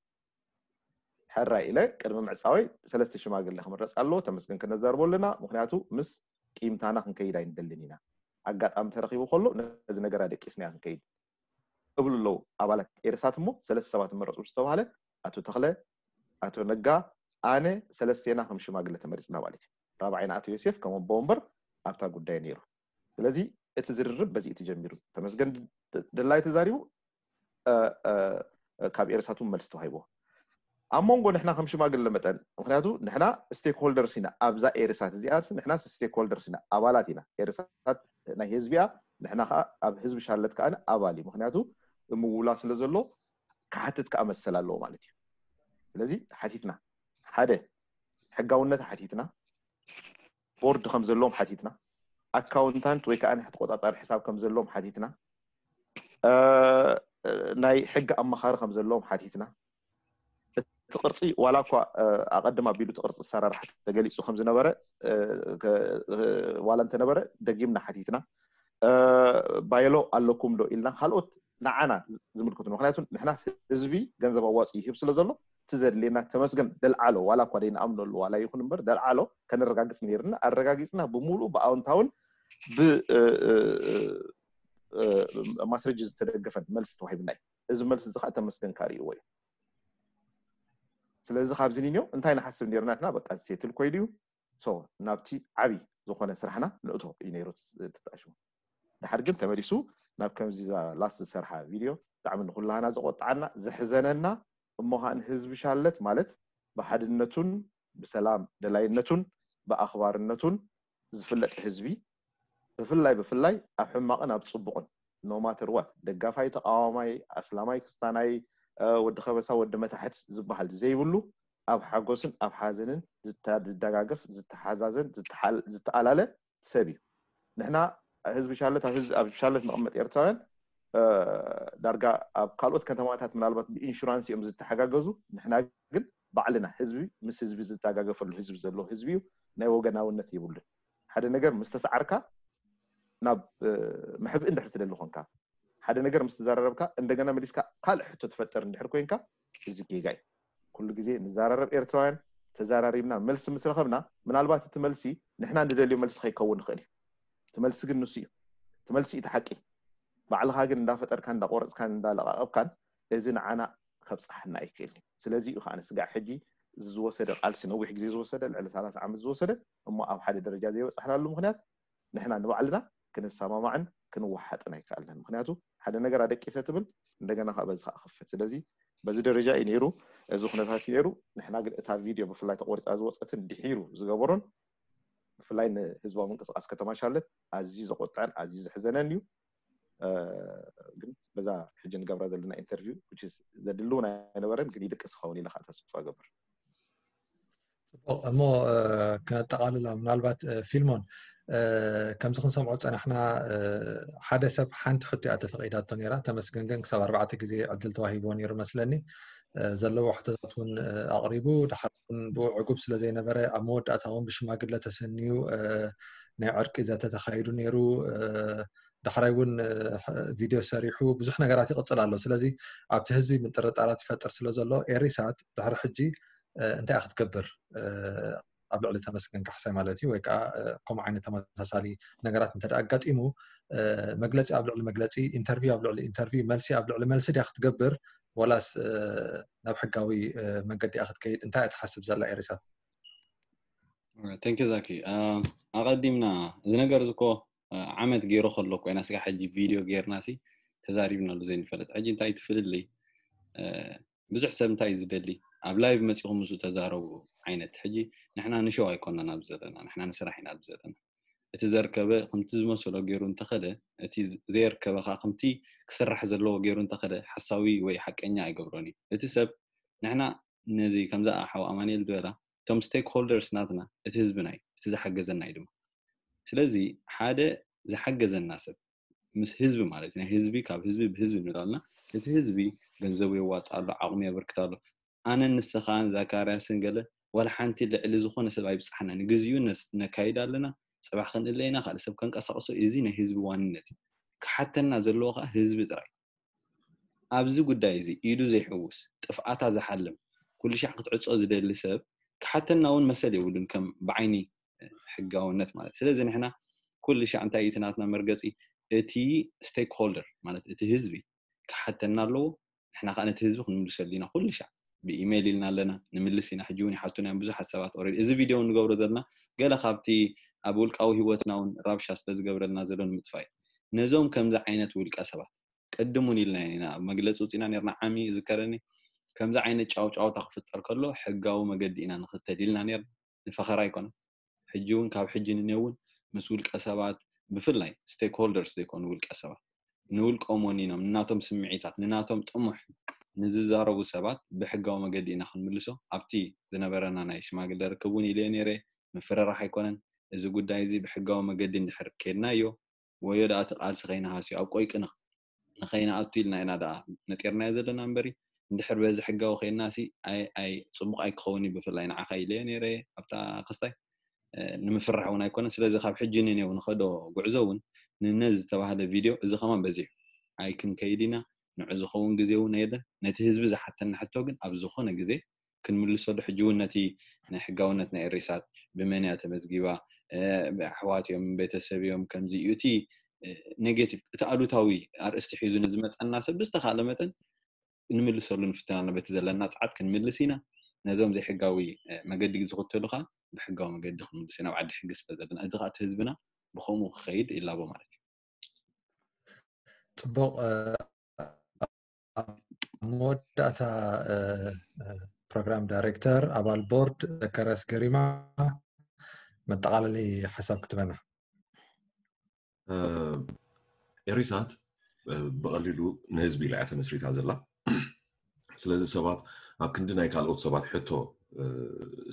ሕራይ ኢለ ቅድሚ ምዕፃወይ ሰለስተ ሽማግለ ክምረፅ ኣለዎ፣ ተመስገን ከነዛርቦ ኣለና፣ ምክንያቱ ምስ ቂምታና ክንከይድ ኣይንደልን ኢና። ኣጋጣሚ ተረኪቡ ከሎ ነዚ ነገር ኣደቂስናዮ ክንከይድ እብሉ ኣለዉ ኣባላት ኤርሳት እሞ ሰለስተ ሰባት መረፁ ዝተባሃለ ኣቶ ተኽለ፣ ኣቶ ነጋ፣ ኣነ ሰለስቴና ከም ሽማግለ ተመሪፅና ማለት እዩ። ራብዓይና ኣቶ ዮሴፍ ከም ኣቦ ወንበር ኣብታ ጉዳይ ነይሩ። ስለዚ እቲ ዝርርብ በዚ እቲ ጀሚሩ። ተመስገን ድላይ ተዛሪቡ ካብ ኤርሳት እውን መልሲ ተዋሂቦ። ኣብ መንጎ ንሕና ከም ሽማግለ መጠን ምክንያቱ ንሕና ስቴክሆልደርስ ኢና ኣብዛ ኤርሳት እዚኣ ንሕና ስቴክሆልደርስ ኢና ኣባላት ኢና ኤርሳት ናይ ህዝቢያ ንሕና ከዓ ኣብ ህዝቢ ሻርለት ከዓ ኣባል እዩ ምክንያቱ ምውላ ስለ ዘሎ ክሓትት ከዓ መሰል ኣለዎ ማለት እዩ። ስለዚ ሓቲትና ሓደ ሕጋውነት ሓቲትና ቦርድ ከም ዘለዎም ሓቲትና ኣካውንታንት ወይ ከዓ ናይ ተቆፃፃሪ ሕሳብ ከም ዘለዎም ሓቲትና ናይ ሕጊ ኣማኻሪ ከም ዘለዎም ሓቲትና እቲ ቅርፂ ዋላ እኳ ኣቐድም ኣቢሉ እቲ ቅርፂ ኣሰራርሓ ተገሊፁ ከም ዝነበረ ዋላ እንተነበረ፣ ደጊምና ሓቲትና፣ ባይሎ ኣለኩም ዶ ኢልና፣ ካልኦት ንዓና ዝምልከቱ፣ ምክንያቱ ንሕና ህዝቢ ገንዘብ ኣዋፂ ይህብ ስለ ዘሎ፣ እቲ ዘድልየና ተመስገን ደልዓሎ፣ ዋላ እኳ ደይንኣምነሉ ዋላ ይኹን እምበር ደልዓሎ ከነረጋግፅ ነይርና። ኣረጋጊፅና፣ ብምሉእ ብኣውንታውን ብማስረጅ ዝተደገፈን መልሲ ተዋሂብና እዩ። እዚ መልሲ እዚ ከዓ ተመስገን ካርእይዎ እዩ። ስለዚ ካብዚ ኒዮ እንታይ ንሓስብ ነይርና? ንሕና በቃ ሴትል ኮይዱ እዩ። ናብቲ ዓብይ ዝኾነ ስራሕና ንእቶ እዩ ነይሩ። ትጣሽሙ ድሓር ግን ተመሊሱ ናብ ከምዚ ላስ ዝሰርሓ ቪድዮ ብጣዕሚ ንኩላህና ዘቆጣዓና ዘሕዘነና፣ እሞ ከዓ ንህዝቢ ሻለት ማለት ብሓድነቱን ብሰላም ደላይነቱን ብኣኽባርነቱን ዝፍለጥ ህዝቢ፣ ብፍላይ ብፍላይ ኣብ ሕማቕን ኣብ ፅቡቕን፣ ኖማተር ዋት፣ ደጋፋይ ተቃዋማይ፣ ኣስላማይ ክስታናይ፣ ወዲ ከበሳ ወዲ መታሕት ዝበሃል ዘይብሉ፣ ኣብ ሓጎስን ኣብ ሓዘንን ዝደጋገፍ፣ ዝተሓዛዘን ዝተኣላለ ሰብ እዩ። ንሕና ህዝቢ ሻለት ኣብ ሻለት ንቕመጥ ኤርትራውያን ዳርጋ ኣብ ካልኦት ከተማታት ምናልባት ብኢንሹራንስ እዮም ዝተሓጋገዙ። ንሕና ግን ባዕልና ህዝቢ ምስ ህዝቢ ዝተጋገፈሉ ህዝቢ ዘሎ ህዝቢ እዩ። ናይ ወገናውነት የብሉን። ሓደ ነገር ምስ ተሰዓርካ ናብ መሕብኢ እንድሕር ትደሊ ኮንካ፣ ሓደ ነገር ምስ ተዘራረብካ እንደገና መሊስካ ካልእ ሕቶ ትፈጥር እንድሕር ኮይንካ፣ እዚ ጌጋ እዩ። ኩሉ ግዜ ንዘራረብ ኤርትራውያን፣ ተዘራሪብና መልሲ ምስ ረኸብና፣ ምናልባት እቲ መልሲ ንሕና ንደልዮ መልሲ ከይከውን ይኽእል እዩ። እቲ መልሲ ግን ንሱ እዩ። እቲ መልሲ እቲ ሓቂ። ባዕልኻ ግን እንዳፈጠርካን እንዳቆረፅካን እንዳለቃቐብካን እዚ ንዓና ከብፅሓና ኣይክእልን እዩ። ስለዚ እዩ ከዓ ስጋዕ ሕጂ ዝወሰደ ቃልሲ፣ ነዊሕ ግዜ ዝወሰደ፣ ልዕሊ ሰላሳ ዓመት ዝወሰደ፣ እሞ ኣብ ሓደ ደረጃ ዘይበፃሕናሉ ምክንያት ንሕና ንባዕልና ክንሰማማዕን ክንወሓጥን ኣይከኣልናን። ምክንያቱ ሓደ ነገር ኣደቂሰ ትብል፣ እንደገና ከዓ በዚ ከዓ ክፈት። ስለዚ በዚ ደረጃ እዩ ነይሩ። እዚ ኩነታት እዩ ነይሩ። ንሕና ግን እታ ቪድዮ ብፍላይ ተቆሪፃ ዝወፀትን ድሒሩ ዝገበሮን ብፍላይ ንህዝባዊ ምንቅስቃስ ከተማ ሻለት ኣዝዩ ዘቆጥዐን ኣዝዩ ዘሕዘነን እዩ። ግን በዛ ሕጂ ንገብራ ዘለና ኢንተርቪው ዘድሊ እውን ኣይነበረን፣ ግን ይድቅስ ክኸውን ኢለ ከዓ ተስፋ ገብር። ፅቡቕ እሞ፣ ክነጠቓልላ ምናልባት ፊልሞን፣ ከምዚ ክንሰምዖ ዝፀናሕና ሓደ ሰብ ሓንቲ ሕቶ እያ ተፈቒዳቶ ነይራ። ተመስገን ግን ክሳብ ኣርባዕተ ግዜ ዕድል ተዋሂብዎ ነይሩ መስለኒ። ዘለዎ ሕቶታት እውን ኣቕሪቡ፣ ድሓር እውን ብኡ ዕጉብ ስለ ዘይነበረ ኣብ መወዳእታ እውን ብሽማግለ ተሰንዩ ናይ ዕርቂ ዘተ ተኻይዱ ነይሩ። ዳሕራይ እውን ቪድዮ ሰሪሑ ብዙሕ ነገራት ይቕፅል ኣሎ። ስለዚ ኣብቲ ህዝቢ ምጥርጣራት ይፈጥር ስለ ዘሎ ኤሪሳት ድሕሪ ሕጂ እንታይ ክትገብር ኣብ ልዕሊ ተመስገን ካሕሳይ ማለት እዩ፣ ወይ ከዓ ከምኡ ዓይነት ተመሳሳሊ ነገራት እንተ ኣጋጢሙ መግለፂ ኣብ ልዕሊ መግለፂ፣ ኢንተርቪው ኣብ ልዕሊ ኢንተርቪው፣ መልሲ ኣብ ልዕሊ መልሲ ድያ ክትገብር ወላስ ናብ ሕጋዊ መንገዲ እያ ክትከይድ? እንታይ እያ ትሓስብ ዘላ ኤሪሳት? Thank you ዛኪ። ኣቐዲምና እዚ ነገር እዚ እኮ ዓመት ገይሩ ከሎ ኮይና ስጋ ሕጂ ቪድዮ ጌርና ሲ ተዛሪብናሉ ዘይንፈልጥ። ሕጂ እንታይ ትፍልልይ? ብዙሕ ሰብ እንታይ እዩ ዝደሊ? ኣብ ላይቭ መፂኹም ምስኡ ተዛረቡ ዓይነት። ሕጂ ንሕና ንሸው ኣይኮናን ኣብዚ ዘለና፣ ንሕና ንስራሕ ኢና ኣብዚ ዘለና። እቲ ዘርከበ ከምቲ ዝመሰሎ ገይሩ እንተኸደ፣ እቲ ዘየርከበ ከዓ ከምቲ ክስራሕ ዘለዎ ገይሩ እንተኸደ ሓሳዊ ወይ ሓቀኛ ኣይገብሮን እዩ። እቲ ሰብ ንሕና ነዚ ከምዛ ሓው ኣማኑኤል ዝበላ እቶም ስቴክ ሆልደርስ ናትና እቲ ህዝብና እዩ፣ እቲ ዝሓገዘና እዩ ድማ። ስለዚ ሓደ ዝሓገዘና ሰብ ምስ ህዝቢ ማለት እዩ፣ ናይ ህዝቢ ካብ ህዝቢ ብህዝቢ ንብላልና፣ እቲ ህዝቢ ገንዘቡ የዋፅእ ኣሎ፣ ዓቕሚ የበርክት ኣሎ። ኣነን ንስኻን ዛካርያስን ገለ ዋላ ሓንቲ ልዕሊ ዝኾነ ሰብ ኣይብፃሕና፣ ንግዚኡ ነካይድ ኣለና፣ ፅባሕ ክንእለ ኢና፣ ካልእ ሰብ ከንቀሳቕሶ። እዚ ናይ ህዝቢ ዋንነት እዩ። ክሓተና ዘለዎ ከዓ ህዝቢ ጥራይ። ኣብዚ ጉዳይ እዚ ኢዱ ዘይሕውስ፣ ጥፍኣታ ዝሓልም፣ ኩሉ ሻዕ ክትዕጾ ዝደሊ ሰብ ክሓተና እውን መሰል የብሉን ከም ብዓይኒ ሕጋውነት ማለት። ስለዚ ንሕና ኩሉ ሻዕ እንታይ እዩ እቲ ናትና መርገፂ? እቲ ስቴክ ሆልደር ማለት እቲ ህዝቢ ክሓተና ኣለዎ። ንሕና ከዓ ነቲ ህዝቢ ክንምልሰሉ ኢና። ኩሉ ሻዕ ብኢሜይል ኢልና ኣለና፣ ንምልስ ኢና። ሕጂ እውን ይሓቱና እዮም ብዙሓት ሰባት። ኦልሬዲ እዚ ቪድዮ ንገብሮ ዘለና ገለ ካብቲ ኣብ ውልቃዊ ህይወትና እውን ራብሻ ስለዝገብረልና ዘሎ ንምጥፋእ እዩ። ነዞም ከምዚ ዓይነት ውልቀ ሰባት ቅድም እውን ኢልና ኢና ኣብ መግለፂ ውፅኢና ነርና። ዓሚ ይዝከረኒ ከምዚ ዓይነት ጫውጫውታ ክፍጠር ከሎ ሕጋዊ መገዲ ኢና ንኽተል ኢልና ነርና። ንፈኸራ ኣይኮነን። ሕጂ እውን ካብ ሕጂ ንኔው እውን ምስ ውልቀ ሰባት ብፍላይ ስቴክ ሆልደርስ ዘይኮኑ ውልቀ ሰባት ንውልቆም ወኒኖም ንናቶም ስምዒታት ንናቶም ጥሙሕ ንዝዛረቡ ሰባት ብሕጋዊ መገዲ ኢና ክንምልሶ። ኣብቲ ዝነበረና ናይ ሽማግለ ርክብ እውን ኢለዮ ነይረ። ምፍርራሕ ኣይኮነን። እዚ ጉዳይ እዚ ብሕጋዊ መገዲ እንድሕር ከድናዮ ወዮ ደኣ እቲ ቃልሲ ከይንሃስዮ ኣብ ቆይቂ ንኸይንኣቱ ኢልና ኢና ደኣ ነጢርናዮ ዘለና እምበሪ እንድሕር በዚ ሕጋዊ ኮይና ሲ ኣይ ኣይ ጽቡቕ ኣይክኸውን እዩ። ብፍላይ ንዓኻ ኢለዮ ነይረ ኣብታ ክስታይ ንምፍራሕ እውን ኣይኮነን። ስለዚ ካብ ሕጂ ንኔው ንኸዶ ጉዕዞ እውን ንነዚ ዝተባህለ ቪድዮ እዚ ከማን በዚሑ ኣይክንከይድ ኢና። ንዑ ዝኸውን ግዜ እውን የለን። ነቲ ህዝቢ ዝሓተና ሕቶ ግን ኣብ ዝኾነ ግዜ ክንምልሰሉ ሕጂ እውን ነቲ ናይ ሕጋውነት ናይ ኤሪሳት ብመን እያ ተመዝጊባ፣ ኣሕዋት እዮም፣ ቤተሰብ እዮም፣ ከምዚ እዩ እቲ ኔጌቲቭ፣ እቲ ኣሉታዊ ኣርእስቲ ሒዙ ንዝመፀና ሰብ ብዝተኻለ መጠን ንምልሰሉ ንፍትን ኣለና። በቲ ዘለና ፀዓት ክንምልስ ኢና። ነዞም ዘይሕጋዊ መገዲ ዝኽተሉ ከዓ ብሕጋዊ መገዲ ክንምልስ ኢና፣ ኣብ ዓዲ ሕጊ ስለ ዘለና። እዚ ከዓ እቲ ህዝብና ብኸምኡ ክኸይድ ይላቦ ማለት እዩ። ፅቡቕ። ኣብ መወዳእታ ፕሮግራም ዳይሬክተር ኣባል ቦርድ ዘካርያስ ገሪማ መጠቓለሊ ሓሳብ ክትበና። ኤሪሳት ብቐሊሉ ንህዝቢ ኢላ እያ ተመስሪታ ዘላ። ስለዚ ሰባት ኣብ ክንዲ ናይ ካልኦት ሰባት ሕቶ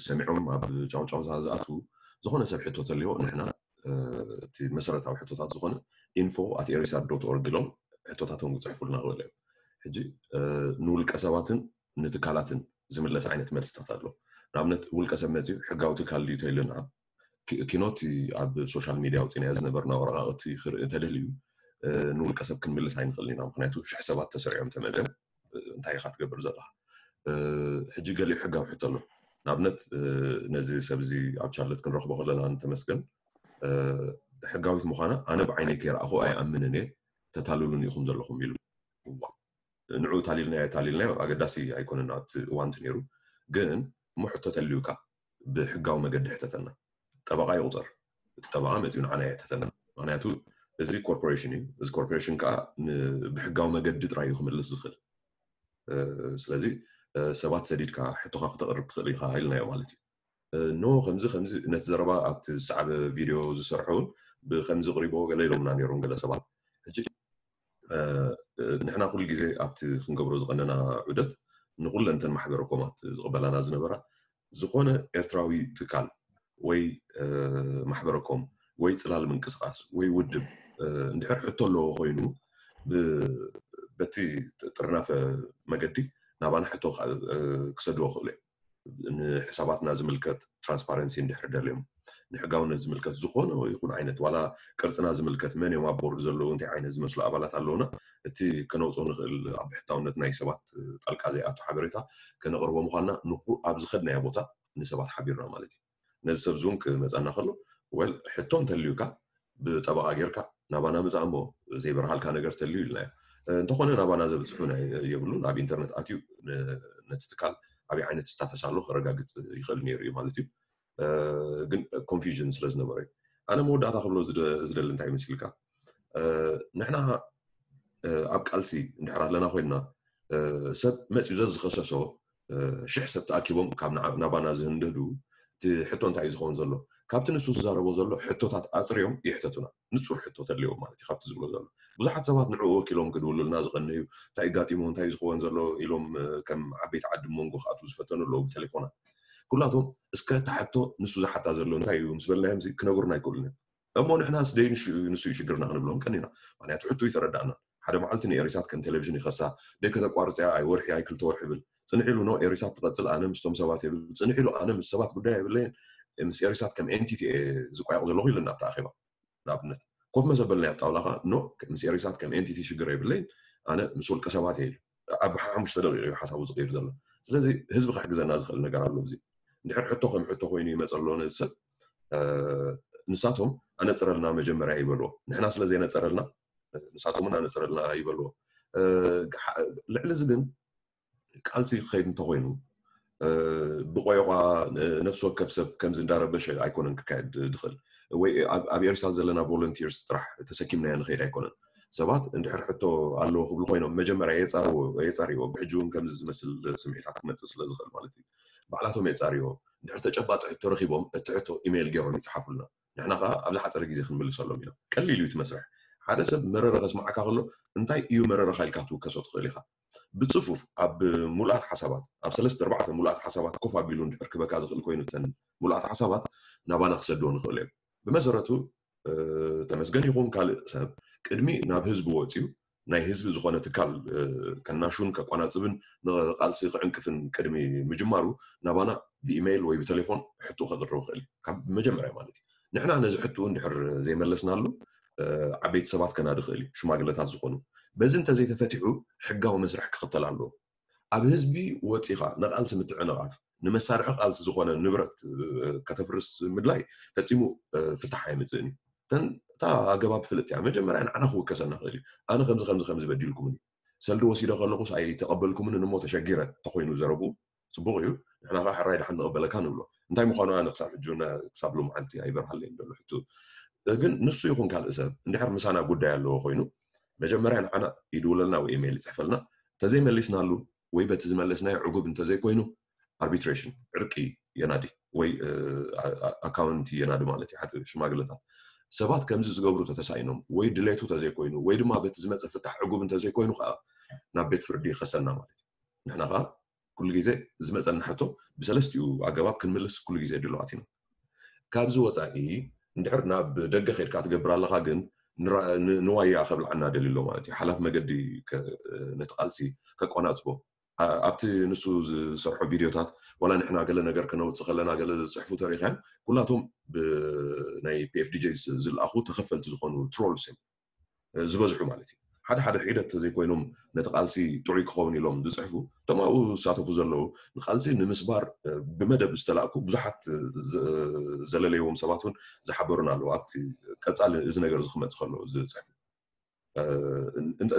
ሰሚዖም ኣብ ጫውጫውታ ዝኣትዉ፣ ዝኾነ ሰብ ሕቶ ተልዮ ንሕና እቲ መሰረታዊ ሕቶታት ዝኾነ info at erisat dot org ኢሎም ሕቶታቶም ክፅሕፉልና ክኽእሉ እዮም። ሕጂ ንውልቀ ሰባትን ንትካላትን ዝምለስ ዓይነት መልስታት ኣሎ። ንኣብነት ውልቀ ሰብ መፅዩ ሕጋዊ ትካል ድዩ ተይልና ኪኖቲ ኣብ ሶሻል ሚድያ ኣውፂናዮ ዝነበርና ወረቃቅቲ ክርኢ እንተደልዩ ንውልቀ ሰብ ክንምልስ ኣይንኽእልን ኢና። ምክንያቱ ሽሕ ሰባት ተሰሪዖም ተመፅዮም እንታይ ኢኻ ትገብር ዘለኻ? ሕጂ ገሊኡ ሕጋዊ ሕቶ ኣሎ። ንኣብነት ነዚ ሰብ እዚ ኣብ ቻርለት ክንረኽቦ ከለና ንተመስገን ሕጋዊት ምዃና ኣነ ብዓይነይ ከይረኣኹ ኣይኣምንን እየ፣ ተታልሉን ኢኹም ዘለኹም ኢሉ። ንዑ ታሊልናዮ ታሊልናዮ ኣገዳሲ ኣይኮነን ኣብቲ እዋንቲ ነይሩ። ግን እሞ ሕቶ ተልዩካ ብሕጋዊ መገዲ ሕተተና። ጠበቃ ይቁፀር። እቲ ጠበቃ መፂኡ ንዓና የሕተተና። ምክንያቱ እዚ ኮርፖሬሽን እዩ። እዚ ኮርፖሬሽን ከዓ ብሕጋዊ መገዲ ጥራይ እዩ ክምልስ ዝኽእል። ስለዚ ሰባት ሰዲድካ ሕቶካ ክተቅርብ ትኽእል ኢካ ኢልናዮ ማለት እዩ። ኖ ከምዚ ከምዚ ነቲ ዘረባ ኣብቲ ዝሰዓበ ቪድዮ ዝሰርሑ እውን ብከምዚ ቅሪቦ ገለ ኢሎምና ነይሮም ገለ ሰባት። ሕጂ ንሕና ኩሉ ግዜ ኣብቲ ክንገብሮ ዝቀነና ዑደት ንኩለንተን ማሕበረ ኮማት ዝቅበላና ዝነበራ ዝኾነ ኤርትራዊ ትካል ወይ ማሕበረ ኮም ወይ ፅላል ምንቅስቃስ ወይ ውድብ እንድሕር ሕቶ ኣለዎ ኮይኑ በቲ ጥርናፈ መገዲ ናባና ሕቶ ክሰድዎ ክእሉ እዮም። ንሕሳባትና ዝምልከት ትራንስፓረንሲ እንድሕር ደልዮም ንሕጋውነት ዝምልከት ዝኾነ ይኹን ዓይነት ዋላ ቅርፅና ዝምልከት መን እዮም ኣብ ቦርድ ዘለዉ እንታይ ዓይነት ዝመስሉ ኣባላት ኣለውና እቲ ከነውፅኦ ንኽእል ኣብ ብሕታውነት ናይ ሰባት ጣልቃ ዘይኣቱ ሓበሬታ ከነቕርቦ ምዃንና ንኩ ኣብ ዝኸድናዮ ቦታ ንሰባት ሓቢርና ማለት እዩ። ነዚ ሰብ ዙን ክመፀና ከሎ ወል ሕቶ እንተልዩካ ብጠበቃ ጌርካ ናባና ምፃእ እሞ ዘይበርሃልካ ነገር ተልዩ ኢልናዮ። እንተኾነ ናባና ዘብፅሑ የብሉን። ኣብ ኢንተርነት ኣትዩ ነቲ ትካል ኣበይ ዓይነት ስታተስ ኣሎ ከረጋግፅ ይኽእል ነይሩ እዩ ማለት እዩ። ግን ኮንፊውዥን ስለ ዝነበረ እዩ። ኣነ መወዳእታ ክብሎ ዝደሊ እንታይ ይመስልካ? ንሕና ኣብ ቃልሲ እንድሕር ኣለና ኮይንና ሰብ መፅዩ ዘዝኸሰሶ ሽሕ ሰብ ተኣኪቦም ካብ ናባና ዝህንድህዱ እቲ ሕቶ እንታይ እዩ ዝኸውን ዘሎ? ካብቲ ንሱ ዝዛረቦ ዘሎ ሕቶታት ኣፅርዮም ይሕተቱና። ንፁር ሕቶ ተድልዮም ማለት እዩ ካብቲ ዝብሎ ዘሎ። ብዙሓት ሰባት ንዕኡ ወኪሎም ክድውሉልና ዝቐነዩ እንታይ ጋጢሙ እንታይ ዝኸውን ዘሎ ኢሎም ከም ዓበይቲ ዓዲ መንጎ ክኣትዉ ዝፈተኑ ኣለዉ ብቴሌፎናት። ኩላቶም እስከ እታ ሕቶ ንሱ ዝሓታ ዘሎ እንታይ እዩ ምስ በልናዮም ክነግሩና ኣይክእሉን እዮም። እሞ ንሕናስ ደይ ንሱ እዩ ሽግርና ክንብሎም ቀኒና። ምክንያቱ ሕቶ ይተረዳእና። ሓደ መዓልቲ ንኤሪሳት ከም ቴሌቪዥን ይኸሳ ደይ ከተቋርፅያ ኣይ ወርሒ ኣይ ክልተ ወርሒ ይብል ፅንሕ ኢሉ ኖ ኤሪሳት ትቐፅል ኣነ ምስቶም ሰባት ይብል ፅንሕ ኢሉ ኣነ ምስ ሰባት ጉዳይ ኣይብለይን ምስ ኤሪሳት ከም ኤንቲቲ ዝቋየቕ ዘለኹ ኢሉና ኣብቲ ኣኼባ። ንኣብነት ኮፍ መዘበልና ኣብ ጣውላ ከዓ ኖ ምስ ኤሪሳት ከም ኤንቲቲ ሽግር የብለይን ኣነ ምስ ውልቀ ሰባት እየ ኢሉ ኣብ ሓሙሽተ ደቂቕ እዩ ሓሳቡ ዝቕይር ዘሎ። ስለዚ ህዝቢ ክሕግዘና ዝኽእል ነገር ኣሎ። እዚ እንድሕር ሕቶ ከም ሕቶ ኮይኑ ይመፀ ኣሎ ነዚ ሰብ ንሳቶም ኣነፅረልና መጀመርያ ይበልዎ። ንሕና ስለ ዘይነፀረልና ንሳቶም እውን ኣነፅረልና ይበልዎ። ልዕሊ እዚ ግን ቃልሲ ክኸይድ እንተኮይኑ ብቆይቋ ነፍሲ ወከፍ ሰብ ከምዚ እንዳረበሸ ኣይኮነን ክካየድ ዝኽእል። ወይ ኣብ ኤርትራ ዘለና ቮለንቲርስ ጥራሕ ተሰኪምናዮ ንኸይድ ኣይኮነን። ሰባት እንድሕር ሕቶ ኣለዎ ክብሉ ኮይኖም መጀመርያ የፃርዎ የፃርዎ ብሕጂ እውን ከምዚ ዝመስል ስምዒታት ክመፅእ ስለ ዝኽእል ማለት እዩ። ባዕላቶም የፃርዎ እንድሕር ተጨባጢ ሕቶ ረኪቦም እቲ ሕቶ ኢሜይል ገይሮም ይፅሓፉልና። ንሕና ከዓ ኣብ ዝሓፀረ ግዜ ክንምልሰሎም ኢና። ቀሊል እዩ እቲ መስርሕ። ሓደ ሰብ መረረ ከስምዓካ ከሎ እንታይ እዩ መረረኻ ኢልካ ክትውከሶ ትኽእል ኢኻ። ብፅፉፍ ኣብ ሙሉኣት ሓሳባት ኣብ ሰለስተ ኣርባዕተ ሙሉኣት ሓሳባት ኮፍ ኣቢሉ እንድሕር ክበካ ዝኽእል ኮይኑ እተን ሙሉኣት ሓሳባት ናባና ክሰድዎ ንኽእል እዮም። ብመሰረቱ ተመስገን ይኹን ካልእ ሰብ ቅድሚ ናብ ህዝቢ ወፅዩ ናይ ህዝቢ ዝኾነ ትካል ከናሹን ከቋናፅብን ንቃልሲ ክዕንቅፍን ቅድሚ ምጅማሩ ናባና ብኢሜይል ወይ ብቴሌፎን ሕቶ ከቅርብ ይኽእል እዩ። ካብ መጀመርያ ማለት እዩ። ንሕና ነዚ ሕቶ እንድሕር ዘይመለስናሉ ዓበይቲ ሰባት ከናዲ ይኽእል እዩ፣ ሽማግለታት ዝኾኑ። በዚ እንተዘይተፈቲሑ ሕጋዊ መስርሕ ክኽተል ኣለዎ። ኣብ ህዝቢ ወፂኻ ንቃልሲ ምትዕንቓፍ፣ ንመሳርሒ ቃልሲ ዝኾነ ንብረት ከተፍርስ ምድላይ ፈፂሙ ፍታሕ ኣየምፅእን እዩ። እታ ኣገባብ ፍልጥ እያ። መጀመርያ ንዓና ክውከሰና ክእል እዩ። ኣነ ከምዚ ከምዚ ከምዚ በዲልኩምኒ፣ ሰልዲ ወሲደ ከለኹስ ኣይተቐበልኩምንን እሞ ተሸጊረ ተኮይኑ ዘረቡ ፅቡቕ እዩ። ንሕና ከዓ ሕራይ ደሓን ንቐበለካ ንብሎ። እንታይ ምዃኑ ኣነ ክሳብ ሕጂ ክሳብ ሎመዓልቲ ኣይበርሃለይን ዘሎ ሕቶ። ግን ንሱ ይኹን ካልእ ሰብ እንድሕር ምሳና ጉዳይ ኣለዎ ኮይኑ መጀመርያ ንዓና ይድውለልና ወይ ኢሜይል ይፅሕፈልና። ተዘይመሊስናሉ ወይ በቲ ዝመለስናዮ ዕጉብ እንተዘይኮይኑ ኣርቢትሬሽን፣ ዕርቂ የናዲ ወይ ኣካውንቲ የናዲ ማለት እዩ። ሓደ ሽማግለታት ሰባት ከምዚ ዝገብሩ ተተሳኢኖም ወይ ድሌቱ ተዘይኮይኑ ወይ ድማ በቲ ዝመፀ ፍታሕ ዕጉብ እንተዘይኮይኑ ከዓ ናብ ቤት ፍርዲ ይኸሰና ማለት እዩ። ንሕና ከዓ ኩሉ ግዜ ዝመፀና ሕቶ ብሰለስቲኡ ኣገባብ ክንምልስ ኩሉ ግዜ ድልዋት ኢና። ካብዚ ወፃኢ እንድሕር ናብ ደገ ከድካ ትገብር ኣለካ ግን ንዋያ ከብልዓና ደልሎ ማለት እዩ። ሓላፍ መገዲ ነቲ ቃልሲ ከቋናፅቦ ኣብቲ ንሱ ዝሰርሖ ቪድዮታት ዋላ ንሕና ገለ ነገር ከነውፅእ ከለና ገለ ዝፅሕፉ ተሪኻን ኩላቶም ብናይ ፒኤፍዲጂ ዝለኣኹ ተኸፈልቲ ዝኾኑ ትሮልስ እዮም ዝበዝሑ ማለት እዩ። ሓደ ሓደ ሒደት ዘይኮይኖም ነቲ ቃልሲ ጥዑይ ክኸውን ኢሎም ዝፅሕፉ እቶም ኣብኡ ዝሳተፉ ዘለዉ ንቃልሲ ንምስባር ብመደብ ዝተላእኩ ብዙሓት ዘለለይዎም ሰባት እውን ዝሓበሩን ኣለዉ። ኣብቲ ቀፃሊ እዚ ነገር እዚ ክመፅእ ከሎ ዝፅሕፉ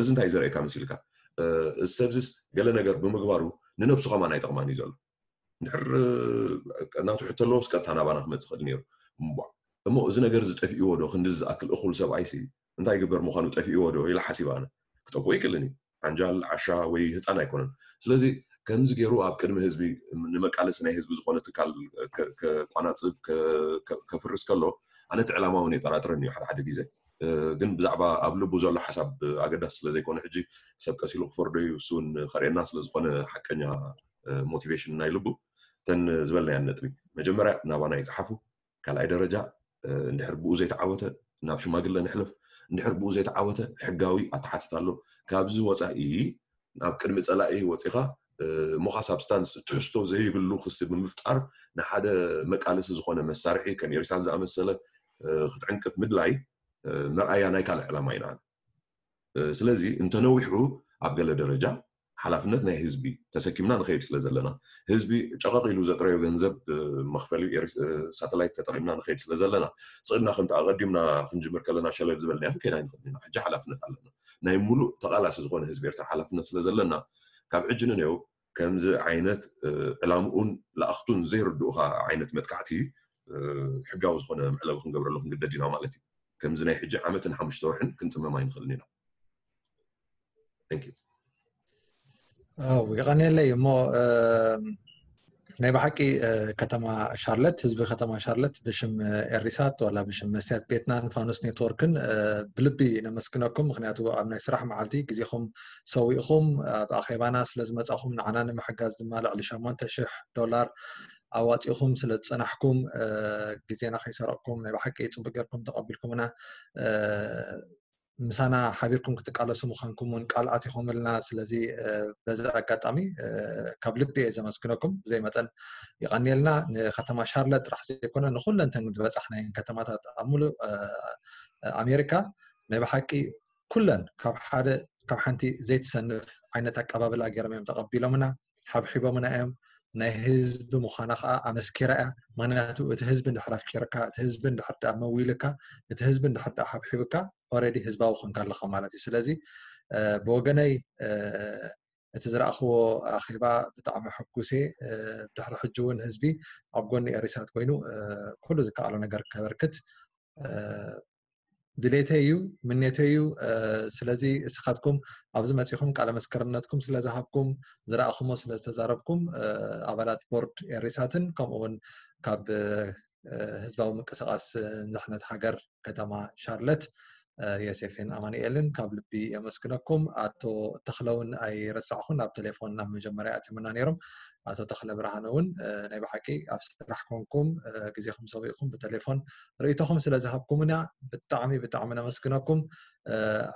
እዚ እንታይ ዘርእየካ መሲልካ? እዚ ሰብዚስ ገለ ነገር ብምግባሩ ንነብሱ ከማን ኣይጠቕማን እዩ ዘሎ። እንድሕር ናቱ ሕቶ ኣለዎስ ቀጥታ ናባና ክመፅእ ክእል ነይሩ። እሞ እዚ ነገር እዚ ጠፊእዎ ዶ? ክንዲ ዝኣክል እኹል ሰብኣይሲ እንታይ ይግበር ምዃኑ ጠፊእዎ ዶ ኢለ ሓሲበ ኣነ። ክጠፍኦ ይክእልን እዩ። ዓንጃል፣ ዓሻ ወይ ህፃን ኣይኮነን። ስለዚ ከምዚ ገይሩ ኣብ ቅድሚ ህዝቢ ንመቃለሲ ናይ ህዝቢ ዝኾነ ትካል ከቋናፅብ ከፍርስ ከሎ ኣነ እቲ ዕላማ እውን የጠራጥረኒ እዩ ሓደ ሓደ ግዜ። ግን ብዛዕባ ኣብ ልቡ ዘሎ ሓሳብ ኣገዳሲ ስለዘይኮነ ሕጂ ሰብ ቀሲሉ ክፈርዶ እዩ፣ እሱ እውን ከርእየና ስለዝኾነ ሓቀኛ ሞቲቬሽን ናይ ልቡ እተን ዝበልናያን ነጥቢ መጀመርያ ናባና ይፅሓፉ። ካልኣይ ደረጃ እንድሕር ብኡ ዘይተዓወተ ናብ ሽማግለ ንሕለፍ። እንድሕር ብኡ ዘይተዓወተ ሕጋዊ ኣተሓትት ኣሎ። ካብዚ ወፃኢ ናብ ቅድሚ ፀላኢ ወፂኻ እሞኻ ሳብስታንስ ትሕዝቶ ዘይብሉ ክሲ ብምፍጣር ንሓደ መቃለሲ ዝኾነ መሳርሒ ከም ኤሪሳት ዝኣመሰለ ክትዕንቅፍ ምድላይ መርኣያ ናይ ካልእ ዕላማ ኢና። ስለዚ እንተነዊሑ ኣብ ገለ ደረጃ ሓላፍነት ናይ ህዝቢ ተሰኪምና ንኸይድ ስለ ዘለና ህዝቢ ጨቐቕ ኢሉ ዘጥረዮ ገንዘብ መኽፈሊ ሳተላይት ተጠቒምና ንኸይድ ስለ ዘለና ስቕድና ከምቲ ኣቐዲምና ክንጅምር ከለና ሸለል ዝበልናዮ ክንከይድ ኣይንኽእል ኢና። ሕጂ ሓላፍነት ኣለና። ናይ ሙሉእ ተቓላሲ ዝኾነ ህዝቢ ኤርትራ ሓላፍነት ስለ ዘለና ካብ ሕጂ ንነው ከምዚ ዓይነት ዕላምኡን ለኣኽቱን ዘይርድኡኻ ዓይነት መጥቃዕቲ ሕጋዊ ዝኾነ መዕለቢ ክንገብረሉ ክንግደድ ኢና ማለት እዩ። ከምዚ ናይ ሕጂ ዓመትን ሓሙሽተ ወርሕን ክንፅመም ኣይንኽእልን ኢና። ኣው የቐንየለይ እሞ ናይ ብሓቂ ከተማ ሻርለት ህዝቢ ከተማ ሻርለት ብሽም ኤሪሳት ዋላ ብሽም መስትያት ቤትናን ፋኑስ ኔትወርክን ብልቢ ነመስግነኩም። ምክንያቱ ኣብ ናይ ስራሕ መዓልቲ ግዜኹም ሰዊእኹም ኣብ ኣኼባና ስለ ዝመጻኹም ንዓና ንምሕጋዝ ድማ ልዕሊ ሸሞንተ ሽሕ ዶላር ኣዋጺኹም ስለ ዝጸናሕኩም ግዜና ከይሰረቕኩም ናይ ብሓቂ ጽቡቅ ጌርኩም ተቐቢልኩምና ምሳና ሓቢርኩም ክትቃለሱ ምዃንኩም እውን ቃል ኣቲኹምልና። ስለዚ በዚ ኣጋጣሚ ካብ ልቢ እየ ዘመስግነኩም። ብዘይ መጠን ይቐንየልና። ንከተማ ሻርለት ጥራሕ ዘይኮነ ንኩለን ተን ዝበጻሕናየን ከተማታት ኣብ ሙሉእ ኣሜሪካ ናይ ብሓቂ ኩለን ካብ ሓደ ካብ ሓንቲ ዘይትሰንፍ ዓይነት ኣቀባብላ ገይሮም እዮም ተቐቢሎምና፣ ሓብሒቦምና እዮም። ናይ ህዝቢ ምዃና ከዓ ኣመስኪራ እያ። ምክንያቱ እቲ ህዝቢ እንድሕር ኣፍቂርካ፣ እቲ ህዝቢ እንድሕር ደኣ መዊልካ፣ እቲ ህዝቢ እንድሕር ደኣ ሓብሒብካ ኦረዲ ህዝባዊ ኮንካ ኣለኻ ማለት እዩ። ስለዚ ብወገነይ እቲ ዝረኣኽዎ ኣኼባ ብጣዕሚ ሕጉስ እየ። ድሕሪ ሕጂ እውን ህዝቢ ኣብ ጎኒ ኤሪሳት ኮይኑ ኩሉ ዝከኣሎ ነገር ከበርክት ድሌተይ እዩ፣ ምኔተይ እዩ። ስለዚ እስኻትኩም ኣብዚ መፂኹም ቃለ መስክርነትኩም ስለ ዝሃብኩም፣ ዝረኣኹሞ ስለ ዝተዛረብኩም ኣባላት ቦርድ ኤሪሳትን ከምኡ እውን ካብ ህዝባዊ ምንቅስቃስ ንድሕነት ሃገር ከተማ ሻርለት ዮሴፍን ኣማኑኤልን ካብ ልቢ የመስግነኩም። ኣቶ ተኽለ እውን ኣይረሳዕኹን፣ ኣብ ቴሌፎን ናብ መጀመርያ ኣትዮምና ነይሮም። ኣቶ ተኽለ ብርሃነ እውን ናይ ብሓቂ ኣብ ስራሕ ኮንኩም ግዜኹም ሰዊእኩም ብቴሌፎን ርእይቶኹም ስለ ዝሃብኩምና ብጣዕሚ ብጣዕሚ ነመስግነኩም።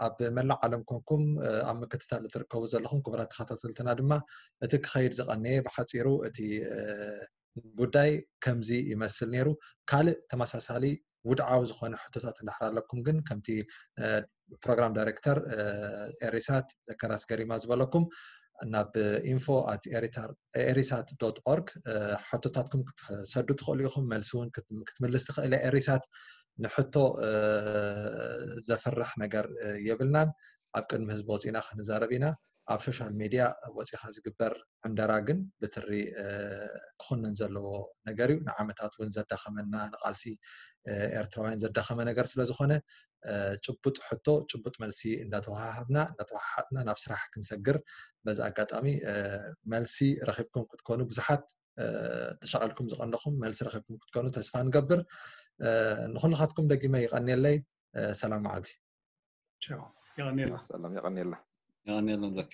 ኣብ መላእ ዓለም ኮንኩም ኣብ ምክትታል እትርከቡ ዘለኹም ክቡራት ተኸታተልትና ድማ እቲ ክኸይድ ዝቐነየ ብሓፂሩ እቲ ጉዳይ ከምዚ ይመስል ነይሩ። ካልእ ተመሳሳሊ ውድዓዊ ዝኾነ ሕቶታት እንድሕር ኣለኩም ግን ከምቲ ፕሮግራም ዳይሬክተር ኤሪሳት ዘከራስ ገሪማ ዝበለኩም ናብ info at erisat dot org ሕቶታትኩም ክትሰዱ ትኽእሉ ኢኹም። መልሲ እውን ክትምልስ ትኽእል እያ ኤሪሳት። ንሕቶ ዘፍርሕ ነገር የብልናን። ኣብ ቅድሚ ህዝቢ ወፂና ክንዛረብ ኢና። ኣብ ሶሻል ሚድያ ወፂኻ ዝግበር ዕንደራ ግን ብትሪ ክኹንን ዘለዎ ነገር እዩ። ንዓመታት እውን ዘዳኸመና ንቃልሲ ኤርትራውያን ዘዳኸመ ነገር ስለ ዝኾነ ጭቡጥ ሕቶ ጭቡጥ መልሲ እንዳተወሃሃብና እንዳተወሓሓጥና ናብ ስራሕ ክንሰግር በዚ ኣጋጣሚ መልሲ ረኺብኩም ክትኮኑ ብዙሓት ተሻቒልኩም ዝቐነኹም መልሲ ረኺብኩም ክትኮኑ ተስፋ ንገብር። ንኹልኻትኩም ደጊመ ይቐንየለይ። ሰላም መዓልቲ። ቻው። የቐንየልና። ሰላም የቐንየልና። የቐንየልና ዛኪ።